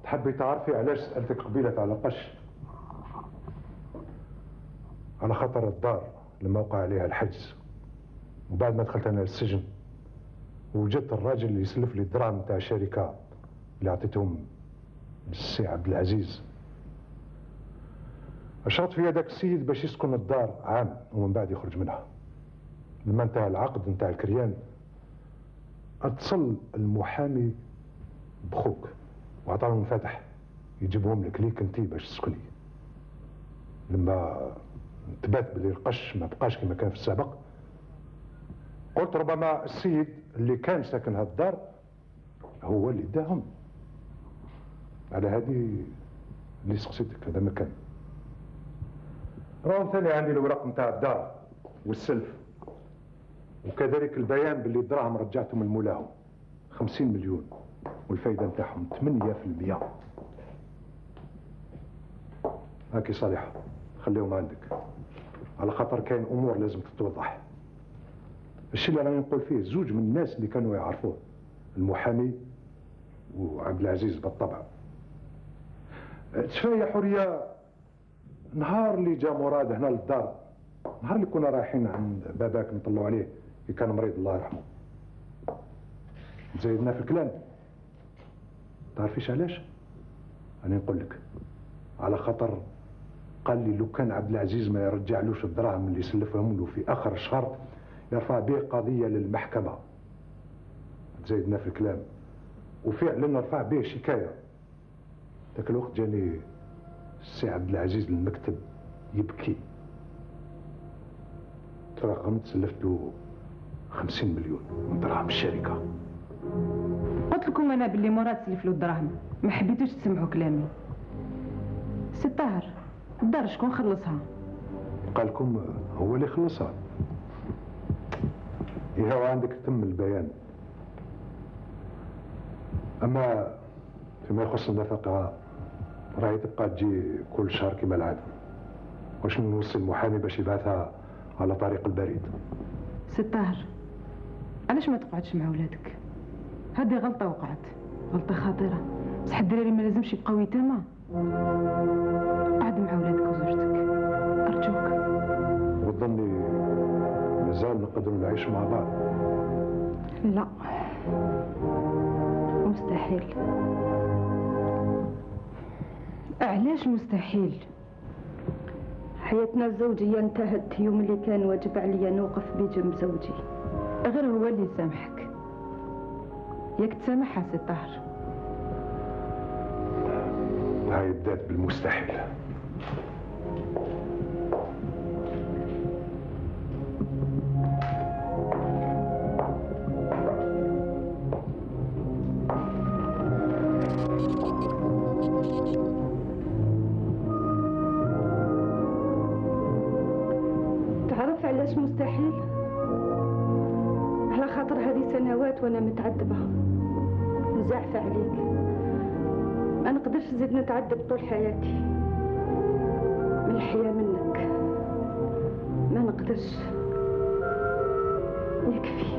تحبي تعرفي علاش سالتك قبيله على القش؟ على خاطر الدار لما وقع عليها الحجز وبعد ما دخلت انا للسجن وجدت الراجل اللي يسلف لي الدراهم نتاع الشركه اللي عطيتهم للسي عبد العزيز. اشرت في هذاك السيد باش يسكن الدار عام ومن بعد يخرج منها. لما انتهى العقد نتاع الكريان اتصل المحامي بخوك وعطاه مفاتح يجيبهم لك ليك انت باش تسكني. لما انتبهت بلي القش ما بقاش كما كان في السابق قلت ربما السيد اللي كان ساكن هالدار هو اللي داهم. على هذه اللي سقسيتك هذا مكان. راهم ثاني عندي الورق نتاع الدار والسلف وكذلك البيان باللي الدراهم رجعتهم لمولاهم خمسين مليون والفايده نتاعهم ثمانية في المئة. هاكي صالحه خليهم عندك على خاطر كاين امور لازم تتوضح. الشيء اللي راني نقول فيه زوج من الناس اللي كانوا يعرفوه المحامي وعبد العزيز بالطبع. تشفى يا حوريه نهار اللي جا مراد هنا للدار، نهار اللي كنا رايحين عند باباك نطلعوا عليه اللي كان مريض الله يرحمه، زايدنا في الكلام. تعرفيش علاش؟ انا نقول لك على خاطر قال لي لو كان عبد العزيز ما يرجعلوش الدراهم اللي سلفهم له في اخر الشهر يرفع به قضيه للمحكمه. زايدنا في الكلام وفعلا رفع به شكايه. ذاك الوقت جاني السي عبد العزيز للمكتب يبكي. ترغمت سلفت له خمسين مليون من دراهم الشركة. قلت لكم انا باللي مراد سلف له الدراهم، ما حبيتوش تسمعوا كلامي. سي طاهر الدار شكون خلصها؟ قال لكم هو اللي خلصها. يهو عندك تم البيان. اما فيما يخص النفقة راهي تبقى تجي كل شهر كما العادة. واش نوصي المحامي باش يبعثها على طريق البريد. سي طاهر علاش ما تقعدش مع ولادك؟ هذه غلطة وقعت، غلطة خطيرة، بصح الدراري ما لازمش يبقاو يتامى. قعد مع ولادك وزوجتك أرجوك. وتظني مازال نقدروا نعيش مع بعض؟ لا مستحيل. علاش مستحيل؟ حياتنا الزوجية انتهت يوم اللي كان واجب عليا نوقف بجنب زوجي. غير هو اللي يسامحك، ياك تسامحها سي طاهر. هاي بدات بالمستحيل. تعرف علاش مستحيل؟ على خاطر هذه سنوات وانا متعذبة مزعفة عليك. ما نقدرش نزيد نتعذب طول حياتي من الحياة منك. ما نقدرش، يكفي.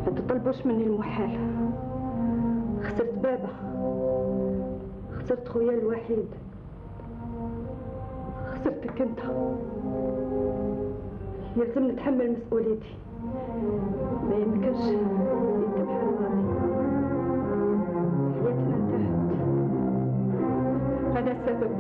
ما تطلبوش مني المحال. خسرت بابا، خسرت خويا الوحيد، خسرتك انت. يلزم نتحمل مسؤوليتي. ما يمكنش انت بحال غادي. حياتنا انتهت. هذا السبب